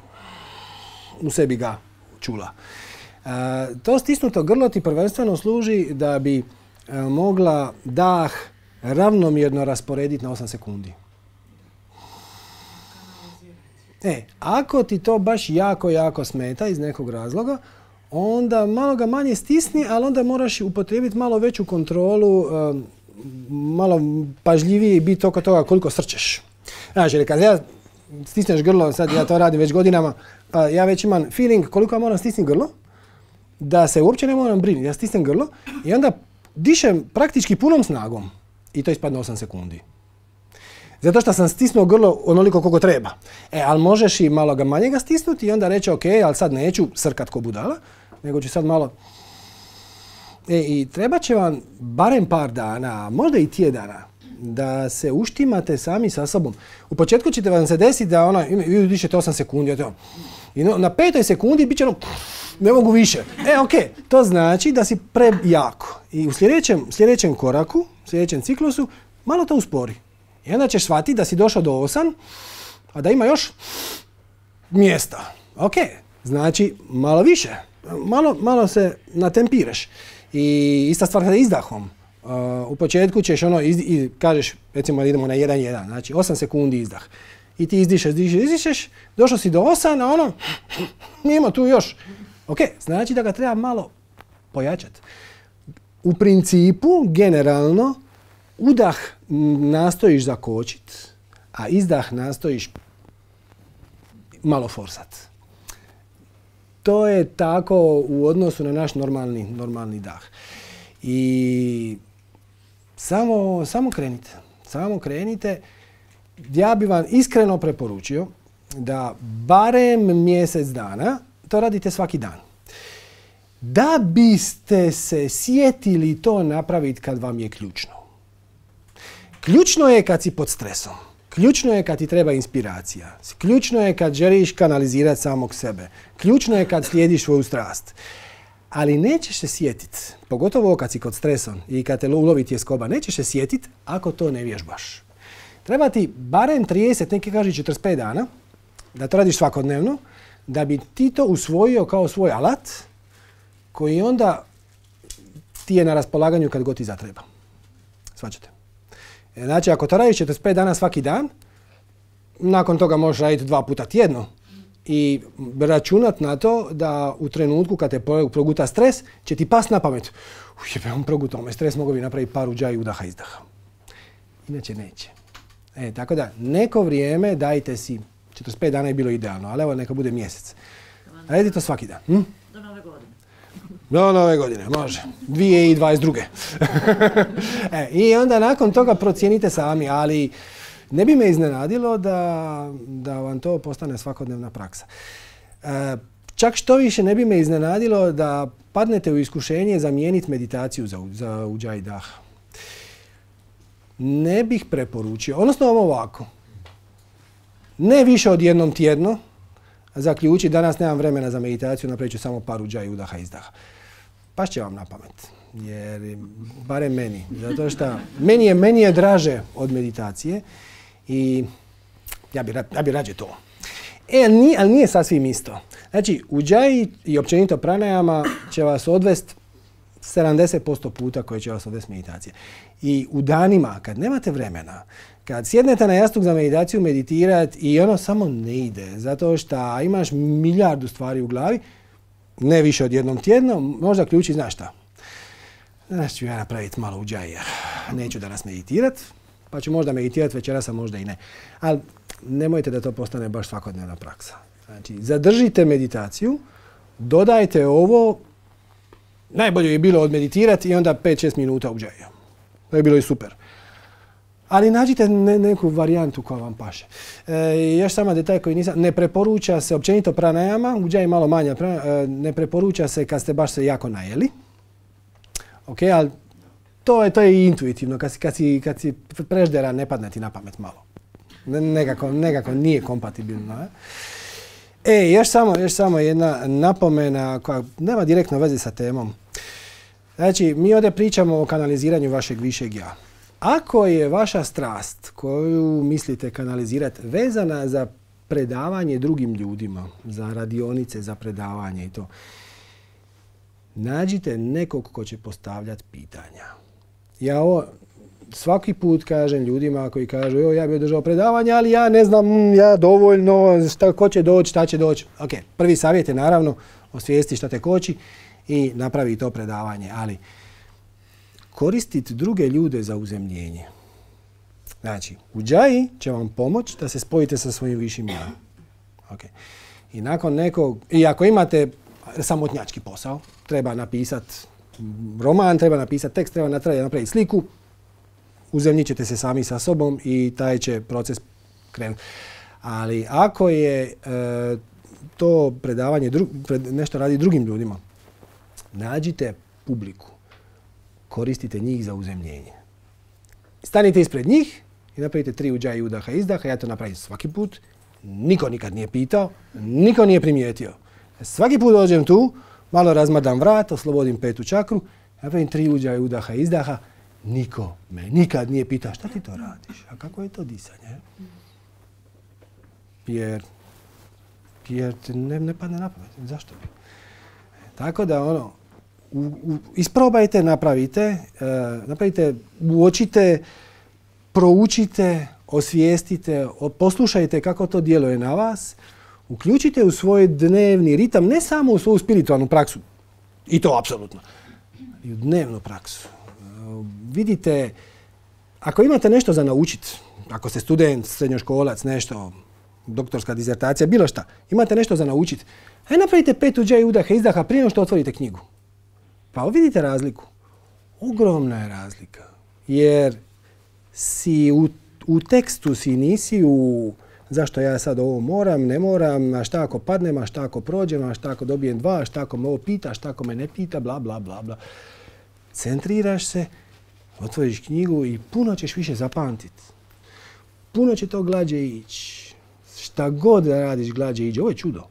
u sebi ga čula. E, to stisnuto grlo ti prvenstveno služi da bi e, mogla dah ravnomjerno rasporediti na osam sekundi. E, ako ti to baš jako, jako smeta iz nekog razloga, onda malo ga manje stisni, ali onda moraš upotrijebiti malo veću kontrolu, malo pažljivije i biti oko toga koliko srčeš. Znači, jer kad ja stisneš grlo, sad ja to radim već godinama, pa ja već imam feeling koliko ja moram stisniti grlo, da se uopće ne moram brinuti. Ja stisnem grlo i onda dišem praktički punom snagom i to ispadne osam sekundi. Zato što sam stisnuo grlo onoliko koliko treba. E, ali možeš i malo ga manje ga stisnuti i onda reći ok, ali sad neću srkat ko budala, nego ću sad malo... E, i treba će vam barem par dana, možda i tjedana, da se uštimate sami sa sobom. U početku ćete vam se desiti da ona, vi dišete osam sekundi, i na petoj sekundi bit će ono, ne mogu više. E, ok, to znači da si prejako. I u sljedećem, sljedećem koraku, sljedećem ciklusu, malo to uspori. I onda ćeš shvatiti da si došao do osam, a da ima još mjesta. Ok, znači malo više, malo, malo se natempiraš. I ista stvar sa izdahom. Uh, u početku ćeš ono, iz, iz, kažeš, recimo idemo na jedan jedan, znači osam sekundi izdah. I ti izdišeš, izdišeš, izdišeš, došao si do osam, a ono, ima tu još. Ok, znači da ga treba malo pojačati. U principu, generalno, udah nastojiš zakočiti, a izdah nastojiš malo forsat. To je tako u odnosu na naš normalni, normalni dah. I samo, samo krenite. Samo krenite. Ja bi vam iskreno preporučio da barem mjesec dana to radite svaki dan. Da biste se sjetili to napraviti kad vam je ključno. Ključno je kad si pod stresom. Ključno je kad ti treba inspiracija. Ključno je kad želiš kanalizirati samog sebe. Ključno je kad slijediš svoju strast. Ali nećeš se sjetiti, pogotovo kad si kod stresom i kad te ulovi tjeskoba, nećeš se sjetiti ako to ne vježbaš. Treba ti barem trideset, neki kaže četrdeset pet dana, da to radiš svakodnevno, da bi ti to usvojio kao svoj alat koji onda ti je na raspolaganju kad god ti zatreba. Shvaćate? Znači, ako to radiš četrdeset pet dana svaki dan, nakon toga možeš raditi dva puta tjedno i računat na to da u trenutku kad te proguta stres, će ti past na pamet. Ujebe, on progutao me stres, mogu bi napraviti par uđaja udaha izdaha. Inače neće. E, tako da, neko vrijeme dajte si, četrdeset pet dana je bilo idealno, ali evo neka bude mjesec. Radi to svaki dan. Hm? Do nove godine. Do nove godine, može. dvije tisuće dvadeset druge. e, I onda nakon toga procijenite sami, ali ne bi me iznenadilo da, da vam to postane svakodnevna praksa. E, čak što više ne bi me iznenadilo da padnete u iskušenje zamijeniti meditaciju za, za Ujjayi Daha. Ne bih preporučio, odnosno ovako, ne više od jednom tjedno, zaključi danas nemam vremena za meditaciju, napravit ću samo par Ujjayi Udaha Izdaha. Paš će vam na pamet, jer barem meni, zato što meni je, meni je draže od meditacije i ja bi, ja bi rađe to. E, ali nije, ali nije sasvim isto. Znači, Ujjayi i općenito pranajama će vas odvesti sedamdeset posto puta koje će vas odvesti meditacije. I u danima, kad nemate vremena, kad sjednete na jastuk za meditaciju, meditirati i ono samo ne ide, zato što imaš milijardu stvari u glavi, ne više od jednom tjedno, možda ključi, znaš šta? Znaš ću ja napraviti malo Ujjayi, neću danas meditirati, pa ću možda meditirati večeras, a možda i ne. Ali nemojte da to postane baš svakodnevna praksa. Znači, zadržite meditaciju, dodajte ovo, najbolje je bilo odmeditirati i onda pet šest minuta Ujjayi. To je bilo i super. Ali nađite ne, neku varijantu koja vam paše. E, još samo detalj koji nisam, ne preporuča se općenito pranajama, Ujjayi malo manja, e, ne preporuča se kad ste baš se jako najeli. Ok, ali to je, to je intuitivno, kad si, kad si, kad si prežderan ne padne ti na pamet malo. Nekako, nekako nije kompatibilno. E? E, još samo, još samo jedna napomena koja nema direktno veze sa temom. Znači, mi ovdje pričamo o kanaliziranju vašeg višeg ja. Ako je vaša strast koju mislite kanalizirati vezana za predavanje drugim ljudima, za radionice, za predavanje i to, nađite nekog ko će postavljati pitanja. Ja ovo svaki put kažem ljudima koji kažu jo, ja bih održao predavanje, ali ja ne znam, ja dovoljno, šta, ko će doći, šta će doći. Ok, prvi savjet je naravno osvijesti šta te koči i napravi to predavanje, ali koristiti druge ljude za uzemljenje. Znači, Ujjayi će vam pomoći da se spojite sa svojim višim ja. Okay. I nakon nekog, i ako imate samotnjački posao, treba napisati roman, treba napisati tekst, treba napraviti sliku, uzemljit ćete se sami sa sobom i taj će proces krenuti. Ali ako je e, to predavanje, dru, pred, nešto radi drugim ljudima, nađite publiku, koristite njih za uzemljenje. Stanite ispred njih i napravite tri Ujjayi Udaha Izdaha, ja to napravim svaki put, niko nikad nije pitao, niko nije primijetio. Svaki put dođem tu, malo razmadam vrat, oslobodim petu čakru, napravim tri Ujjayi Udaha Izdaha, niko me nikad nije pitao šta ti to radiš, a kako je to disanje? Jer, jer ne, ne padne na pamet, zašto bi? Tako da ono, u, u, isprobajte, napravite, uh, napravite, uočite, proučite, osvijestite, poslušajte kako to djeluje na vas, uključite u svoj dnevni ritam, ne samo u svoju spiritualnu praksu, i to apsolutno, i u dnevnu praksu. Uh, vidite, ako imate nešto za naučiti, ako ste student, srednjoškolac, nešto, doktorska dizertacija, bilo šta, imate nešto za naučiti, aj napravite pet Ujjayi Udaha Izdaha prije što otvorite knjigu. Pa vidite razliku. Ogromna je razlika. Jer si u, u tekstu si nisi u zašto ja sad ovo moram, ne moram, a šta ako padnem, a šta ako prođem, a šta ako dobijem dva, a šta ako me ovo pita, a šta ako me ne pita, bla, bla, bla, bla. Centriraš se, otvoriš knjigu i puno ćeš više zapamtiti. Puno će to glađe ići. Šta god da radiš, glađe ići. Ovo je čudo.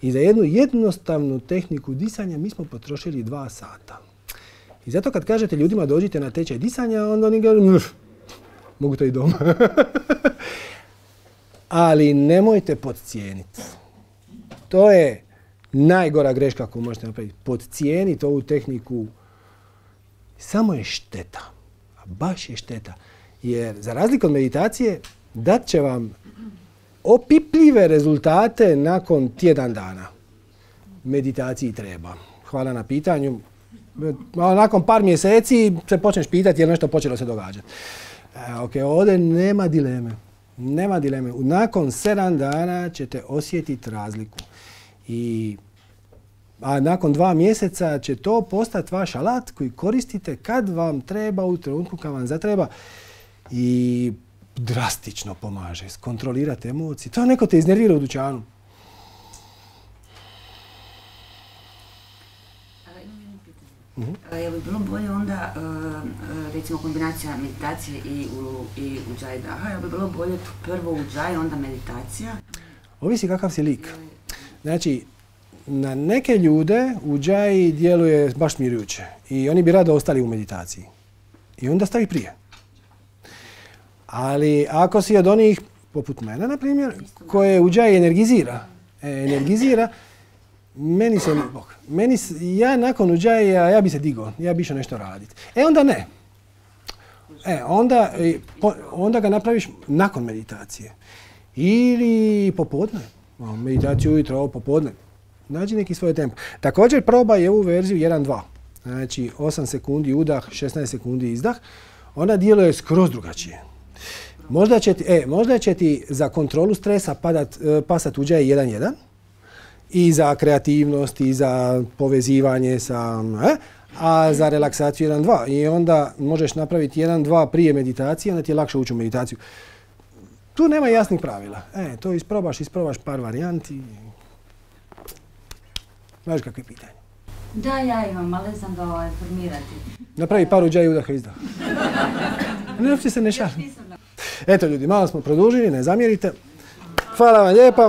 I za jednu jednostavnu tehniku disanja mi smo potrošili dva sata. I zato kad kažete ljudima dođite na tečaj disanja, onda oni kažu, mogu to i doma. Ali nemojte podcijeniti. To je najgora greška koju možete napraviti. Podcijeniti ovu tehniku samo je šteta. A baš je šteta. Jer za razliku od meditacije dat će vam opipljive rezultate nakon tjedan dana. Meditaciji treba. Hvala na pitanju. Nakon par mjeseci se počneš pitati je li nešto počelo se događati. E, ok, ovdje nema dileme. Nema dileme. Nakon sedam dana ćete osjetiti razliku. I, a nakon dva mjeseca će to postati vaš alat koji koristite kad vam treba, u trenutku kad vam zatreba. I drastično pomaže skontrolirati emocije. To neko te iznervira u dućanu. A, imam jedno pitanje. A, je li bilo bolje onda, uh, uh, recimo, kombinacija meditacije i u, i Ujjayi Daha, je li bilo bolje prvo Ujjayi, onda meditacija? Ovisi kakav si lik. Znači, na neke ljude Ujjayi djeluje baš smirujuće i oni bi rado ostali u meditaciji. I onda stavi prije. Ali ako si od onih, poput mene, na primjer, koje Ujjayi energizira, e, energizira, meni se, meni, ja nakon Ujjayi, ja bi se digao, ja bi išao nešto raditi. E onda ne. E, onda, onda ga napraviš nakon meditacije. Ili popodne. Meditaciju ujutro, popodne. Nađi neki svoj tempo. Također probaj ovu verziju jedan dva. Znači osam sekundi udah, šesnaest sekundi izdah. Ona djeluje skroz drugačije. Možda će ti, e, možda će ti za kontrolu stresa padat, pasat Ujjayi jedan jedan. I za kreativnost, i za povezivanje sa... E, a za relaksaciju jedan dva. I onda možeš napraviti jedan dva prije meditacije, onda ti je lakše ući u meditaciju. Tu nema jasnih pravila. E, to isprobaš, isprobaš par varijanti. Znaš kakve pitanje? Da, ja imam, ali sam ga ovaj formirati. Napravi par Ujjayi udaha izdah. Ne, uopće se ne šalim. Eto ljudi, malo smo produžili, ne zamjerite. Hvala vam lijepa.